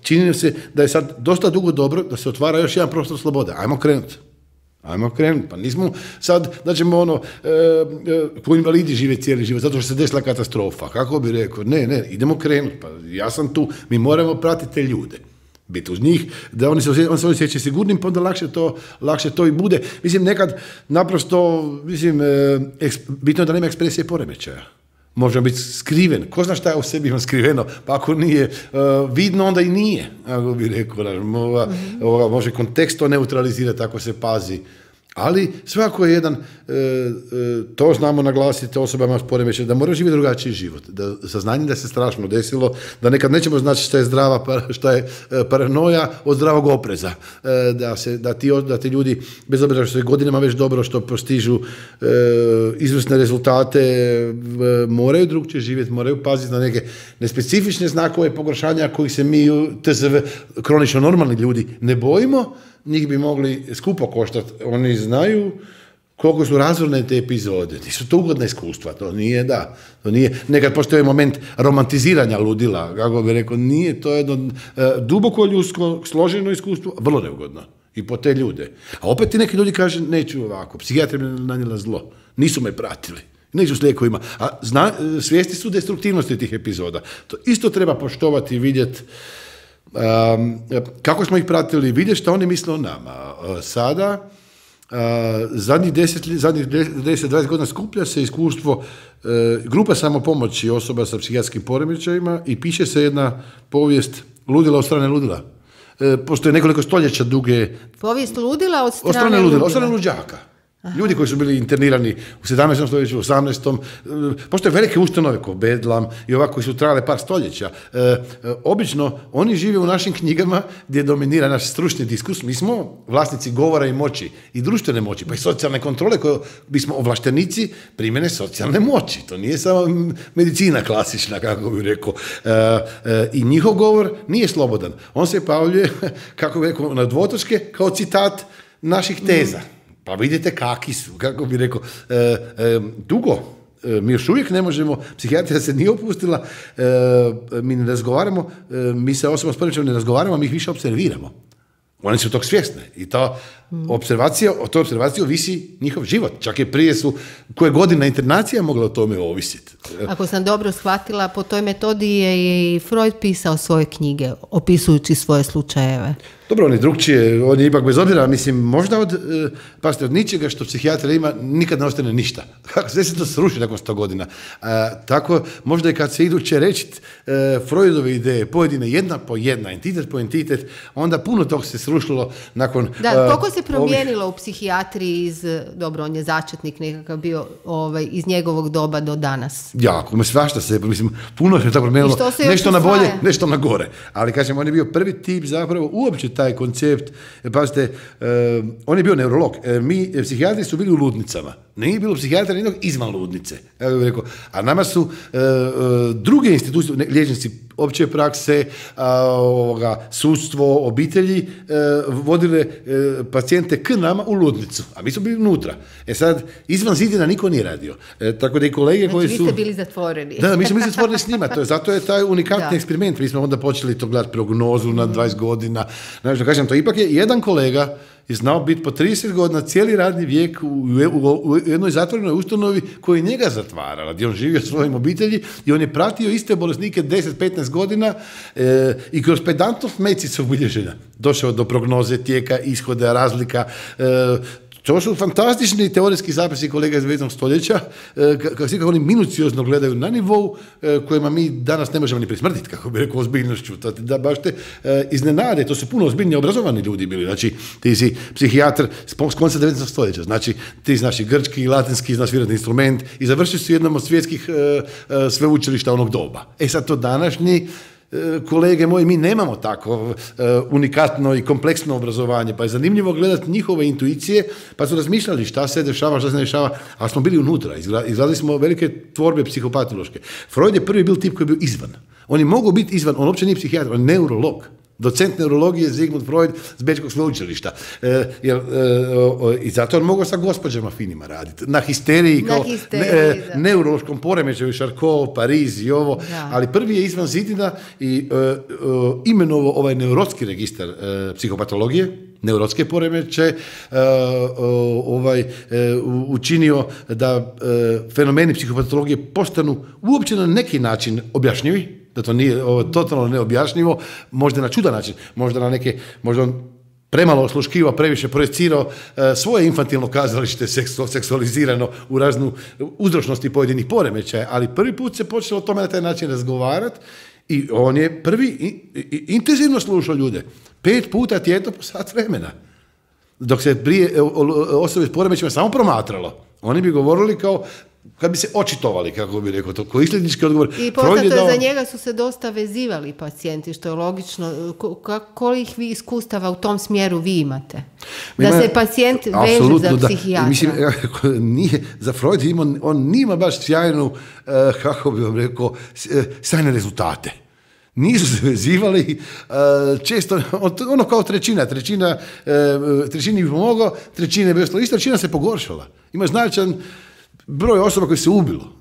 čini nam se da je sad dosta dugo dobro, da se otvara još jedan prostor slobode, ajmo krenuti. Ajmo krenuti, pa nismo sad da ćemo ono, e, e, ko invalidi žive cijeli život, zato što se desila katastrofa, kako bi rekao, ne, ne, idemo krenuti, pa ja sam tu, mi moramo pratiti te ljude. Biti uz njih, da oni se osjećaju, on se osjeća sigurnim, pa onda lakše to, lakše to i bude. Mislim, nekad naprosto, mislim, eks, bitno je da nema ekspresije poremećaja. Može biti skriven. Ko zna šta je u sebi ima skriveno? Pa ako nije uh, vidno, onda i nije. Ako bi rekao, ova, ova, može kontekst to neutralizirati ako se pazi. Ali svako je jedan, e, e, to znamo naglasiti osobama s poremećajem, da mora živjeti drugačiji život, da saznanje da se strašno desilo, da nekad nećemo znači šta je zdrava, šta je paranoja od zdravog opreza, e, da, se, da, ti, da ti ljudi, bez obzira što je godinama već dobro, što postižu e, izvrsne rezultate, e, moraju drugčije živjeti, moraju paziti na neke nespecifične znakove pogoršanja kojih se mi, T Z V, kronično normalni ljudi, ne bojimo. Njih bi mogli skupo koštati. Oni znaju koliko su razorne te epizode. Nisu to ugodna iskustva, to nije, da. To nije, nekad postoji moment romantiziranja ludila, kako bi rekao, nije, to jedno e, duboko ljudsko, složeno iskustvo, vrlo neugodno. I po te ljude. A opet ti neki ljudi kaže, neću ovako, psihijatri mi nanijela zlo, nisu me pratili. Neću s lijekovima. A zna, svijesti su destruktivnosti tih epizoda. To isto treba poštovati i vidjeti. Um, kako smo ih pratili, vidjeti što oni misle o nama. Uh, sada, uh, zadnjih deset, zadnjih deset dvadeset godina skuplja se iskustvo uh, grupa samopomoći osoba sa psihijatrskim poremećajima i piše se jedna povijest ludila od strane ludila. Uh, postoje nekoliko stoljeća duge... Povijest ludila od strane, od strane ludila. ludila. Od strane luđaka. Aha. Ljudi koji su bili internirani u sedamnaestom stoljeću, u osamnaestom Postoje velike ustanove kao Bedlam i ovako koji su trajale par stoljeća. E, e, obično oni žive u našim knjigama gdje dominira naš stručni diskus. Mi smo vlasnici govora i moći i društvene moći, pa i socijalne kontrole koje bismo ovlaštenici primjene socijalne moći. To nije samo medicina klasična, kako bih rekao. E, e, I njihov govor nije slobodan. On se pojavljuje, kako bih rekao, na dvotočke kao citat naših teza. Mm. Pa vidite kakvi su, kako bi rekao, e, e, dugo, e, mi još uvijek ne možemo, psihijatrija se nije opustila, e, mi ne razgovaramo, e, mi se osobama s poremećajem ne razgovaramo, mi ih više observiramo. Oni su tog svjesne i ta observacija, o toj observaciji ovisi njihov život. Čak i prije su koje godina internacija mogla o tome ovisiti. Ako sam dobro shvatila, po toj metodi je i Freud pisao svoje knjige, opisujući svoje slučajeve. Dobro, on je drugčije, on je ipak bez obzira, mislim, možda od, pazite, od ničega što psihijatrija ima, nikad ne ostane ništa. Sve se to sruši nakon sto godina. A, tako, možda i kad se iduće reći e, Freudove ideje, pojedine jedna po jedna, entitet po entitet, onda puno tog se srušilo nakon... Da, koliko se promijenilo ovih... u psihijatriji iz, dobro, on je začetnik nekakav bio, ovaj, iz njegovog doba do danas? Jako, me svašta se, mislim, puno se tako promijenilo, nešto na bolje, nešto na gore. Ali, kažem, on je bio prvi tip zapravo uopće taj koncept, pazite, uh, on je bio neurolog, uh, mi psihijatri su bili u ludnicama, nije bilo psihijatra nijednog izvan ludnice, ja bih rekao, a nama su uh, uh, druge institucije, ne, liječnici opće prakse, uh, ovoga, sudstvo, obitelji, uh, vodile uh, pacijente k nama u ludnicu, a mi smo bili unutra. E sad, izvan zidina niko nije radio, e, tako da i kolege znači, koji su... vi ste bili zatvoreni. Da, mi smo bili zatvoreni s njima, to je, zato je taj unikatni eksperiment, mi smo onda počeli to gledati prognozu na dvadeset godina, znači, kažem, to ipak je jedan kolega je znao biti po trideset godina cijeli radni vijek u, u, u jednoj zatvorenoj ustanovi koja je njega zatvarala, gdje on živio svojim obitelji i on je pratio iste bolesnike deset do petnaest godina e, i kroz pedantnost medicinskog bilježenja došao do prognoze tijeka, ishoda, razlika. E, To su fantastični teorijski zapisi kolega iz devetnaestog stoljeća, kako svi kako oni minuciozno gledaju na nivou kojima mi danas ne možemo ni prismrditi, kako bi rekao, ozbiljnošću. To, da baš te iznenade, to su puno ozbiljni obrazovani ljudi bili. Znači, ti si psihijatr s konca devetnaestog stoljeća, znači ti znaš i grčki i latinski, znaš svirati instrument i završio si jednom od svjetskih sveučilišta onog doba. E sad to današnji kolege moji, mi nemamo tako uh, unikatno i kompleksno obrazovanje, pa je zanimljivo gledati njihove intuicije, pa su razmišljali šta se dešava, šta se ne dešava, ali smo bili unutra, izgledali smo velike tvorbe psihopatološke. Freud je prvi bil tip koji je bio izvan. On je mogao biti izvan, on uopće nije psihijatar, on je neurolog. Docent neurologije Sigmund Freud s Bečkog sveučilišta. E, jer, e, o, I zato on mogao sa gospođama finima raditi. Na histeriji, na kao histeriji, ne, e, neurološkom poremećaju, Charcot, Pariz i ovo. Da. Ali prvi je izvan zidina i e, e, imenovo ovaj neurotski registar e, psihopatologije, neurotske poremeće, e, ovaj, e, učinio da e, fenomeni psihopatologije postanu uopće na neki način objašnjivi, da to nije ovo, totalno neobjašnjivo, možda na čudan način, možda na neke, možda on premalo osluškivao, previše projecirao e, svoje infantilno kazalište seksu, seksualizirano u raznu uzročnosti pojedinih poremećaja, ali prvi put se počelo o tome na taj način razgovarati i on je prvi i, i, intenzivno slušao ljude. Pet puta tjedno po sat vremena. dok se prije osobe s poremećajima samo promatralo. Oni bi govorili kao, kad bi se očitovali, kako bi rekao, to koji sljednički odgovor. I poznato je, dao... za njega su se dosta vezivali pacijenti, što je logično. Koliko vi iskustava u tom smjeru vi imate? Da Ima, se pacijent veže za psihijatra. Mislim, nije, za Freud ima, on nima baš sjajnu, uh, kako bi vam rekao, sjajne rezultate. Nisu se vezivali, uh, često, ono kao trećina, trećina, uh, trećini bi pomogao, trećine bez toga, ista trećina se pogoršala. Ima značajan broj osoba koji se ubilo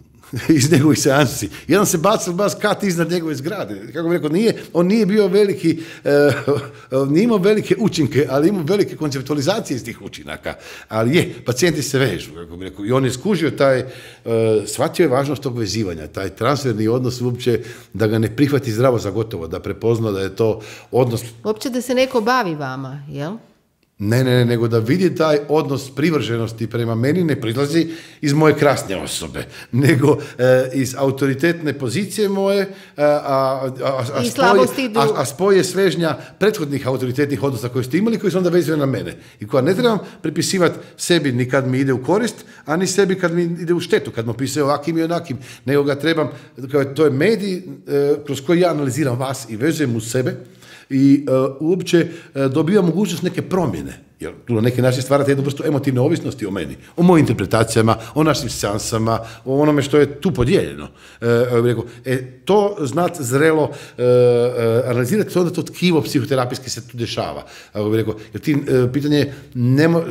iz njegovih seansi. Jedan se bacil bas kat iznad njegove zgrade. Kako bih rekao, nije, on nije bio veliki, uh, nije imao velike učinke, ali imao velike konceptualizacije iz tih učinaka. Ali je, pacijenti se vežu, kako bih rekao. I on je skužio taj, uh, shvatio je važnost tog vezivanja, taj transferni odnos uopće, da ga ne prihvati zdravo za gotovo, da prepozna da je to odnos... Uopće da se neko bavi vama, jel? Ne, ne, ne, nego da vidi taj odnos privrženosti prema meni ne prilazi iz moje krasne osobe, nego e, iz autoritetne pozicije moje, a, a, a, a, spoj, a, a spoj je svežnja prethodnih autoritetnih odnosa koje ste imali, koji su onda vezuje na mene. I koja ne trebam pripisivati sebi ni kad mi ide u korist, a ni sebi kad mi ide u štetu, kad mu pisuje ovakim i onakim, nego ga trebam, to je medij e, kroz koji ja analiziram vas i vezujem u sebe, i uh, uopće uh, dobija mogućnost neke promjene, jer tu na neki način stvarate jednu vrstu emotivne ovisnosti o meni, o mojim interpretacijama, o našim seansama, o onome što je tu podijeljeno. Uh, rekao, e, to znat zrelo uh, uh, analizirati, onda to tkivo psihoterapijski se tu dešava. Uh, rekao, jer ti, uh, pitanje je, nema, uh,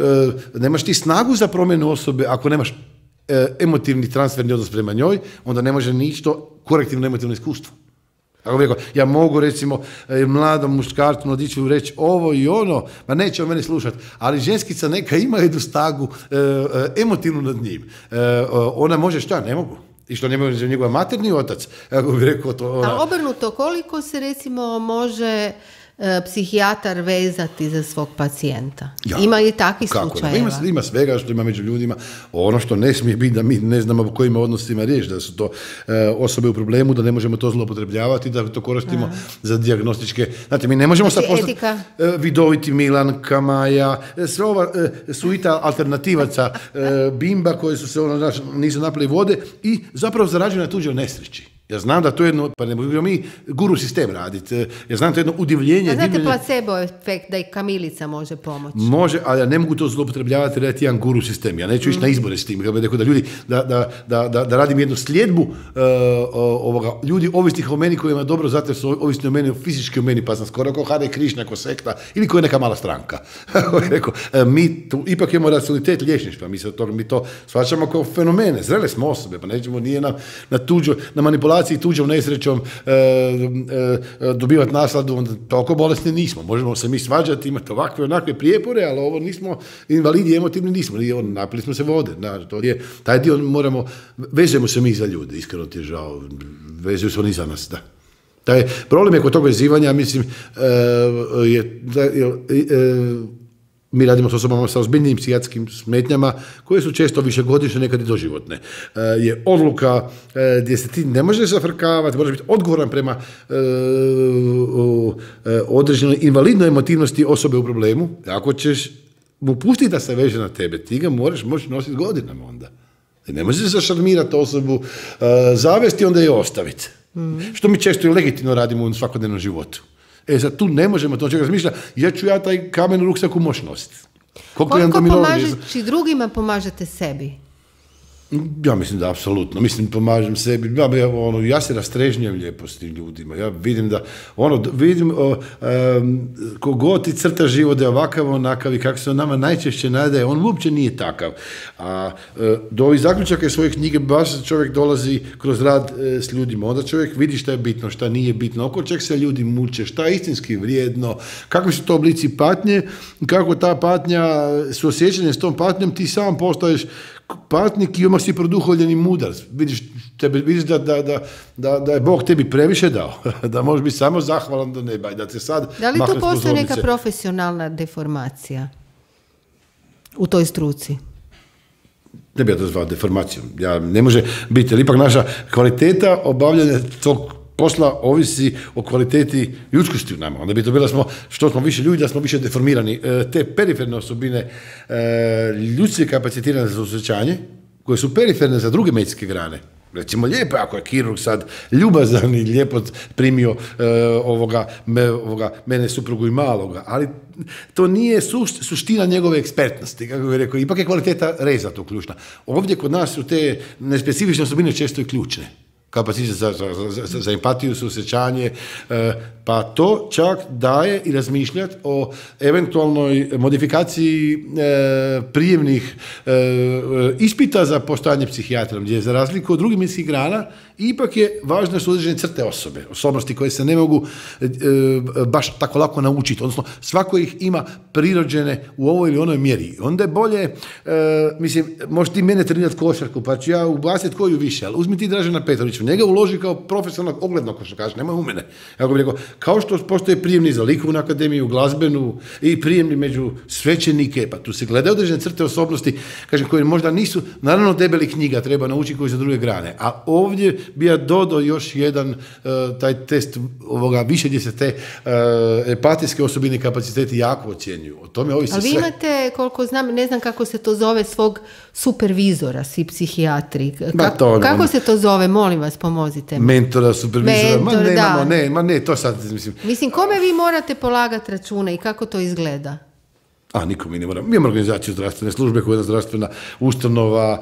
nemaš ti snagu za promjenu osobe ako nemaš uh, emotivni transferni odnos prema njoj, onda ne može ništa korektivno emotivno iskustvo. Ako bih rekao, ja mogu recimo mladom muškarcu mladiću reći ovo i ono, ma neće o meni slušati, ali ženskica neka ima jednu snagu e, emotivnu nad njim. E, ona može šta? Ne mogu. I što ne može njegov materni otac. Ako bih rekao to... Ona... A obrnuto, koliko se recimo može e, psihijatar vezati za svog pacijenta? Ja. Ima li takvih slučajeva? Ima, ima svega što ima među ljudima. Ono što ne smije biti da mi ne znamo o kojim odnosima riječ, da su to e, osobe u problemu, da ne možemo to zloupotrebljavati, da to koristimo A. za dijagnostičke... Znate, mi ne možemo sad postati e, vidoviti Milan, Kamaja, e, sve ova e, suita alternativaca, e, bimba koje su se ono, naš, nisu napili vode i zapravo zarađuju na tuđoj nesreći. Ja znam da to je jedno, pa ne možemo mi guru sistem raditi, ja znam to je jedno udivljenje. A znate divljenje, placebo efekt da i kamilica može pomoći? Može, ali ja ne mogu to zloupotrebljavati raditi jedan guru sistem. Ja neću ići mm. na izbore s tim, da ljudi, da, da, da, da, da radim jednu sljedbu uh, ovoga, ljudi ovisnih o meni kojima dobro zato su ovisni o meni, fizički o meni, pa sam skoro kao Hare Krišna, kao sekta, ili koja je neka mala stranka. Rekao, mi tu ipak imamo racionalitet liječništva, mi, to, mi to shvaćamo kao fenomene, zrele smo osobe, pa nećemo nije na, na tuđo, na manipulaciju i tuđom nesrećom e, e, dobivati nasladu, onda toliko bolesni nismo. Možemo se mi svađati, imati ovakve onakve prijepore, ali ovo nismo invalidi, emotivni nismo. Napili smo se vode. Na, to je, taj dio moramo, vežemo se mi za ljude, iskreno ti je žao. Vežemo se oni za nas, da. Taj problem je kod tog vezivanja, mislim, e, je, da, je e, mi radimo s osobama sa ozbiljnim psihijatrijskim smetnjama, koje su često višegodišnje, nekad i doživotne. E, je odluka e, gdje se ti ne možeš zafrkavati, moraš biti odgovoran prema e, o, e, određenoj invalidnoj emotivnosti osobe u problemu. Ako ćeš mu pustiti da se veže na tebe, ti ga moraš moći nositi godinama onda. I ne možeš zašarmirati osobu, e, zavesti, onda je ostaviti. Mm-hmm. Što mi često i legitimno radimo u svakodnevnom životu. E, sad tu ne možemo to čega razmišljati, ja ću ja taj kamen u ruksaku moći nositi. Koliko, Koliko pomažeći drugima, pomažete sebi? Ja mislim da apsolutno, mislim pomažem sebi, ja, ono, ja se rastrežnjam lijepo s tim ljudima, ja vidim da, ono, vidim o, um, kogod ti crta život da je ovakav, onakav i kako se on nama najčešće nadaje, on uopće nije takav. A e, do ovih zaključaka svoje knjige baš čovjek dolazi kroz rad e, s ljudima, onda čovjek vidi šta je bitno, šta nije bitno, oko čeg se ljudi muče, šta je istinski vrijedno, kakvi su to oblici patnje, kako ta patnja, suosjećanje s tom patnjom, ti sam postaješ patnik i odmah si produhovljen i mudar. Vidiš, tebe, vidiš da, da, da, da, da je Bog tebi previše dao, da možeš biti samo zahvalan do neba i da te sad... Da li tu postoji neka profesionalna deformacija u toj struci? Ne bi ja to zvao deformacijom. Ja, ne može biti, ali ipak naša kvaliteta obavljanja tog posla ovisi o kvaliteti ljudskosti u nama. Onda bi to bilo smo, što smo više ljudi, da smo više deformirani. Te periferne osobine, ljudske kapacitirane za osjećanje, koje su periferne za druge medicinske grane. Recimo, lijepo, ako je kirurg sad ljubazan i lijepo primio e, ovoga, me, ovoga, mene suprugu i maloga, ali to nije suš, suština njegove ekspertnosti, kako bih rekao, ipak je kvaliteta reza tu ključna. Ovdje kod nas su te nespecifične osobine često i ključne. Kapacitet za, za, za, za empatiju, suosjećanje, e, pa to čak daje i razmišljati o eventualnoj modifikaciji e, prijemnih e, ispita za postajanje psihijatrom, gdje za razliku od drugih medicinskih grana ipak je važno su određene crte osobe, osobnosti koje se ne mogu e, baš tako lako naučiti, odnosno svako ih ima prirođene u ovoj ili onoj mjeri. Onda je bolje, e, mislim, možeš ti mene trenirati košarku, pa ću ja ubaciti koju više, ali uzmi ti Dražena Petrovića, njega uloži kao profesionalnog oglednog košarkaša, nema u mene. Ja bih rekao, kao što postoje prijemni za likovnu akademiju, glazbenu i prijemni među svećenike, pa tu se gledaju određene crte osobnosti, kažem, koje možda nisu, naravno debeli knjiga treba naučiti koji za druge grane, a ovdje bi ja dodao još jedan uh, taj test ovoga više gdje se te uh, empatijske osobine i kapaciteti jako ocjenjuju. O tome ovisi sve. Ali vi imate, koliko znam, ne znam kako se to zove, svog supervizora, svi psihijatri. Ka- to, kako on, se to zove, molim vas, pomozite mi. Mentora, supervizora, Mentor, ma ne, da. imamo, ne, ma ne, to sad, mislim. Mislim, kome vi morate polagati račune i kako to izgleda? A, niko mi ne mora. Mi imamo organizaciju zdravstvene službe koja je zdravstvena ustanova,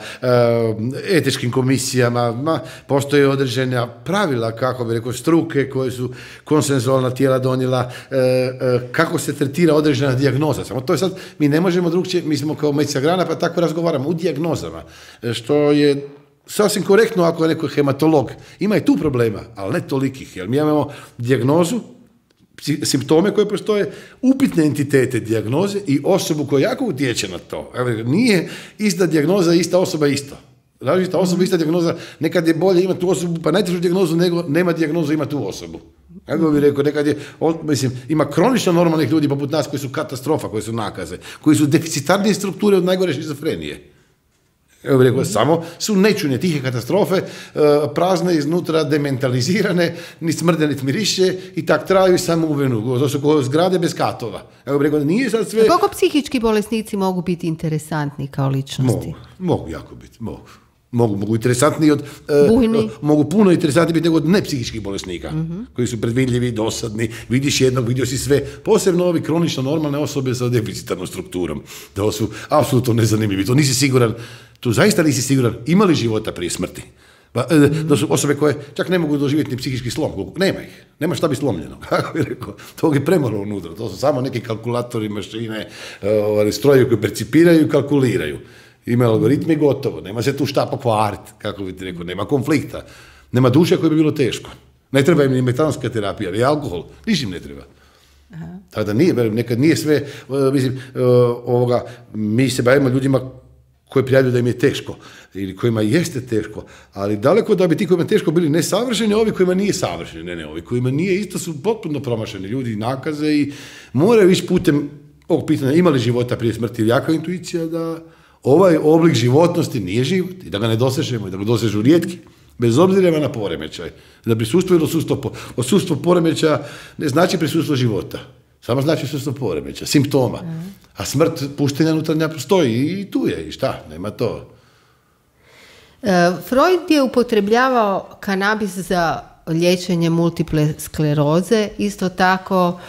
etičkim komisijama, ma, postoje određena pravila, kako bi rekao, struke koje su konsenzualna tijela donijela, kako se tretira određena dijagnoza. Samo to je sad, mi ne možemo drugčije, mi smo kao medicinska grana, pa tako razgovaramo u dijagnozama, što je sasvim korektno ako je neko hematolog. Ima i tu problema, ali ne tolikih, jer mi imamo dijagnozu, simptome koje postoje, upitne entitete dijagnoze i osobu koja jako utječe na to. Nije ista dijagnoza, ista osoba isto. Različita osoba, ista dijagnoza, nekad je bolje imati tu osobu, pa najtežu dijagnozu nego nema dijagnozu, ima tu osobu. Kako bih rekao, nekad je, mislim, ima kronično normalnih ljudi poput nas koji su katastrofa, koji su nakaze, koji su deficitarnije strukture od najgore šizofrenije. Evo bih rekao, samo su nečune tihe katastrofe, prazne iznutra, dementalizirane, ni smrde, ni miriše i tak traju samo u venu. To su kao zgrade bez katova. Evo bih rekao, nije sad sve... Koliko psihički bolesnici mogu biti interesantni kao ličnosti? Mogu, mogu jako biti, mogu. Mogu, mogu interesantniji od... Bujni. Uh, mogu puno interesantniji biti nego od nepsihičkih bolesnika, mm-hmm. koji su predvidljivi, dosadni, vidiš jednog, vidio si sve. Posebno ovi kronično normalne osobe sa deficitarnom strukturom. To su apsolutno nezanimljivi. To nisi siguran, tu zaista nisi siguran ima li života prije smrti. Pa, mm-hmm. To su osobe koje čak ne mogu doživjeti ni psihički slom. Nema ih. Nema šta bi slomljeno. Kako bih rekao, to je premalo unutra. To su samo neki kalkulatori, mašine, uh, strojevi koji percipiraju i kalkuliraju. Ima algoritmi gotovo, nema se tu šta pokvariti, kako bi ti rekao, nema konflikta, nema duše koje bi bilo teško. Ne treba im ni metanska terapija, ni alkohol, niš im ne treba. Aha. Tako da nije, nekad nije sve, mislim, ovoga, mi se bavimo ljudima koji prijavljuju da im je teško, ili kojima jeste teško, ali daleko da bi ti kojima teško bili nesavršeni, ovi kojima nije savršeni, ne, ne, ovi kojima nije isto su potpuno promašeni ljudi, nakaze i moraju ići putem ovog pitanja, ima li života prije smrti, ili jaka intuicija da ovaj oblik životnosti nije život i da ga ne dosežemo i da ga dosežu rijetki, bez obzira na poremećaj. Da prisustvo ili odsustvo, odsustvo poremećaja ne znači prisustvo života, samo znači odsustvo poremećaja, simptoma. A smrt puštenja unutarnja postoji i tu je, i šta, nema to. E, Freud je upotrebljavao kanabis za liječenje multiple skleroze, isto tako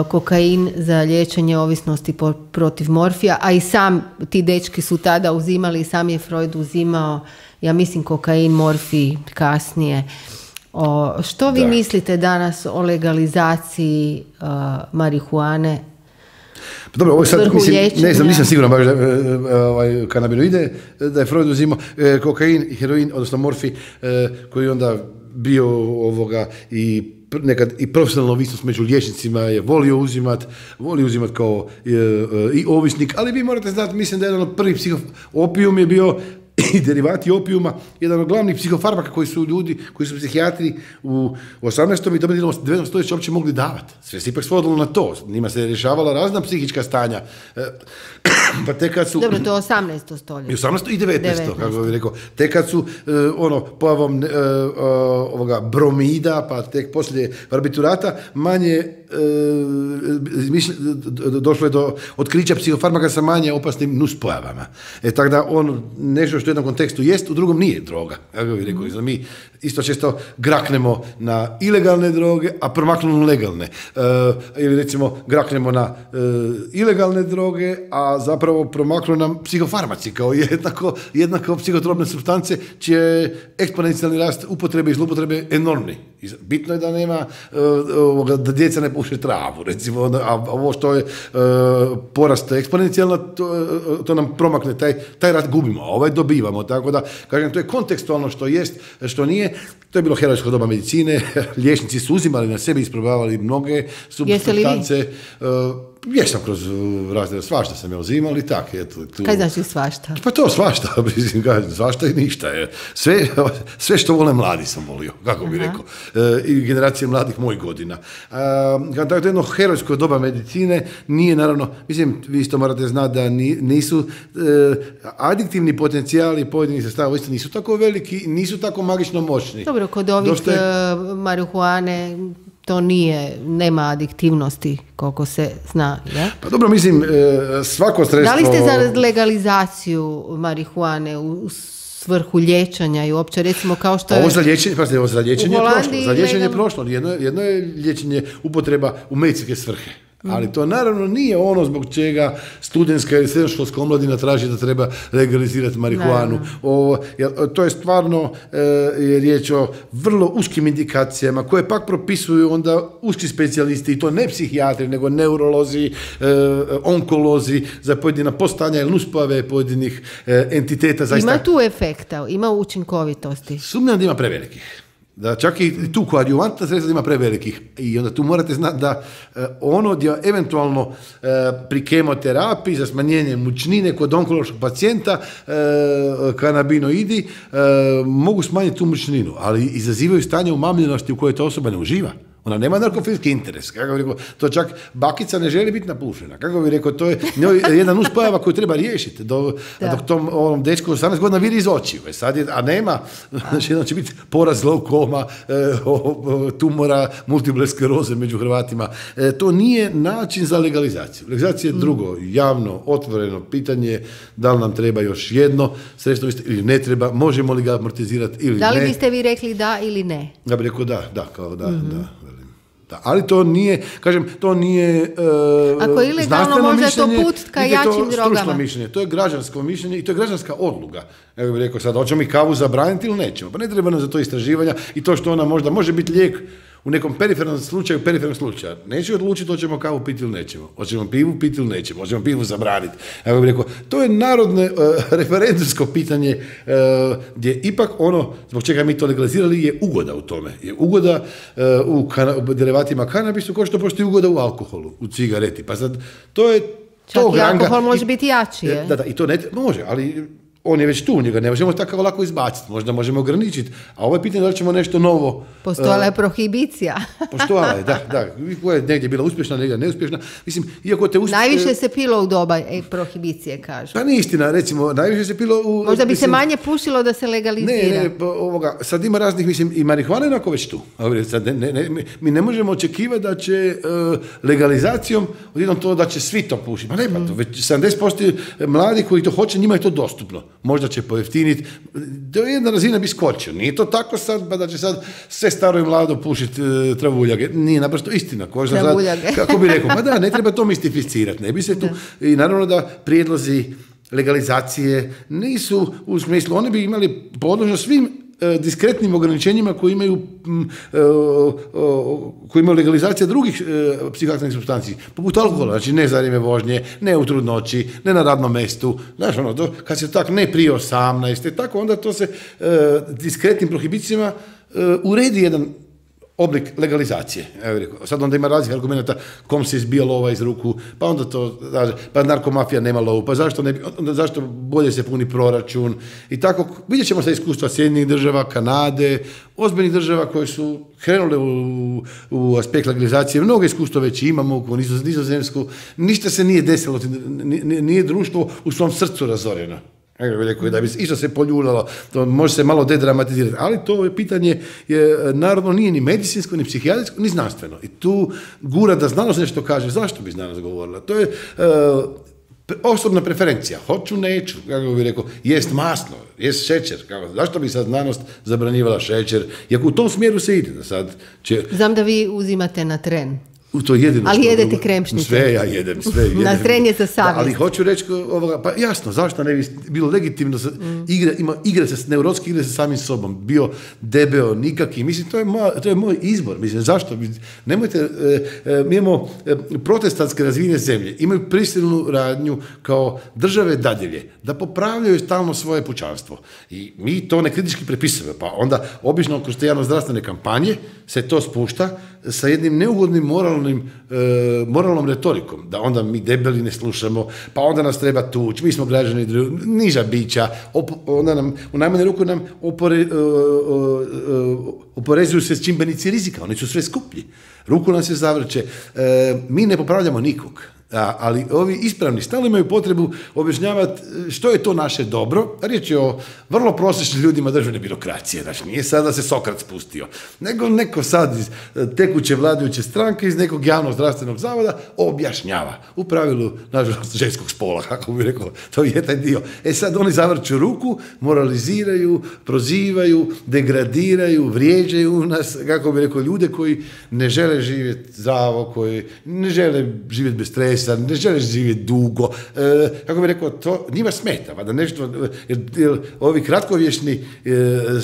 kokain za liječenje ovisnosti po, protiv morfija, a i sam ti dečki su tada uzimali i sam je Freud uzimao, ja mislim, kokain, morfij kasnije. O, što vi da. mislite danas o legalizaciji uh, marihuane? Pa dobro, ovo sad, mislim, ne znam, nisam siguran baš da ovaj, kanabinoide, da je Freud uzimao eh, kokain, heroin, odnosno morfij, eh, koji onda bio ovoga i nekad i profesionalna ovisnost među liječnicima je volio uzimat, volio uzimat kao e, e, i ovisnik, ali vi morate znati, mislim da je jedan od prvih psiho... Opijum je bio i derivati opijuma, jedan od glavnih psihofarmaka koji su ljudi, koji su psihijatri u osamnaestom i devetom stoljeću uopće mogli davati. Sve se ipak svodilo na to. Njima se rješavala razna psihička stanja. Pa te kad su... Dobro, to je osamnaesto stoljeće. I osamnaesto i devetnaesto, kako bih rekao. Te kad su, ono, pojavom ovoga bromida, pa tek poslije barbiturata, manje došlo je do otkrića psihofarmaka sa manje opasnim nuspojavama. E, tako da on nešto što u jednom kontekstu jest, u drugom nije droga. Kako bih rekao, mm. mi isto često graknemo na ilegalne droge, a promaknemo na legalne. E, ili recimo graknemo na e, ilegalne droge, a zapravo promaknu nam psihofarmaci kao jednako, jednako psihotropne supstance, čije eksponencijalni rast upotrebe i zloupotrebe enormni. Bitno je da nema, e, da djeca ne puše travu, recimo, a ovo što je e, porast eksponencijalno, to, to nam promakne, taj, taj rast gubimo, a ovaj dobivamo, tako da, kažem, to je kontekstualno što jest, što nije. To je bilo herojsko doba medicine, liječnici su uzimali na sebi, isprobavali mnoge supstance. Jesam kroz razne, svašta sam ja uzimao i tak. Eto, tu... Kaj znači svašta? Pa to svašta, svašta i ništa. Sve, sve što vole mladi sam volio, kako bi rekao. I generacije mladih mojih godina. Kada je jedno herojsko doba medicine, nije naravno, mislim, vi isto morate znati da nisu adiktivni potencijali pojedinih sredstava uistinu nisu tako veliki, nisu tako magično moćni. Dobro, kod ovih Došte... marihuane to nije, nema adiktivnosti koliko se zna, ja? Pa dobro, mislim, svako sredstvo... Da li ste za legalizaciju marihuane u svrhu liječenja i uopće, recimo, kao što je... Ovo za liječenje, pa ovo za liječenje je prošlo. Za liječenje je prošlo. Jedno, jedno je liječenje upotreba u medicinske svrhe. Ali to naravno nije ono zbog čega studentska ili srednjoškolska omladina traži da treba legalizirati marihuanu. O, to je stvarno e, je riječ o vrlo uskim indikacijama koje pak propisuju onda uski specijalisti, i to ne psihijatri, nego neurolozi, e, onkolozi za pojedina postanja ili nuspojave pojedinih e, entiteta. Zaista... Ima tu efekta, ima učinkovitosti? Sumnjam da ima prevelikih. Da čak i tu koadjuvantna sredstva ima prevelikih. I onda tu morate znati da eh, ono gdje eventualno eh, pri kemoterapiji za smanjenje mučnine kod onkološkog pacijenta eh, kanabinoidi eh, mogu smanjiti tu mučninu, ali izazivaju stanje umamljenosti u kojoj ta osoba ne uživa. Ona nema narkofilski interes. Kako bi rekao, to čak bakica ne želi biti napušena. Kako bi rekao, to je jedna nuspojava koju treba riješiti. Do, dok tom ovom dečku osamnaest godina vidi iz očiju. Sad je, a nema, znači jedno će biti poraz glaukoma, e, tumora, multiple skleroze među Hrvatima. E, to nije način za legalizaciju. Legalizacija je drugo, javno, otvoreno pitanje, da li nam treba još jedno sredstvo ili ne treba, možemo li ga amortizirati ili ne. Da li ne. Biste vi rekli da ili ne? Ja bih rekao da, da, kao da, mm-hmm. da. Da, ali to nije, kažem, to nije uh, ako je ilegalno, možda je to put ka jačim drogama. Mišljenje. To je građansko mišljenje i to je građanska odluka. Ja bih rekao sad, hoćemo mi kavu zabraniti ili nećemo? Pa ne treba nam za to istraživanja i to što ona možda može biti lijek u nekom perifernom slučaju, perifernog slučaja. Neće odlučiti hoćemo kavu piti ili nećemo. Hoćemo pivu piti ili nećemo. Hoćemo pivu zabraniti. Ja bih rekao, to je narodno uh, referendumsko pitanje uh, gdje ipak ono zbog čega mi to legalizirali je ugoda u tome. Je ugoda uh, u, kana, u derivatima kanabisu kao što postoji ugoda u alkoholu, u cigareti. Pa sad, to je čak to i ranga, alkohol može i, biti jači, je? Da, da, i to ne, može, ali on je već tu, njega ne možemo tako lako izbaciti, možda možemo ograničiti, a ovo je pitanje da li ćemo nešto novo... Postojala je uh, prohibicija. Postojala je, da, da, koja je negdje bila uspješna, negdje neuspješna. Mislim, iako te uspješna... Najviše se pilo u doba e, prohibicije, kažu. Pa nije istina, recimo, najviše se pilo u... Možda bi mislim, se manje pušilo da se legalizira. Ne, ne, pa, ovoga, sad ima raznih, mislim, i marihuana je onako već tu. Sad, ne, ne, ne, mi ne možemo očekivati da će uh, legalizacijom odjednom to da će svi to pušiti. Pa ne, pa to već sedamdeset posto mladih koji to hoće, njima je to dostupno. Možda će pojeftiniti, do jedna razina bi skočio. Nije to tako sad, pa da će sad sve staro i mlado pušiti uh, travuljage. Nije naprosto istina. Travuljage. Sad, kako bi rekao, pa da, ne treba to mistificirati. Ne bi se tu, da. I naravno da prijedlozi legalizacije nisu u smislu, oni bi imali podložno svim diskretnim ograničenjima koji imaju, koji imaju legalizacija drugih psihoaktivnih supstanci, poput alkohola, znači ne za vrijeme vožnje, ne u trudnoći, ne na radnom mjestu, znaš ono, to, kad se tak ne prije osamnaeste, tako onda to se diskretnim prohibicijama uredi jedan oblik legalizacije. Evo rekao, sad onda ima raznih argumenta kom se izbija lova iz ruku, pa onda to, pa narkomafija nema lovu, pa zašto, ne, onda zašto bolje se puni proračun i tako. Vidjet ćemo sa iskustva Sjedinjenih država, Kanade, ozbiljnih država koje su krenule u, u aspekt legalizacije. Mnogo iskustva već imamo u Nizozemsku. Ništa se nije desilo, nije društvo u svom srcu razoreno. Rekao, da bi isto se poljuljalo, to može se malo dedramatizirati, ali to je pitanje je, naravno, nije ni medicinsko, ni psihijatrijsko, ni znanstveno. I tu gura da znanost nešto kaže, zašto bi znanost govorila? To je uh, osobna preferencija, hoću, neću, kako bih rekao, jest masno, jest šećer, kako, zašto bi sad znanost zabranjivala šećer, iako u tom smjeru se ide. Da sad će... Znam da vi uzimate na tren. U to jedino ali što, jedete kremšnice. Sve ja jedem, sve jedem. Na tren je za savjest. Ali hoću reći, ovoga, pa jasno, zašto ne bi bilo legitimno, mm. igre, ima igre se, neurotski igre sa samim sobom, bio debeo, nikaki, mislim, to je, moj, to je moj izbor, mislim, zašto? Nemojte, e, e, mi imamo e, protestantske razvijene zemlje, imaju prisilnu radnju kao države dadilje, da popravljaju stalno svoje pučanstvo. I mi to ne kritički prepisujemo, pa onda obično kroz te javno-zdravstvene kampanje se to spušta sa jednim neugodnim moralnim, e, moralnom retorikom, da onda mi debeli ne slušamo, pa onda nas treba tući, mi smo građani niža bića, op, onda nam, u najmanju ruku nam opore, e, e, oporezuju se čimbenici rizika, oni su sve skuplji, ruku nam se zavrće, e, mi ne popravljamo nikog. A, ali ovi ispravni stalno imaju potrebu objašnjavati što je to naše dobro. Riječ je o vrlo prosječnim ljudima državne birokracije. Znači, nije sad da se Sokrat spustio, nego neko sad iz tekuće vladajuće stranke, iz nekog javnog zdravstvenog zavoda objašnjava. U pravilu, nažalost, ženskog spola, kako bih rekao, to je taj dio. E sad oni zavrću ruku, moraliziraju, prozivaju, degradiraju, vrijeđaju nas, kako bih rekao, ljude koji ne žele živjeti zdravo, koji ne žele živjeti bez stresa, ne želiš živjeti dugo, e, kako bih rekao, to njima smeta, pa da nešto, jer, jer ovi kratkovječni, e,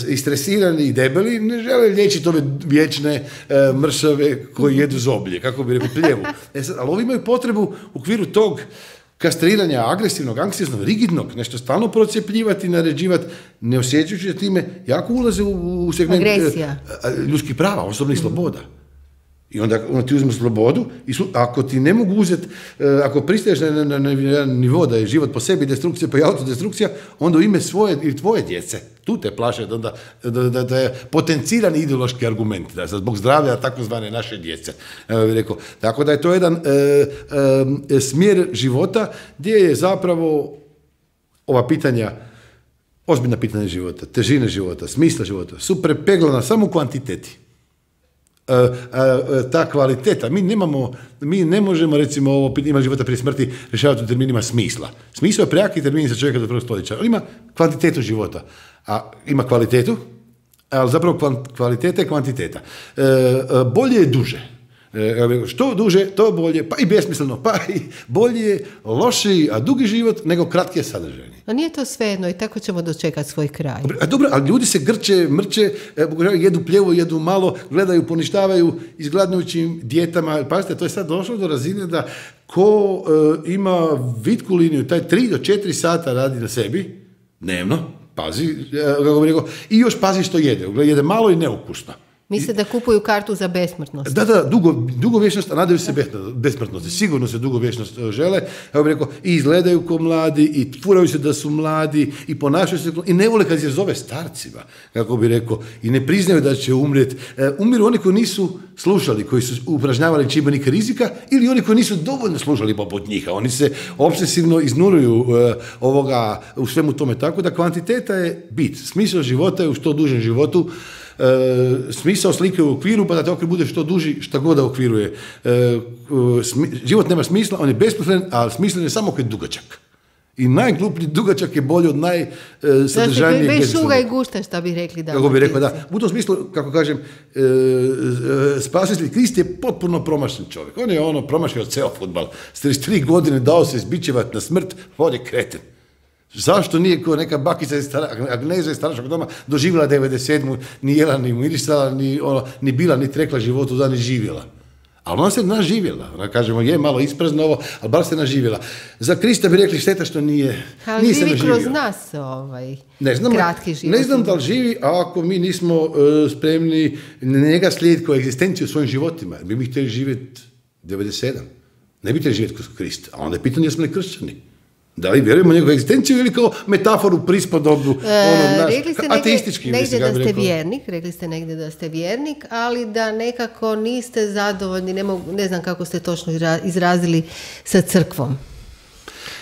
istresirani i debeli ne žele liječiti ove vječne e, mršave koji jedu zoblje, kako bih rekao, pljevu. E sad, ali ovi imaju potrebu u okviru tog kastriranja agresivnog, anksioznog, rigidnog, nešto stalno procjepljivati, naređivati, ne osjećajući da time jako ulaze u, u segment e, ljudskih prava, osobnih mm. sloboda. I onda, onda ti uzmu slobodu i su, ako ti ne mogu uzeti, ako pristaješ na, na, na, na nivo da je život po sebi destrukcija pa i autodestrukcija, onda u ime svoje ili tvoje djece, tu te plaše da, da, da, da je potencirani ideološki argument, da zbog zdravlja takozvane naše djece. Evo, rekao. Tako da je to jedan e, e, smjer života gdje je zapravo ova pitanja, ozbiljna pitanja života, težine života, smisla života, su prepeglana samo u kvantiteti. Uh, uh, uh, ta kvaliteta, mi nemamo, mi ne možemo, recimo, ovo ima života prije smrti rješavati u terminima smisla. Smisao je prejaki termin za čovjeka do prvog stoljeća, ali ima kvantitetu života, a ima kvalitetu, ali zapravo kvaliteta je kvantiteta. Uh, uh, bolje je duže. Što duže, to bolje, pa i besmisleno, pa i bolje, lošiji, a dugi život nego kratki sadržajni. A nije to svejedno i tako ćemo dočekati svoj kraj. A dobro, ali ljudi se grče, mrče, jedu pljevo, jedu malo, gledaju, poništavaju izgladnujućim dijetama. Pazite, to je sad došlo do razine da ko e, ima vitku liniju, taj tri do četiri sata radi na sebi, dnevno, pazi, kako bih rekao, i još pazi što jede. Jede malo i neukusno. Misle da kupuju kartu za besmrtnost. Da, da, dugo, dugovječnost, a nadaju se besmrtnosti. Sigurno se dugovječnost žele, ja bih rekao, i izgledaju ko mladi, i furaju se da su mladi, i ponašaju se, i ne vole kad se zove starcima, kako bih rekao, i ne priznaju da će umrijeti. E, umiru oni koji nisu slušali, koji su upražnjavali čimbenike rizika, ili oni koji nisu dovoljno slušali poput njih. Oni se obsesivno iznuruju e, ovoga, u svemu tome. Tako da kvantiteta je bit. Smisao života je u što dužem životu. E, smisao slike u okviru, pa da te okvir bude što duži, šta god da okviruje. E, smi, život nema smisla, on je besmislen, a smislen je samo kad je dugačak. I najgluplji dugačak je bolji od najsadržajnijeg. Znači, bez šuga i gušta, šta bih rekli da. Kako bih rekao, da. U tom smislu, kako kažem, e, e, spasitelj Krist je potpuno promašen čovjek. On je ono promašio ceo fudbal. S trideset tri godine dao se izbičevati na smrt, on je kreten. Zašto nije ko neka bakica iz Agneza iz staračkog doma doživjela devedeset sedmu, ni jela, ni mirisala, ni, ono, ni bila, ni trekla životu, da ni živjela. Ali ona se naživjela. Ona, kažemo, je malo isprazno ovo, ali bar se naživjela. Za Krista bi rekli šteta što nije, ali nije se živi naživio. kroz nas ovaj ne znam, kratki život. Ne znam da li živi, a ako mi nismo uh, spremni njega slijediti kao egzistenciju u svojim životima. Mi bi htjeli živjeti devedeset sedam. Ne bi htjeli živjeti kroz Krista. A onda je pitanje jesmo li kršćani. Da li vjerujemo njegovu egzistenciju ili kao metaforu, prispodobu, ono, naš, ateistički. Negdje da ste vjernik, rekli ste negdje da ste vjernik, ali da nekako niste zadovoljni, ne, mogu, ne znam kako ste točno izrazili, sa crkvom.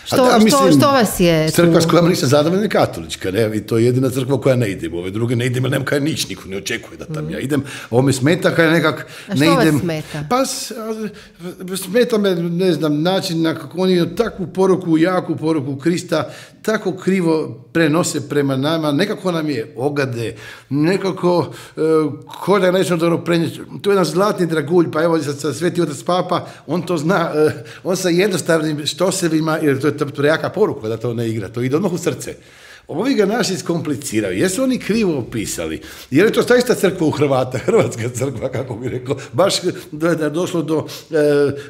Što, da, mislim, što, što vas je crkva s kojom nisam zadovoljna je katolička, ne? I to je jedina crkva koja ne idem. Ove druge ne idem, jer nema kaj nič, niko ne očekuje da tam mm. ja idem. Ovo me smeta kaj nekak ne idem. A što vas smeta? Pa smeta me, ne znam, način na kako oni takvu poruku, jaku poruku Krista tako krivo prenose prema nama, nekako nam je ogade, nekako uh, ko da nećemo dobro prenijeti. To je jedan zlatni dragulj, pa evo sa Sveti Otac Papa, on to zna, uh, on sa jednostavnim štosevima, jer to je to jaka poruka da to ne igra, to ide odmah u srce. Ovi ga naši skompliciraju. Jesu oni krivo opisali? Jer je to zaista crkva u Hrvata, hrvatska crkva, kako bi rekao, baš da je došlo do,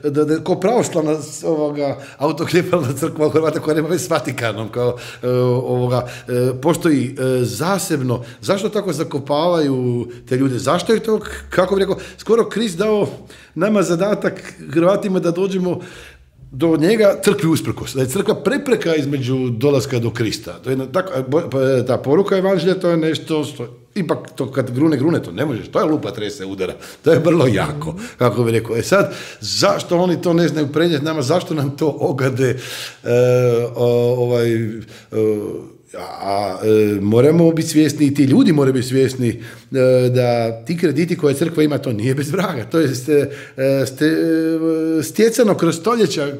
da, da, ko pravoslavna ovoga autokefalna crkva u Hrvata koja nema već s Vatikanom, kao ovoga, postoji zasebno. Zašto tako zakopavaju te ljude? Zašto je to, kako bi rekao, skoro Krist dao nama zadatak Hrvatima da dođemo do njega crkvi usprkos, da je crkva prepreka između dolaska do Krista. To je tako, ta poruka evanđelja, to je nešto što, ipak to kad grune, grune, to ne možeš, to je lupa trese udara, to je vrlo jako, kako bi rekao. E sad, zašto oni to ne znaju prenijeti nama, zašto nam to ogade, e, o, ovaj, o, a e, moramo biti svjesni, i ti ljudi moraju biti svjesni e, da ti krediti koje crkva ima, to nije bez vraga, to je ste, ste, stjecano kroz stoljeća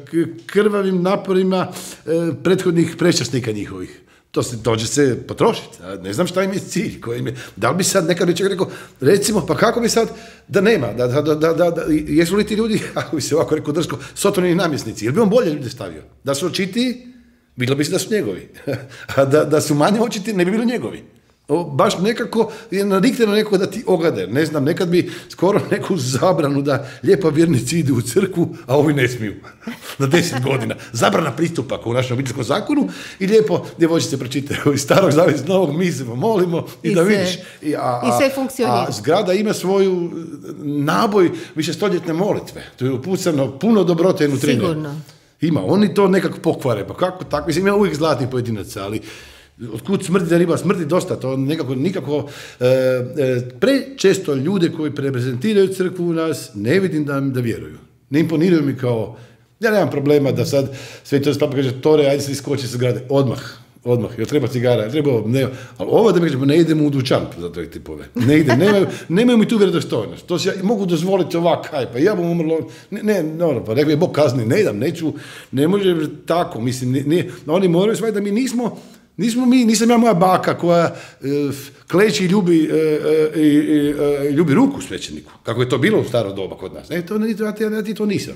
krvavim naporima e, prethodnih prečasnika njihovih. To se dođe se potrošiti. Ne znam šta im je cilj. Koji im je. Da li bi sad nekad bi čovjek rekao, recimo, pa kako bi sad, da nema, da, da, da, da, da, jesu li ti ljudi, ako bi se ovako rekao drsko, sotonini namjesnici, jer bi on bolje ljude stavio? Da su očitiji, bilo bi se da su njegovi. A da, da su manje očiti, ne bi bilo njegovi. O, baš nekako je nadikteno neko da ti ogade. Ne znam, nekad bi skoro neku zabranu da lijepa vjernici idu u crkvu, a ovi ne smiju. Na deset godina. Zabrana pristupa u našem obiteljskom zakonu i lijepo djevojčice pročitaju iz starog zavjeta novog, mi se molimo i, I da se, vidiš. I, a, a, i sve funkcionira. A zgrada ima svoju naboj višestoljetne molitve. To je upucano puno dobrote i nutrine. Sigurno. Ima. Oni to nekako pokvare. Pa kako tako? Mislim, ima uvijek zlatnih pojedinaca, ali otkud smrti da riba smrti dosta, to nekako, nikako, e, e, prečesto ljude koji reprezentiraju crkvu u nas, ne vidim da, da vjeruju. Ne imponiraju mi kao, ja nemam problema da sad Sveti Otac Papa kaže, Tore, ajde se iskoči sa zgrade, odmah, odmah, jer treba cigara, treba, ne, ali ovo da mi kažemo, ne idemo u dućan za te tipove, ne ide, nemaju, nemaju mi tu vjerodostojnost, to se ja mogu dozvoliti ovak, aj, pa ja bom umrlo, ne, ne, no, pa nek mi je Bog kazni, ne idem, neću, ne može tako, mislim, nije, oni moraju shvatiti da mi nismo, Nismo mi, nisam ja moja baka koja e, kleči i ljubi, e, e, e, ljubi ruku svećeniku, kako je to bilo u staro doba kod nas. Ne, to, ja, ja, ja ti to nisam.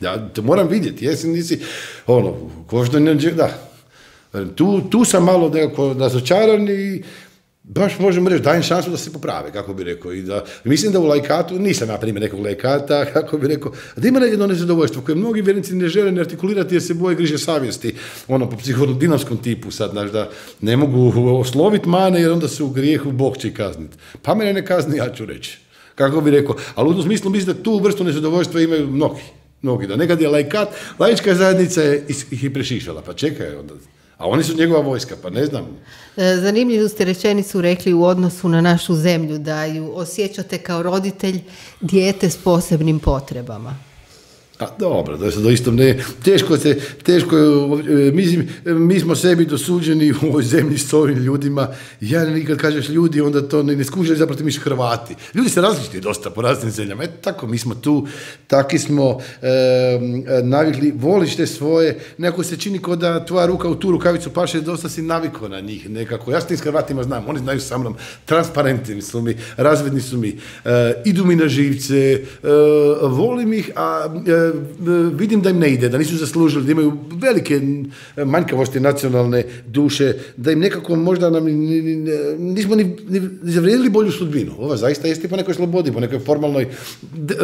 Ja to moram vidjeti, jesi, nisi, ono, ko što ne, da. Tu, tu sam malo nekako razočaran i baš možemo reći, dajem šansu da se poprave, kako bi rekao. I da, mislim da u laikatu, nisam ja primjer nekog laikata, kako bi rekao, da ima jedno nezadovoljstvo koje mnogi vjernici ne žele ne artikulirati jer se boje griže savjesti, ono po psihodinamskom tipu sad, znaš, da ne mogu osloviti mane jer onda su u grijehu, Bog će kazniti. Pa mene ne kazni, ja ću reći, kako bi rekao. Ali u tom smislu mislim da tu vrstu nezadovoljstva imaju mnogi, mnogi. Da nekad je laikat, laička zajednica je ih i prešišala, pa čekaj onda. A oni su njegova vojska, pa ne znam. Zanimljivu ste rečenicu rekli u odnosu na našu zemlju, da ju osjećate kao roditelj dijete s posebnim potrebama. A dobro, da se doista ne, teško se, teško je, mislim, mi smo sebi dosuđeni u ovoj zemlji s ovim ljudima, ja nikad kažeš ljudi, onda to ne, ne skužili, zapravo mi su Hrvati. Ljudi se različiti dosta po raznim zemljama, eto tako, mi smo tu, taki smo e, navikli, voliš te svoje, nekako se čini kao da tvoja ruka u tu rukavicu paše, dosta si navikao na njih nekako, ja s tim s Hrvatima znam, oni znaju sa mnom, transparentni su mi, razvidni su mi, e, idu mi na živce, e, volim ih, a e, vidim da im ne ide, da nisu zaslužili, da imaju velike manjkavosti nacionalne duše, da im nekako možda nam nismo ni, ni, ni zavrijedili bolju sudbinu. Ova zaista jeste po nekoj slobodi, po nekoj formalnoj de,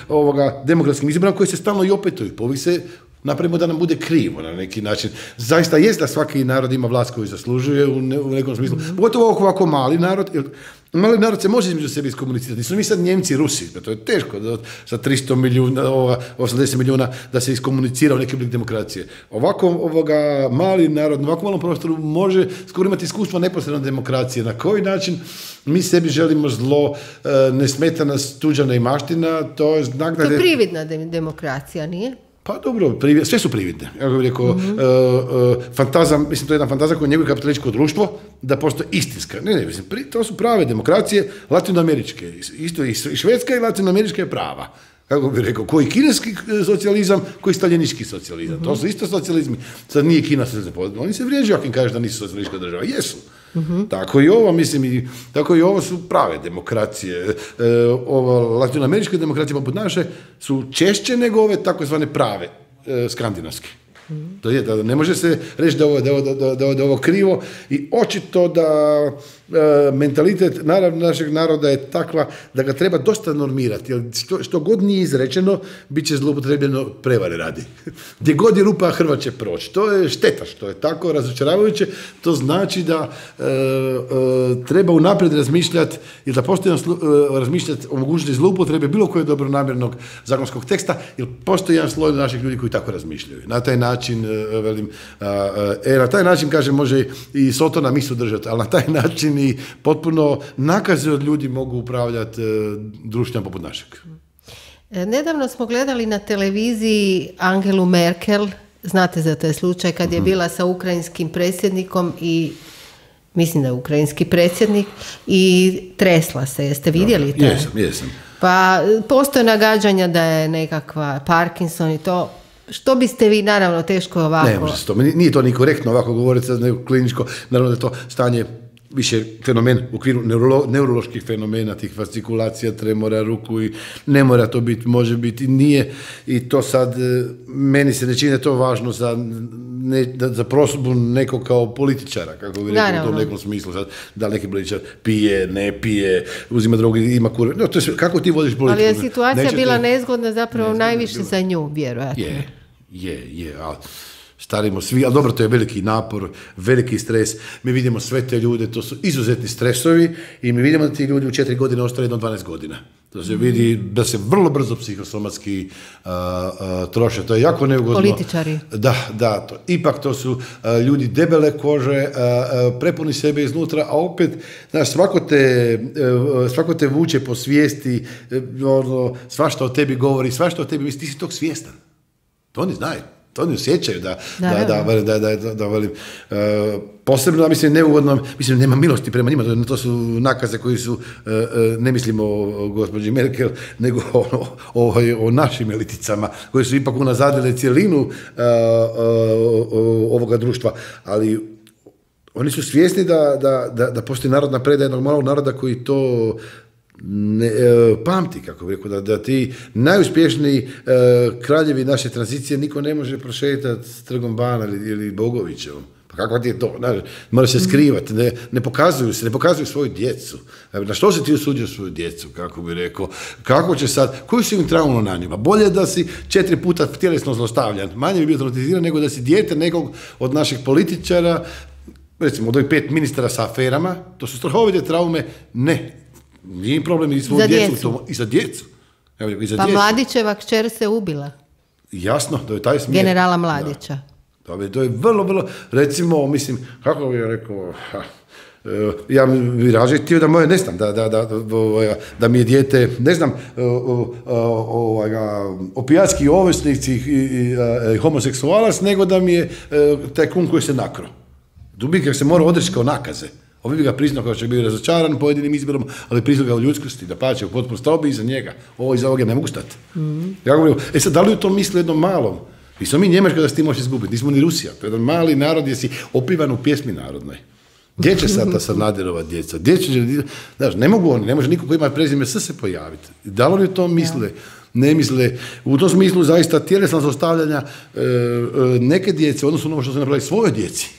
ovoga, demokratskim izborima koji se stalno i opetuju. Po ovih se napravimo da nam bude krivo na neki način. Zaista jest da svaki narod ima vlast koju zaslužuje u, ne, u nekom smislu. Mm-hmm. Pogotovo ovako mali narod, jer mali narod se može između sebe iskomunicirati. Nisu mi sad Njemci i Rusi, to je teško da sa tristo milijuna, osamdeset milijuna da se iskomunicira u neki oblik demokracije. Ovako ovoga, mali narod, na ovako malom prostoru može skoro imati iskustvo neposredno demokracije. Na koji način mi sebi želimo zlo, ne smeta nas tuđa neimaština, to je znak da... To je prividna demokracija, nije? Pa dobro, privi, sve su prividne. Ja bih rekao, mm-hmm. uh, uh, fantazam, mislim, to je jedna fantazija koja njeguje kapitalističko društvo, da postoji istinska. Ne, ne, mislim, pri, to su prave demokracije latinoameričke. Isto i švedska i latinoamerička je prava. Kako bih rekao, koji kineski socijalizam, koji staljinički socijalizam. Mm-hmm. To su isto socijalizmi. Sad nije Kina socijalizam. Oni se vrijeđu ako im kažeš da nisu socijalistička država. Jesu. Mm-hmm. Tako i ovo, mislim, i, tako i ovo su prave demokracije. E, ova latinoameričke demokracije poput naše su češće nego ove takozvane prave e, skandinavske. Mm-hmm. To je, da ne može se reći da ovo, da, da, da, da, da ovo krivo i očito da e, mentalitet naravno našeg naroda je takva da ga treba dosta normirati, jer što, što god nije izrečeno, bit će zloupotrebljeno prevare radi. Gdje god je rupa, Hrvat će proći. To je šteta što je tako razočaravajuće, to znači da e, e, treba unaprijed razmišljati i da postoji slu, e, razmišljati o mogućnosti zloupotrebe bilo koje dobronamjernog zakonskog teksta, jer postoji jedan sloj naših ljudi koji tako razmišljaju. Na taj način, e, velim, e, na taj način, kažem, može i Sotona misu držati, ali na taj način i potpuno nakaze od ljudi mogu upravljati e, društvom poput našeg. Nedavno smo gledali na televiziji Angelu Merkel, znate za taj slučaj, kad je bila sa ukrajinskim predsjednikom i mislim da je ukrajinski predsjednik i tresla se, jeste vidjeli to? Jesam, jesam. Pa postoje nagađanja da je nekakva Parkinson i to. Što biste vi, naravno, teško ovako... Ne, može se to, nije to ni korektno ovako govoriti, nego kliničko, naravno da je to stanje više fenomen u okviru neurolo, neuroloških fenomena, tih fascikulacija, tremora ruku i ne mora to biti, može biti i nije. I to sad, meni se ne čini da je to važno za, ne, za prosudbu nekog kao političara, kako bi rekao u tom nekom smislu. Sad, da li neki političar pije, ne pije, uzima drogu, ima kurve. No, to je sve, kako ti vodiš politiku? Ali je situacija Nećete, bila nezgodna zapravo nezgodna, najviše bila. Za nju, vjerojatno. Je, je, je, ali... Starimo svi, ali dobro, to je veliki napor, veliki stres. Mi vidimo sve te ljude, to su izuzetni stresovi i mi vidimo da ti ljudi u četiri godine ostaju jedno dvanaest godina. To se vidi da se vrlo brzo psihosomatski uh, uh, troše. To je jako neugodno. Političari. Da, da. To, ipak to su uh, ljudi debele kože, uh, uh, prepuni sebe iznutra, a opet, znaš, svako te, uh, svako te vuče po svijesti, uh, ono, svašta o tebi govori, svašta o tebi misli, ti si tog svjestan. To oni znaju. To oni osjećaju da, da, da, da, da, da, da velim, uh, posebno, mislim, neugodno, mislim, nema milosti prema njima, to, to su nakaze koji su, uh, uh, ne mislimo o, o gospođi Merkel, nego o, o, o, o našim eliticama, koje su ipak unazadile cijelinu uh, uh, uh, ovoga društva, ali oni su svjesni da, da, da, da postoji narodna predaja jednog malog naroda koji to ne, e, pamti, kako bih rekao, da, da ti najuspješniji e, kraljevi naše tranzicije niko ne može prošetati s Trgom Bana ili, ili Bogovićevom. Pa kako ti je to? Ne, mora se skrivati, ne, ne pokazuju se, ne pokazuju svoju djecu. Na što se ti usuđuješ svoju djecu, kako bih rekao? Kako će sad, koju si im traumu na njima? Bolje da si četiri puta tjelesno zlostavljan, manje bi bio traumatiziran nego da si dijete nekog od naših političara, recimo od ovih pet ministara sa aferama, to su strahovite traume, ne. Nije im problem i svoju djecu, djecu. To, i za djecu. Evo, i za pa djecu. Mladićeva kćer se ubila. Jasno, to je taj smjer. Generala Mladića. Da. To je vrlo, vrlo, recimo, mislim, kako bih rekao, ha, ja bih rađe htio da moje, ne znam, da, da, da, da, da mi je dijete, ne znam, opijatski ovisnici i, i, i homoseksualac, nego da mi je taj kum koji se nakro. Dubikak se mora odreći kao nakaze. Ovi bi ga priznao kao što je bio razočaran pojedinim izborom, ali priznao ga u ljudskosti, da pače u potpuno stobi iza njega. Ovo iza ovoga ne mogu stati. Mm-hmm. Ja govorim, e sad, da li u tom misli jednom malom? Mi smo mi Njemačka da se ti možeš izgubiti, nismo ni Rusija. To je jedan mali narod gdje si opivan u pjesmi narodnoj. Gdje će sad ta Sanaderova djeca? Gdje će, znaš, ne mogu oni, ne može niko koji ima prezime S se pojaviti. Da li oni to misle? ne misle, u tom smislu zaista tjelesna zlostavljanja e, e, neke djece, odnosno ono što se napravi svojoj djeci,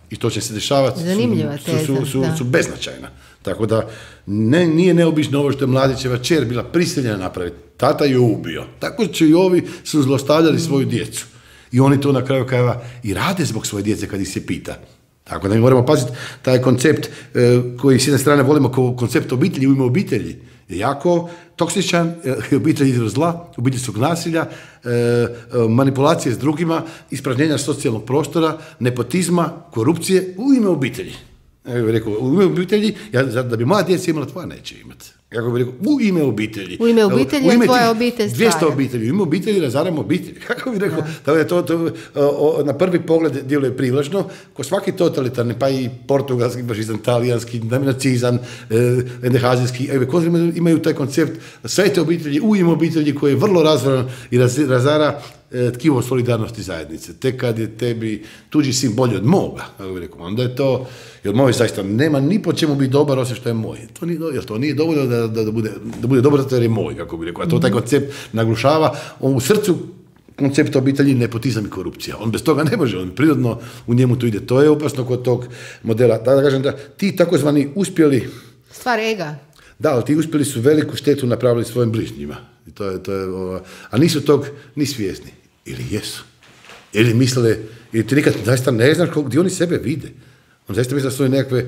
i to će se dešavati, zanimljiva su, teza, su, su, su, da. su beznačajna. Tako da ne, nije neobično ovo što je mladićeva kćer bila prisiljena napraviti. Tata ju ubio. Tako će i ovi su zlostavljali svoju djecu. I oni to na kraju krajeva i rade zbog svoje djece kad ih se pita. Tako da mi moramo paziti taj koncept e, koji s jedne strane volimo kao koncept obitelji u ime obitelji je jako toksičan, e, obitelj zla, obiteljskog nasilja, e, e, manipulacije s drugima, ispražnjenja socijalnog prostora, nepotizma, korupcije u ime obitelji. Ja bih rekao, u ime obitelji, ja, da bi moja djeca imala, tvoja neće imati. Ja bih rekao, u ime obitelji. U ime obitelji, u ime tvoja obitelj stvara. dvjesto obitelji, u ime obitelji razaramo obitelji. Kako bih rekao, da je to, to o, na prvi pogled djeluje privlačno, ko svaki totalitarni, pa i portugalski, fašizam, talijanski, nacizam, endehazijski, imaju taj koncept sve te obitelji, u ime obitelji koji je vrlo razvoran i raz, razara tkivo solidarnosti zajednice. Tek kad je tebi tuđi sin bolji od moga, kako bih rekao, onda je to, jer moj zaista nema ni po čemu biti dobar osim što je moj. To nije, jer to nije dovoljno da, da, da, bude, da bude dobar zato jer je moj, kako bih rekao. A to taj koncept naglušava. On u srcu koncepta obitelji nepotizam i korupcija. On bez toga ne može, on prirodno u njemu to ide. To je opasno kod tog modela. Da, da kažem da ti takozvani uspjeli... Stvar ega. Da, ali ti uspjeli su veliku štetu napravili svojim bližnjima. I to je, to je, ova, a nisu tog ni svjesni. Ili jesu. Ili misle, ili ti nikad zaista ne znaš gdje oni sebe vide. On zaista misle da su nekakve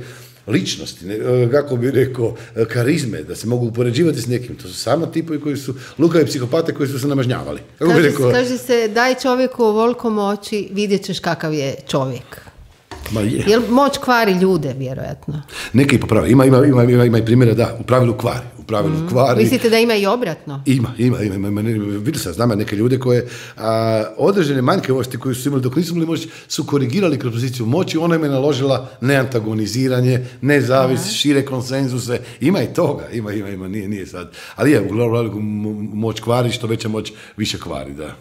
ličnosti, ne, kako bi rekao, karizme, da se mogu upoređivati s nekim. To su samo tipovi koji su lukavi psihopate koji su se namažnjavali. Kako kaže, bi rekao, kaže se, daj čovjeku ovoliko moći, vidjet ćeš kakav je čovjek. Ma je. Jel moć kvari ljude, vjerojatno? Neki popravi. Ima, ima, ima, ima, ima i primjera da, u pravilu kvari. U pravilu mm. kvari. Mislite da ima i obratno? Ima, ima, ima. ima, ima. Vidio sam, znam neke ljude koje a, određene manjkavosti koje su imali dok nisu bili moći su korigirali kroz poziciju moći, ona im je naložila neantagoniziranje, nezavis, Aha. šire konsenzuse. Ima i toga, ima, ima, ima, nije, nije sad. Ali je, uglavnom moć kvari, što veća moć više kvari, da.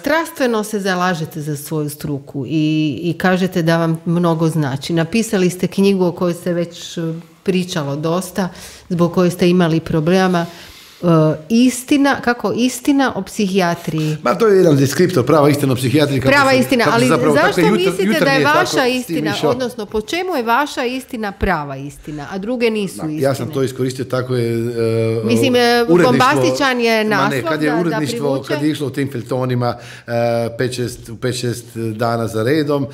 Strastveno se zalažete za svoju struku i, i kažete da vam mnogo znači. Napisali ste knjigu o kojoj se već pričalo dosta, zbog koje ste imali problema. Uh, istina, kako istina o psihijatriji? Ma to je jedan deskriptor, prava istina o psihijatriji. Prava sam, istina, ali zapravo, zašto jutar, mislite da je vaša tako, istina, odnosno po čemu je vaša istina prava istina, a druge nisu da, istine? Ja sam to iskoristio, tako je uh, Mislim, bombastičan je naslov ne, kad je da, uredništvo, da privuče. Kad je išlo u tim feltonima uh, pet šest dana za redom uh,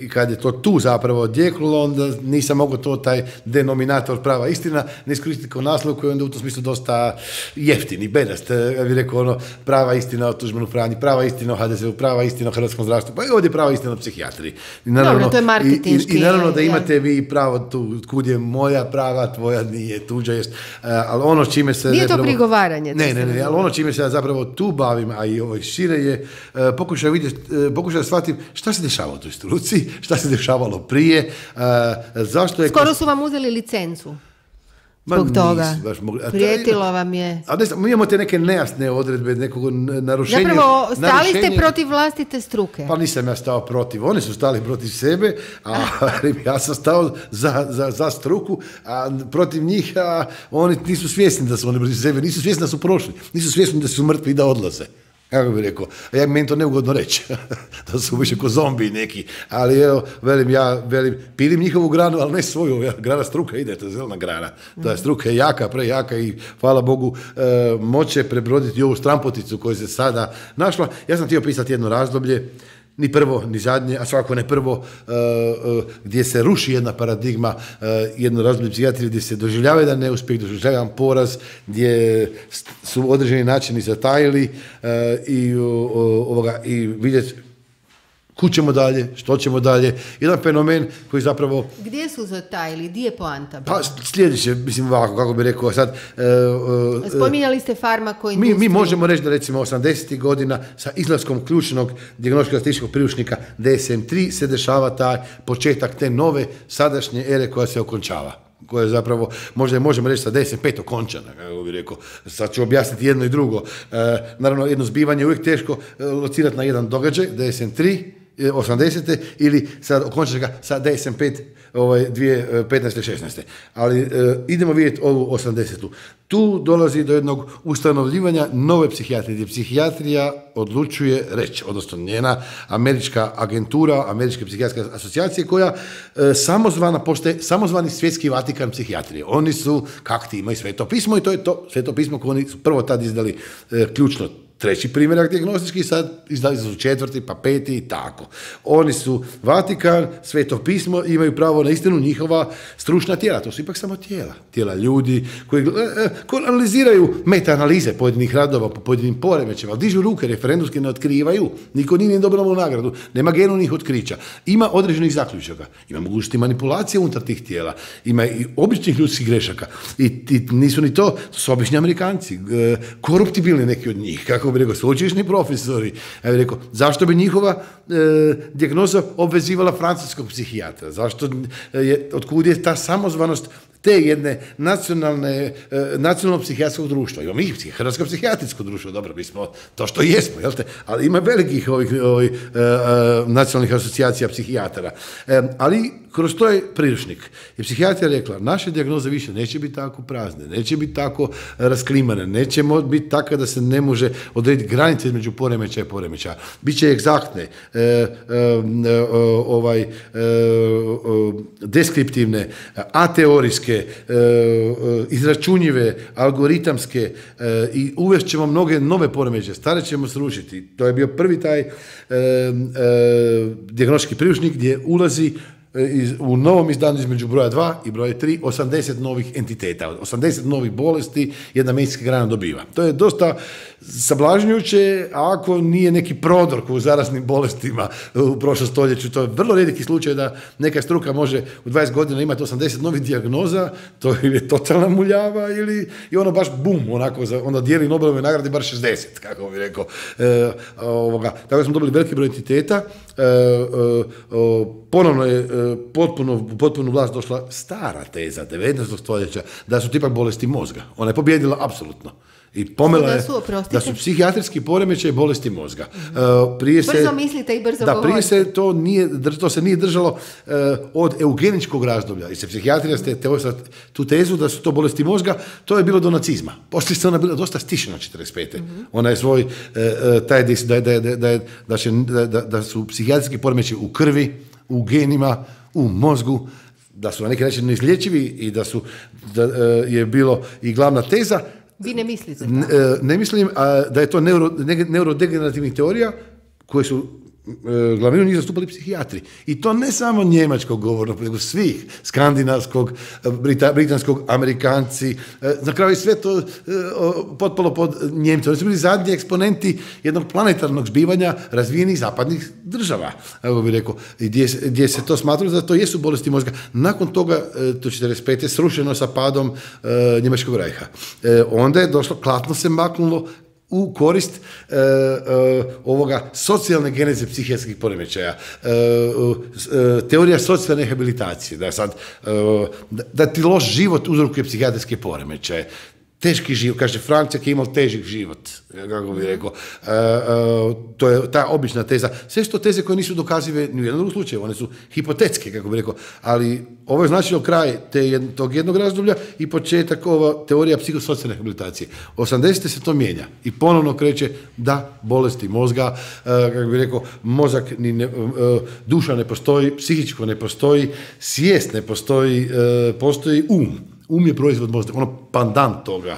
i kad je to tu zapravo odjeknulo, onda nisam mogao to taj denominator prava istina ne iskoristiti kao naslov koji onda u tom smislu dosta jeftini, bedast, ja bih rekao ono, prava istina o Tuđmanu Franji, prava istina o ha de ze u, prava istina o hrvatskom zdravstvu, pa i ovdje prava istina o psihijatriji. I naravno, Dobro, to je marketinški. I, i, i naravno da imate vi pravo tu, kud je moja prava, tvoja nije, tuđa jest, ali ono čime se... Nije to zapravo, prigovaranje. Ne, ne, ne, ali ono čime se ja zapravo tu bavim, a i ovo šire je, pokušaj vidjeti, pokušaj da shvatim šta se dešava u toj struci, šta se dešavalo prije, zašto je... Skoro su vam uzeli licencu. Zbog toga. Prijetilo vam je. A ne, mi imamo te neke nejasne odredbe, nekog narušenja. Zapravo, stali narušenje, ste protiv vlastite struke. Pa nisam ja stao protiv. Oni su stali protiv sebe, a ja sam stao za, za, za struku, a protiv njih, a oni nisu svjesni da su oni protiv sebe, nisu svjesni da su prošli, nisu svjesni da su mrtvi i da odlaze. Kako bih rekao, a ja meni to neugodno reći, da su više ko zombi neki, ali evo, velim ja, velim, pilim njihovu granu, ali ne svoju, ja, grana struka ide, to je zelena grana, ta struka je jaka, prejaka i hvala Bogu e, moće prebroditi ovu strampoticu koju se sada našla. Ja sam htio pisati jedno razdoblje, ni prvo, ni zadnje, a svakako ne prvo, uh, uh, gdje se ruši jedna paradigma, uh, jedno razdoblje psihijatrije, gdje se doživljava jedan neuspjeh, doživljava poraz, gdje su određeni načini zatajili uh, i, uh, ovoga, i vidjeti kud ćemo dalje, što ćemo dalje. Jedan fenomen koji zapravo... Gdje su zatajili? Gdje je poanta? Pa sljedeće, mislim ovako, kako bih rekao sad... Uh, uh, Spominjali ste farmakoindustriju. Mi, mi možemo reći da recimo osamdesetih godina sa izlaskom ključnog dijagnostičko-statističkog priručnika de es em tri se dešava taj početak te nove sadašnje ere koja se okončava. Koje zapravo, možda možemo reći sa de es em pet okončana, kako bih rekao. Sad ću objasniti jedno i drugo. E, naravno, jedno zbivanje je uvijek teško locirati na jedan događaj, de es em tri, osamdesete ili sad okončati ga sa D S M pet ovaj, dvije tisuće petnaeste šesnaeste. Ali e, idemo vidjeti ovu osamdesetu. Tu dolazi do jednog ustanovljivanja nove psihijatrije, gdje psihijatrija odlučuje reći, odnosno njena američka agentura, američke psihijatrijske asocijacije, koja e, samozvana postaje, samozvani svjetski Vatikan psihijatrije. Oni su, kak ti imaju sveto pismo, i to je to sveto pismo koje oni su prvo tad izdali e, ključno treći primjerak dijagnostički, sad izdali su četvrti, pa peti i tako. Oni su Vatikan, sveto pismo, imaju pravo na istinu, njihova stručna tijela. To su ipak samo tijela. Tijela ljudi koji, koji analiziraju meta-analize pojedinih radova po pojedinim poremećima, ali dižu ruke, referendumski ne otkrivaju, niko nije dobilo nagradu, nema genovnih otkrića. Ima određenih zaključaka, ima mogućnosti manipulacije unutar tih tijela, ima i običnih ljudskih grešaka. I, i nisu ni to, to su obični Amerikanci, koruptibilni neki od njih, kako bi rekao, sveučilišni profesori. Ja bih rekao, zašto bi njihova e, dijagnoza obvezivala francuskog psihijatra? Zašto je, otkud je ta samozvanost te jedne nacionalne, e, nacionalnog psihijatrijskog društva? Imamo i Hrvatsko psihijatrijsko društvo, dobro, mi smo to što jesmo, jel te? Ali ima velikih ovih, ovih e, e, nacionalnih asocijacija psihijatara. E, ali kroz to je priručnik. I psihijatrija rekla, naše dijagnoze više neće biti tako prazne, neće biti tako rasklimane, neće biti tako da se ne može odrediti granice između poremećaja i poremećaja. Biće egzaktne, e, e, e, ovaj, e, deskriptivne, ateorijske, e, izračunjive, algoritamske e, i uvest ćemo mnoge nove poremećaje, stare ćemo srušiti. To je bio prvi taj e, e, dijagnostički priručnik gdje ulazi u novom izdanju između broja dva i broja tri, osamdeset novih entiteta, osamdeset novih bolesti jedna medicinska grana dobiva. To je dosta sablažnjujuće, ako nije neki prodor u zaraznim bolestima u prošlom stoljeću. To je vrlo rijetki slučaj da neka struka može u dvadeset godina imati osamdeset novih dijagnoza, to je totalna muljava ili i ono baš bum, onako, onda dijeli Nobelove nagrade bar šezdeset, kako bi rekao. E, ovoga. Tako da smo dobili veliki broj entiteta, e, e, ponovno je potpuno, u potpunu vlast došla stara teza devetnaestog stoljeća da su tipak bolesti mozga. Ona je pobjedila apsolutno. I pomela je da su psihijatrijski poremećaj bolesti mozga. Mm-hmm. Uh, prije se, brzo mislite i brzo da, govorite. Prije se to, nije, to se nije držalo uh, od eugeničkog razdoblja. I se psihijatrija ste te, tu tezu da su to bolesti mozga, to je bilo do nacizma. Poslije se ona bila dosta stišena četrdeset pete. Mm-hmm. Ona je svoj, uh, taj da, da, da, da, da, će, da, da su psihijatrijski poremećaj u krvi, u genima, u mozgu, da su na neki način neizlječivi i da su da, uh, je bilo i glavna teza. Vi ne mislite? Ne, ne mislim a, da je to neuro, ne, neurodegenerativnih teorija koje su e, glavninu njih zastupali psihijatri. I to ne samo njemačkog govornog, nego svih, skandinavskog, brita, britanskog, Amerikanci, e, na kraju sve to e, potpalo pod Njemce. Oni su bili zadnji eksponenti jednog planetarnog zbivanja razvijenih zapadnih država, evo bih rekao, gdje, gdje se to smatralo da to jesu bolesti mozga. Nakon toga, to četrdeset pete srušeno sa padom e, Njemačkog rajha. E, onda je došlo, klatno se maknulo u korist e, e, ovoga socijalne geneze psihijatrijskih poremećaja, e, e, teorija socijalne rehabilitacije, da, sad, e, da, da ti loš život uzrokuje psihijatrijske poremećaje. Teški život, kaže Francek je imao težak život, kako bih rekao. E, e, to je ta obična teza. Sve su to teze koje nisu dokazive ni u jednom slučaju, one su hipotetske, kako bih rekao. Ali ovo je značilo kraj te jed, tog jednog razdoblja i početak ova teorija psihosocijalne rehabilitacije. osamdesete se to mijenja i ponovno kreće da bolesti mozga, e, kako bih rekao, mozak, ni ne, e, duša ne postoji, psihičko ne postoji, svijest ne postoji, e, postoji um. Um je proizvod mozga, ono pandant toga.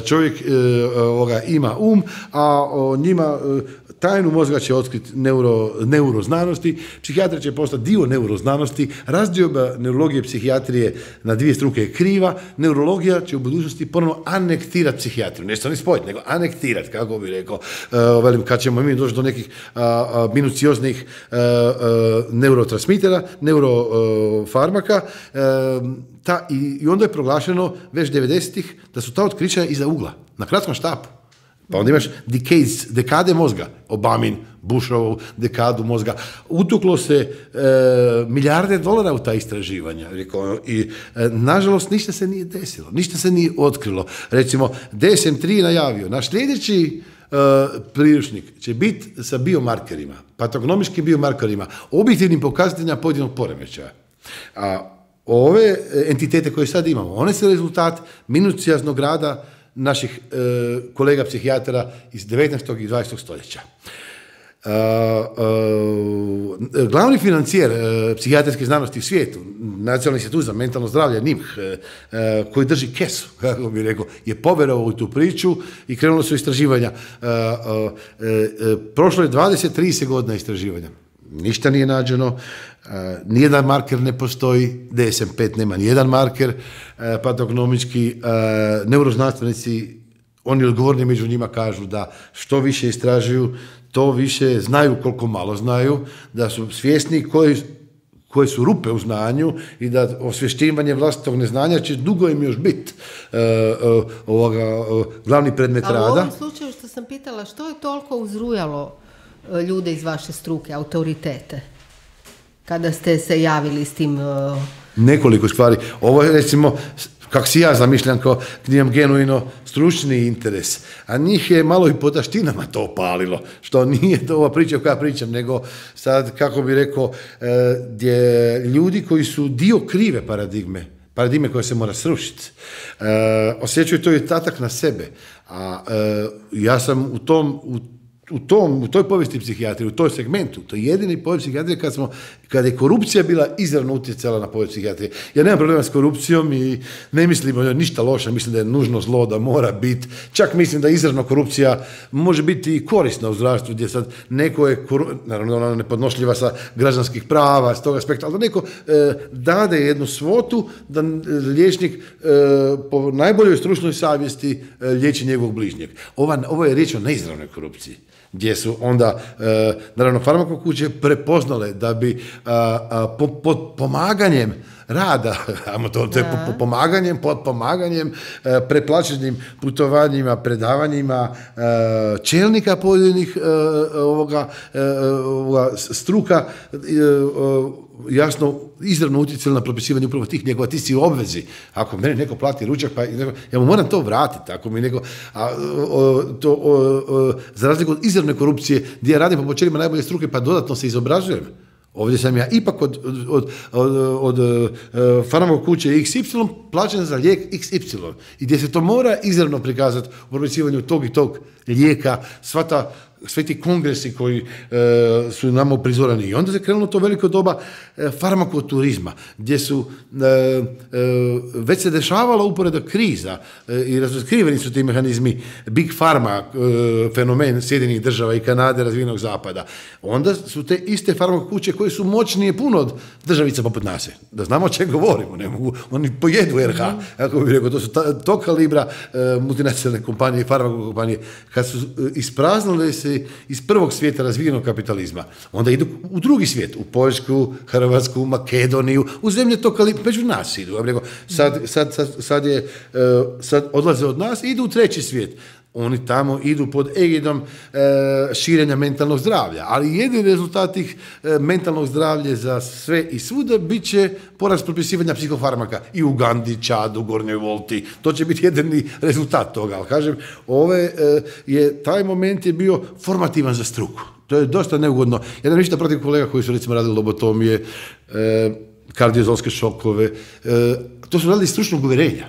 Čovjek e, ovoga, ima um, a o, njima e, tajnu mozga će otkriti neuro, neuroznanosti, psihijatrija će postati dio neuroznanosti, razdioba neurologije i psihijatrije na dvije struke je kriva, neurologija će u budućnosti ponovno anektirati psihijatriju, ne samo ni spojiti, nego anektirati, kako bih rekao, e, velim, kad ćemo mi doći do nekih a, a, minucioznih a, a, neurotransmitera, neurofarmaka, Ta, i, i onda je proglašeno već devedesetih da su ta otkrića iza ugla, na kratkom štapu. Pa onda imaš decades, dekade mozga, Obamin, Bushovu dekadu mozga. Utuklo se e, milijarde dolara u ta istraživanja. I e, nažalost ništa se nije desilo, ništa se nije otkrilo. Recimo, D S M tri najavio, naš sljedeći priručnik će biti sa biomarkerima, patognomičkim biomarkerima, objektivnim pokazateljima pojedinog poremećaja. A ove entitete koje sad imamo, one su rezultat minucijaznog rada naših e, kolega psihijatara iz devetnaestog i dvadesetog stoljeća. Uh, uh, glavni financijer uh, psihijatrijske znanosti u svijetu, Nacionalni institut za mentalno zdravlje, N I M H, uh, uh, koji drži kesu, kako bih rekao, je povjerovao u tu priču i krenulo su istraživanja. Uh, uh, uh, uh, prošlo je dvadeset do trideset godina istraživanja. Ništa nije nađeno, uh, nijedan marker ne postoji, D S M pet nema nijedan marker, uh, patognomički, uh, neuroznanstvenici, oni odgovorni među njima kažu da što više istražuju, to više znaju koliko malo znaju, da su svjesni koji, koje su rupe u znanju i da osvješćivanje vlastitog neznanja će dugo im još biti uh, uh, ovoga, uh, glavni predmet Ali rada. Ali u ovom slučaju što sam pitala, što je toliko uzrujalo uh, ljude iz vaše struke, autoritete, kada ste se javili s tim? Uh... Nekoliko stvari. Ovo je recimo, kako si ja zamišljam, kao gdje imam genuino stručni interes, a njih je malo i po taštinama to opalilo, što nije to ova priča koja pričam, nego sad, kako bi rekao, gdje ljudi koji su dio krive paradigme, paradigme koja se mora srušiti, osjećaju to i tatak na sebe, a ja sam u tom, u U, tom, u toj povijesti psihijatrije, u toj segmentu, to je jedini povijest psihijatrije kad, smo, kad je korupcija bila izravno utjecala na povijest psihijatrije. Ja nemam problema s korupcijom i ne mislim da je ništa loše, mislim da je nužno zlo, da mora biti. Čak mislim da izravno korupcija može biti i korisna u zdravstvu, gdje sad neko je, naravno ona nepodnošljiva sa građanskih prava, s tog aspekta, ali da neko e, dade jednu svotu da liječnik e, po najboljoj stručnoj savjesti e, liječi njegovog bližnjeg. Ova, ovo je riječ o neizravnoj korupciji, gdje su onda, e, naravno, farmakokuće prepoznale da bi a, a, po, pod pomaganjem rada, to, to je po, po pomaganjem, pod pomaganjem, e, preplaćenim putovanjima, predavanjima e, čelnika pojedinih e, ovoga, e, ovoga struka, e, e, jasno, izravno utjecali na propisivanje upravo tih njegova, ti si u obvezi. Ako mene neko plati ručak, pa ja mu moram to vratiti. Ako mi neko, a, o, to, o, o, za razliku od izravne korupcije, gdje ja radim po počelima najbolje struke, pa dodatno se izobražujem. Ovdje sam ja ipak od, od, od, od, od, od farmakokuće iks ipsilon plaćen za lijek iks ipsilon. I gdje se to mora izravno prikazati u propisivanju tog i tog lijeka, sva ta sve ti kongresi koji e, su nama uprizorani. I onda se krenulo to veliko doba e, farmakoturizma, gdje su e, e, već se dešavala uporedo kriza e, i razotkriveni su ti mehanizmi Big Pharma, e, fenomen Sjedinjenih država i Kanade, razvijenog zapada. Onda su te iste farmakokuće koje su moćnije puno od državica poput nas. Da znamo o čem govorimo, ne mogu, oni pojedu er ha, ako bih rekao, to su ta, to kalibra e, multinacionalne kompanije i farmakokompanije. Kad su e, ispraznile se iz prvog svijeta razvijenog kapitalizma, onda idu u drugi svijet, u Poljsku, Hrvatsku, Makedoniju, u zemlje to kalibra, među nas idu. Sad, sad, sad, sad, je, sad odlaze od nas i idu u treći svijet. Oni tamo idu pod egidom e, širenja mentalnog zdravlja, ali jedini rezultat tih e, mentalnog zdravlja za sve i svuda bit će porast propisivanja psihofarmaka i u Ugandi, Čadu, Gornjoj Volti. To će biti jedini rezultat toga, ali kažem, ove, e, je, taj moment je bio formativan za struku. To je dosta neugodno. Ja nemam ništa protiv kolega koji su recimo radili lobotomije, e, kardiozolske šokove, e, to su radili stručnog uvjerenja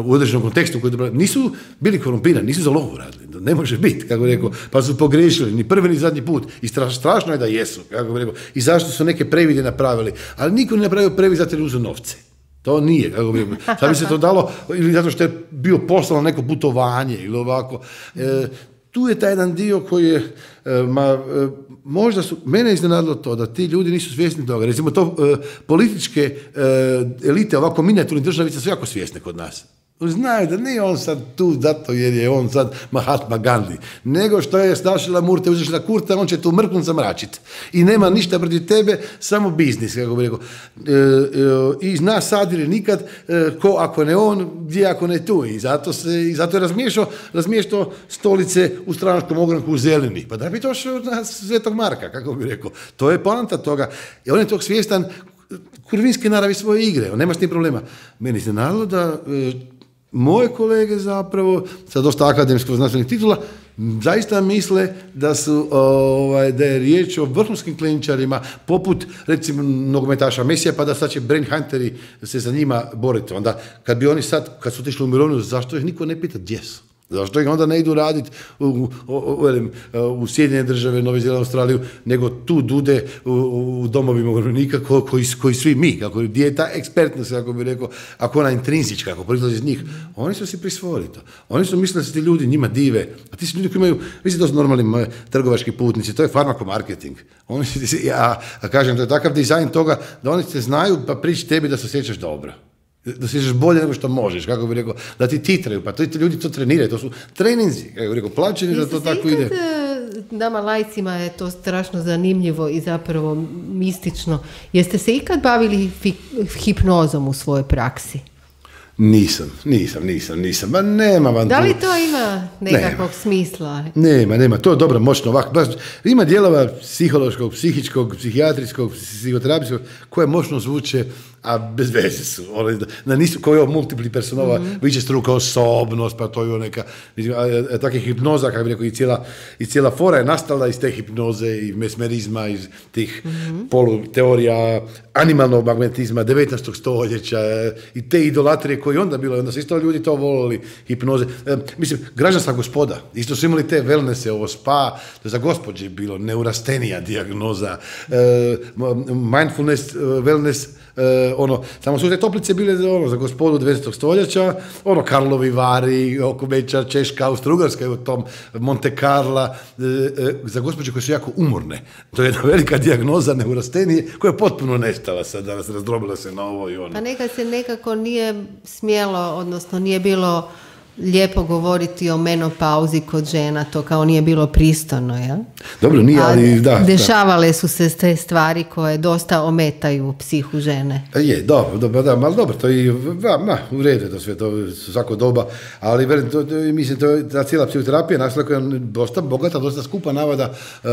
u određenom kontekstu, koji nisu bili korumpirani, nisu za lovu radili, ne može biti, kako bi rekao, pa su pogriješili, ni prvi ni zadnji put, i strašno je da jesu, kako bi rekao, i zašto su neke previde napravili, ali niko ne napravio previd zato jer uzu novce. To nije, kako bi rekao, sad bi se to dalo, ili zato što je bio poslano neko putovanje, ili ovako. E, tu je taj jedan dio koji je, e, ma, e, možda su, mene je iznenadilo to da ti ljudi nisu svjesni toga. Recimo to e, političke e, elite, ovako minijaturne državice su jako svjesne kod nas. Znaju da nije on sad tu zato jer je on sad Mahatma Gandhi, nego što je snašila Murte, uzešla Kurta, on će tu mrknut zamračiti. I nema ništa protiv tebe, samo biznis, kako bi rekao. E, e, I zna sad ili nikad, e, ko ako ne on, gdje ako ne tu. I zato, se, i zato je razmiješao, razmiješao stolice u stranačkom ogranku u zeleni. Pa da bi to šao na Svetog Marka, kako bi rekao. To je poanta toga. I on je tog svjestan kurvinske naravi svoje igre. On nema s tim problema. Meni se nadalo da... E, moje kolege zapravo, sa dosta akademskog znanstvenih titula, zaista misle da su ovaj, da je riječ o vrhunskim kliničarima poput recimo nogometaša Mesija, pa da sad će brain hunteri se za njima boriti. Onda kad bi oni sad, kad su otišli u mirovinu, zašto ih niko ne pita gdje su? Zašto ih onda ne idu raditi u, u, u, u Sjedinjene države, Novi Zeland, Australiju, nego tu dude u, u domovima umirovljenika ko, koji, koji svi mi, kako, gdje je ta ekspertnost, kako bi rekao, ako ona intrinzička, kako proizlazi iz njih, oni su si prisvojili to. Oni su mislili da se ti ljudi njima dive, a ti su ljudi koji imaju, mislim to su normalni trgovački putnici, to je farmakomarketing. Oni si, ja, ja kažem, to je takav dizajn toga da oni se znaju pa priči tebi da se osjećaš dobro. Da se osjećaš bolje nego što možeš, kako bi rekao, da ti titraju, pa to ti ljudi to treniraju, to su treninzi, kako bi rekao, plaćeni da to tako ide. Nama lajcima je to strašno zanimljivo i zapravo mistično. Jeste se ikad bavili hipnozom u svojoj praksi? Nisam, nisam, nisam, nisam, ma nema vam. Da li to ima nekakvog nema. smisla? Nema, nema, to je dobro, moćno ovako. Baš, ima dijelova psihološkog, psihičkog, psihijatrijskog, psihoterapijskog, koje moćno zvuče, a bez veze su. One, da nisu, kao je ovo multipli personova, mm-hmm. viće struka osobnost, pa to je neka, takve hipnoza, kako bi rekao, i cijela, i cijela fora je nastala iz te hipnoze i mesmerizma, iz tih mm-hmm. poluteorija animalnog magnetizma devetnaestog stoljeća i te idolatrije koji onda bilo, onda su isto ljudi to volili, hipnoze. E, mislim, građanska gospoda, isto su imali te wellnesse, ovo spa, to je za gospođe bilo, neurastenija dijagnoza, e, mindfulness, wellness, Uh, ono, samo su te toplice bile ono, za gospodu devetnaestog stoljeća, ono, Karlovi Vari, Okomeča, Češka, Austro-Ugarska, u tom Monte Carla, uh, uh, za gospođe koje su jako umorne. To je jedna velika dijagnoza neurastenije koja je potpuno nestala sad, danas razdrobila se na ovo i ono. Pa nekad se nekako nije smjelo, odnosno nije bilo lijepo govoriti o menopauzi kod žena, to kao nije bilo pristojno, jel? Dobro, nije, ali da. Dešavale da. su se te stvari koje dosta ometaju psihu žene. Je, dobro, dobro, da, ali dobro, to i, ma, ma, u redu je to sve, to svako doba, ali velim, to, to, mislim, to je ta cijela psihoterapija nastala koja je dosta bogata, dosta skupa navada uh,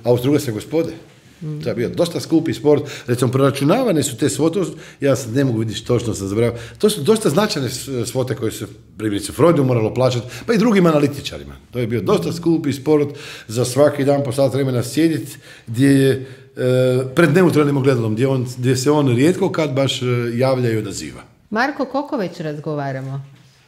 Austro-Ugarske gospode. To je bio dosta skupi sport, recimo proračunavane su te svote, ja sad ne mogu vidjeti točno sam zaboravio, to su dosta značajne svote koje se primjerice Freudu moralo plaćati, pa i drugim analitičarima. To je bio dosta skupi sport za svaki dan po sat vremena sjediti gdje je e, pred neutralnim ogledalom, gdje, on, gdje se on rijetko kad baš javlja i odaziva. Marko, koliko već razgovaramo?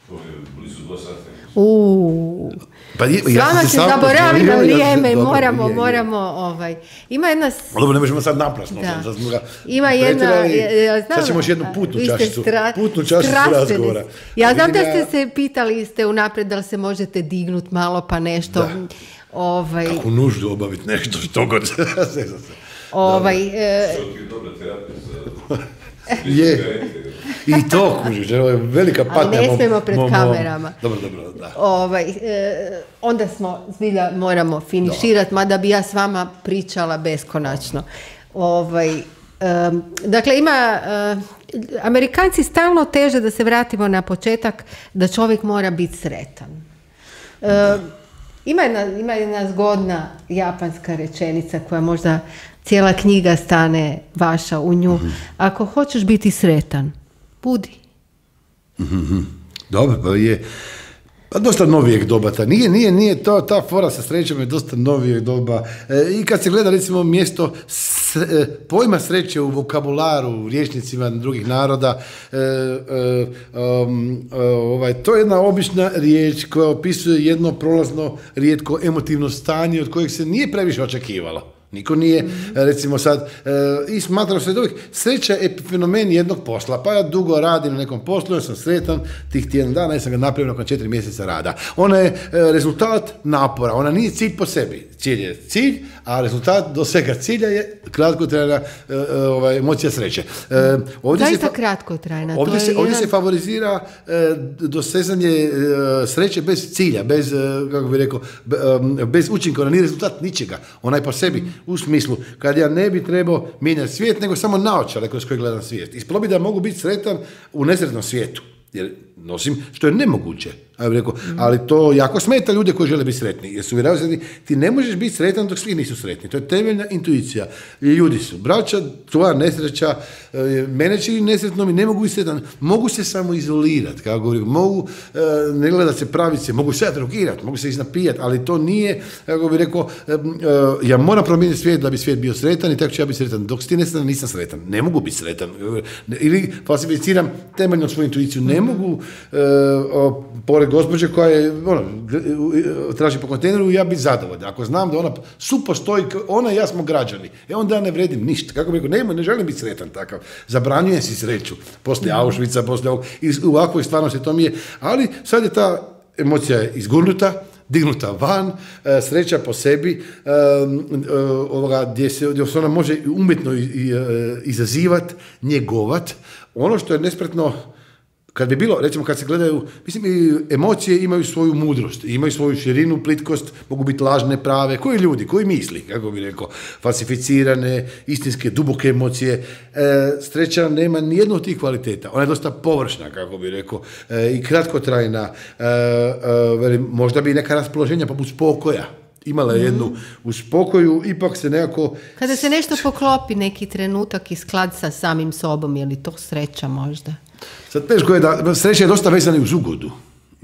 To je blizu dva sata. Uuu, pa je, s vama ja se zaboravi na vrijeme, ja, moramo, je, je. moramo, ovaj, ima jedna... Dobro, ne možemo sad naprasno, da. sad smo ga ima jedna, ja, znam, sad ćemo još jednu putnu čašicu, stra, putnu čašicu razgovora. Ja znam da ste se pitali, ste unaprijed da li se možete dignuti malo pa nešto, da. ovaj... Kako nuždu obaviti nešto, što god se... ovaj... E... je... I to, kužiš, ovo je velika patnja. Ali ne smijemo pred mom, kamerama. Dobro, dobro, da. Ovaj, e, onda smo, zbilja, moramo finiširati, mada bi ja s vama pričala beskonačno. Ovaj, e, dakle, ima... E, Amerikanci stalno teže, da se vratimo na početak, da čovjek mora biti sretan. E, ima, jedna, ima jedna zgodna japanska rečenica koja možda cijela knjiga stane vaša u nju. Mm-hmm. Ako hoćeš biti sretan, budi. Mm-hmm. Dobro, pa je pa dosta novijeg doba. Ta. Nije, nije, nije to, ta fora sa srećom je dosta novijeg doba. E, I kad se gleda recimo mjesto sre, pojma sreće u vokabularu, u rječnicima drugih naroda, e, e, um, ovaj, to je jedna obična riječ koja opisuje jedno prolazno, rijetko emotivno stanje od kojeg se nije previše očekivalo. Niko nije, recimo sad, e, i smatrao se da uvijek sreća je fenomen jednog posla, pa ja dugo radim na nekom poslu, ja sam sretan, tih tjedan dana, ja sam ga napravio nakon četiri mjeseca rada. Ona je e, rezultat napora, ona nije cilj po sebi. Cilj je cilj, a rezultat do svega cilja je kratkotrajna e, ovaj, emocija sreće. E, ovdje Zaista se, kratkotrajna. Ovdje, to se, je ovdje jedan... se favorizira e, dosezanje e, sreće bez cilja, bez, e, kako bih rekao, be, e, bez učinka, ona nije rezultat ničega, ona je po sebi. U smislu, kad ja ne bi trebao mijenjati svijet, nego samo naočale kroz koje gledam svijet. Ispalo bi da mogu biti sretan u nesretnom svijetu. Jer nosim, što je nemoguće. Ja bih rekao, ali to jako smeta ljude koji žele biti sretni, jer su uvjeravaju se, ti ne možeš biti sretan dok svi nisu sretni. To je temeljna intuicija. Ljudi su braća, tvoja nesreća, mene čini nesretnom i ne mogu biti sretan. Mogu se samo izolirati, kako govorim, mogu ne gledati se pravice, mogu se drogirati, mogu se iznapijati, ali to nije, kako bih rekao, ja moram promijeniti svijet da bi svijet bio sretan i tako ću ja biti sretan. Dok si ti nesretan, nisam sretan. Ne mogu biti sretan. Ili falsificiram temeljno svoju intuiciju. Ne mogu pored gospođe koja je, ono, traži po kontejneru i ja biti zadovoljan. Ako znam da ona supostoji, ona i ja smo građani, e onda ja ne vredim ništa. Kako bih rekao, ne, ne želim biti sretan takav. Zabranjujem si sreću. Poslije Auschwitza, poslije ovog, i u ovakvoj stvarnosti to mi je. Ali sad je ta emocija izgurnuta, dignuta van, sreća po sebi, ovoga, gdje se, gdje se ona može umjetno izazivati, njegovat. Ono što je nespretno, kad bi bilo, recimo kad se gledaju, mislim, emocije imaju svoju mudrost, imaju svoju širinu, plitkost, mogu biti lažne, prave, koji ljudi, koji misli, kako bi rekao, falsificirane, istinske, duboke emocije. E, sreća nema nijednu od tih kvaliteta, ona je dosta površna, kako bi rekao, e, i kratkotrajna, e, e, možda bi neka raspoloženja poput spokoja, imala je jednu u spokoju, ipak se nekako... Kada se nešto poklopi neki trenutak i sklad sa samim sobom, je li to sreća možda? Sad teško je da, sreća je dosta vezana uz ugodu.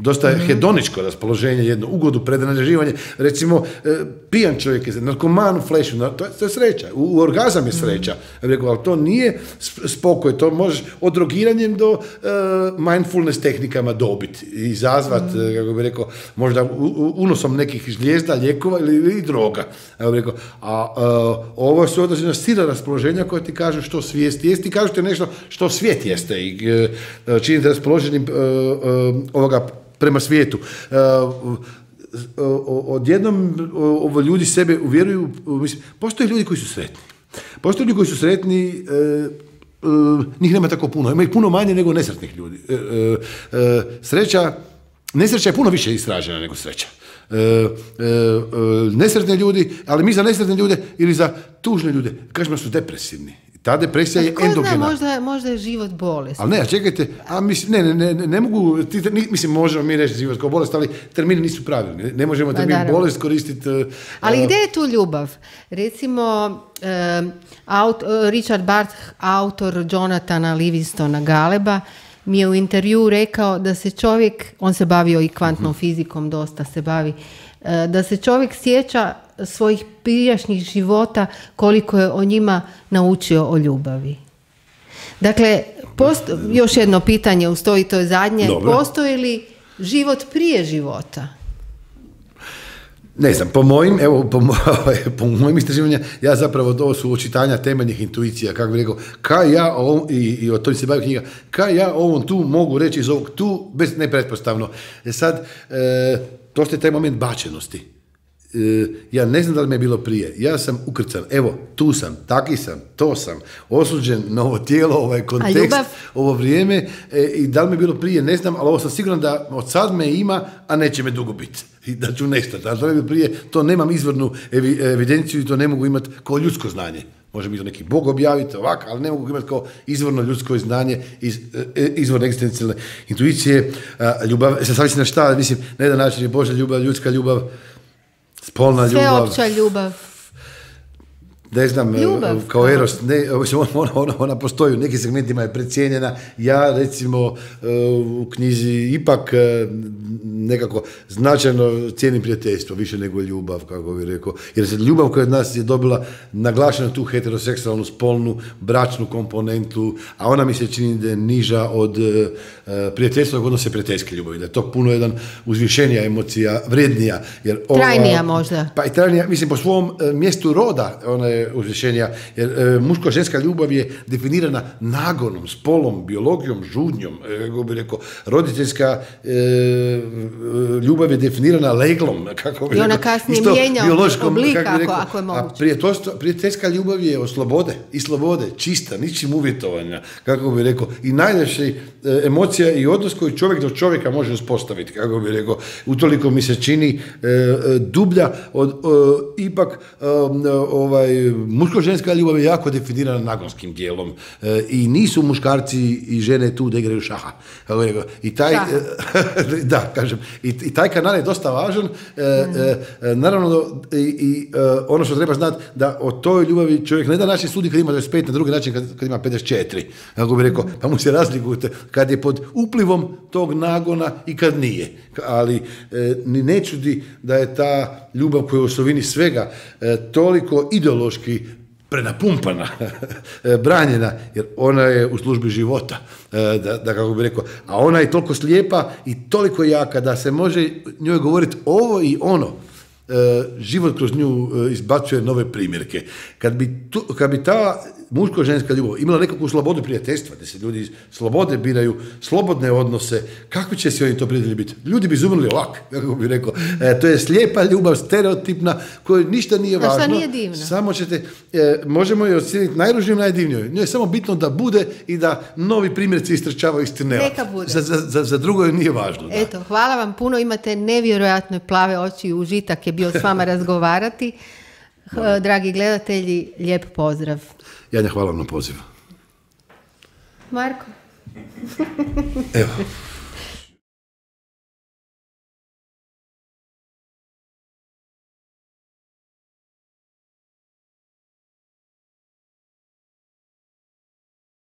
Dosta je mm-hmm. hedoničko raspoloženje, jedno ugodu, predraživanje. Recimo, e, pijan čovjek je narkoman u flešu, to, to je sreća. U, u orgazam je sreća. Ja bih rekao, ali to nije spokoj, to možeš od drogiranjem do e, mindfulness tehnikama dobiti i izazvat, mm-hmm. kako bih rekao, možda u, u, unosom nekih žlijezda, lijekova ili, ili droga. Ja bih rekao, a e, ovo su određena stila raspoloženja koja ti kažu što svijest jest i kažu ti nešto što svijet jeste i e, činite raspoloženim e, e, ovoga prema svijetu. Odjednom ovo ljudi sebe uvjeruju, mislim, postoje ljudi koji su sretni. Postoje ljudi koji su sretni, njih nema tako puno, ima ih puno manje nego nesretnih ljudi. Sreća, nesreća je puno više istražena nego sreća. Nesretni ljudi, ali mi za nesretne ljude ili za tužne ljude kažemo da su depresivni. Ta depresija je endogena. Zna, možda, možda je život bolest. Ali ne, čekajte, a mislim, ne, ne, ne, ne mogu, ti, mislim, možemo mi reći život kao bolest, ali termini nisu pravilni. Ne, ne možemo termin ba, bolest koristiti. Uh, ali gdje je tu ljubav? Recimo, uh, aut, uh, Richard Bart, autor Jonathana Livingstona Galeba, mi je u intervju rekao da se čovjek, on se bavio i kvantnom uh-huh. fizikom, dosta se bavi, uh, da se čovjek sjeća svojih prijašnjih života koliko je o njima naučio o ljubavi. Dakle, posto, još jedno pitanje ustoji, to je zadnje. Dobro. Postoji li život prije života? Ne znam, po mojim, evo, po, po mojim istraživanjima, ja zapravo to su očitanja temeljnih intuicija, kako bih rekao, kaj ja o ovom, i, i o tome se bavi knjiga, kaj ja o ovom tu mogu reći iz ovog tu, bez nepretpostavno. E sad, e, to je taj moment bačenosti. Ja ne znam da li mi je bilo prije, ja sam ukrcan, evo, tu sam, taki sam, to sam, osuđen na ovo tijelo, ovaj kontekst, ovo vrijeme, e, i da li mi je bilo prije, ne znam, ali ovo sam siguran da od sad me ima, a neće me dugo biti, i da ću nestati, ali da li mi je bilo prije, to nemam izvornu evi, evidenciju i to ne mogu imati kao ljudsko znanje. Može mi to neki Bog objaviti ovako, ali ne mogu imati kao izvorno ljudsko znanje, iz, izvorne egzistencijalne intuicije, ljubav, se savisi na šta, mislim, na jedan način je Božja ljubav, ljudska ljubav, spolna ljubav. Sveopća ljubav. Ne znam, ljubav, kao Eros, ne, ona, ona, ona postoji, u nekim segmentima je precijenjena. Ja, recimo, u knjizi ipak nekako značajno cijenim prijateljstvo, više nego ljubav, kako bih rekao. Jer se ljubav koja od nas je dobila naglašenu tu heteroseksualnu, spolnu, bračnu komponentu, a ona mi se čini da je niža od prijateljstva odnose prijateljske ljubavi, da je to puno jedan uzvišenija emocija, vrijednija. Jer ova, trajnija možda. Pa i trajnija, mislim, po svom mjestu roda, ona je uzvišenja, jer e, muško-ženska ljubav je definirana nagonom, spolom, biologijom, žudnjom, e, kako bi rekao, roditeljska, e, ljubav je definirana leglom, kako bi I ona rekao, kasnije isto mijenja biološkom, oblika, kako bi rekao, ako- ako je moguće. A prijateljstvo- prijateljska ljubav je od slobode, i slobode, čista, ničim uvjetovanja, kako bi rekao, i najljepša emocija i odnos koji čovjek do čovjeka može uspostaviti, kako bi rekao, utoliko mi se čini e, e, dublja od, e, ipak e, ovaj, muško-ženska ljubav je jako definirana nagonskim dijelom e, i nisu muškarci i žene tu da igraju šaha, kako bi rekao, i taj, Da. da, kažem, i, i taj kanal je dosta važan, e, e, e, naravno i, i e, ono što treba znati da o toj ljubavi čovjek ne da način sudi kad ima dvadeset pet, na drugi način kad, kad ima pedeset četiri, kako bi rekao, pa mu se razlikujete kad je pod uplivom tog nagona i kad nije, ali e, ni ne čudi da je ta ljubav koja je u osovini svega e, toliko ideološki prenapumpana, branjena, jer ona je u službi života, da, da kako bi rekao, a ona je toliko slijepa i toliko jaka da se može njoj govoriti ovo i ono. Život kroz nju izbacuje nove primjerke. Kad bi, tu, kad bi ta muško-ženska ljubav imala nekakvu slobodu prijateljstva, da se ljudi slobode biraju, slobodne odnose, kakvi će se oni to prijatelji biti? Ljudi bi izumrli ovako, kako bi rekao. E, to je slijepa ljubav, stereotipna, koja ništa nije A šta važno. nije divno? Samo ćete, e, možemo je ocijeniti najružnijom, najdivnijoj. Njoj je samo bitno da bude i da novi primjerci istrčavaju iz tunela. Neka bude. Za, za, za, za drugo joj nije važno. Da. Eto, hvala vam puno, imate nevjerojatno plave oči i užitak je bio s vama razgovarati. H- Dragi gledatelji, lijep pozdrav. Janja, hvala vam na pozivu. Marko? Evo.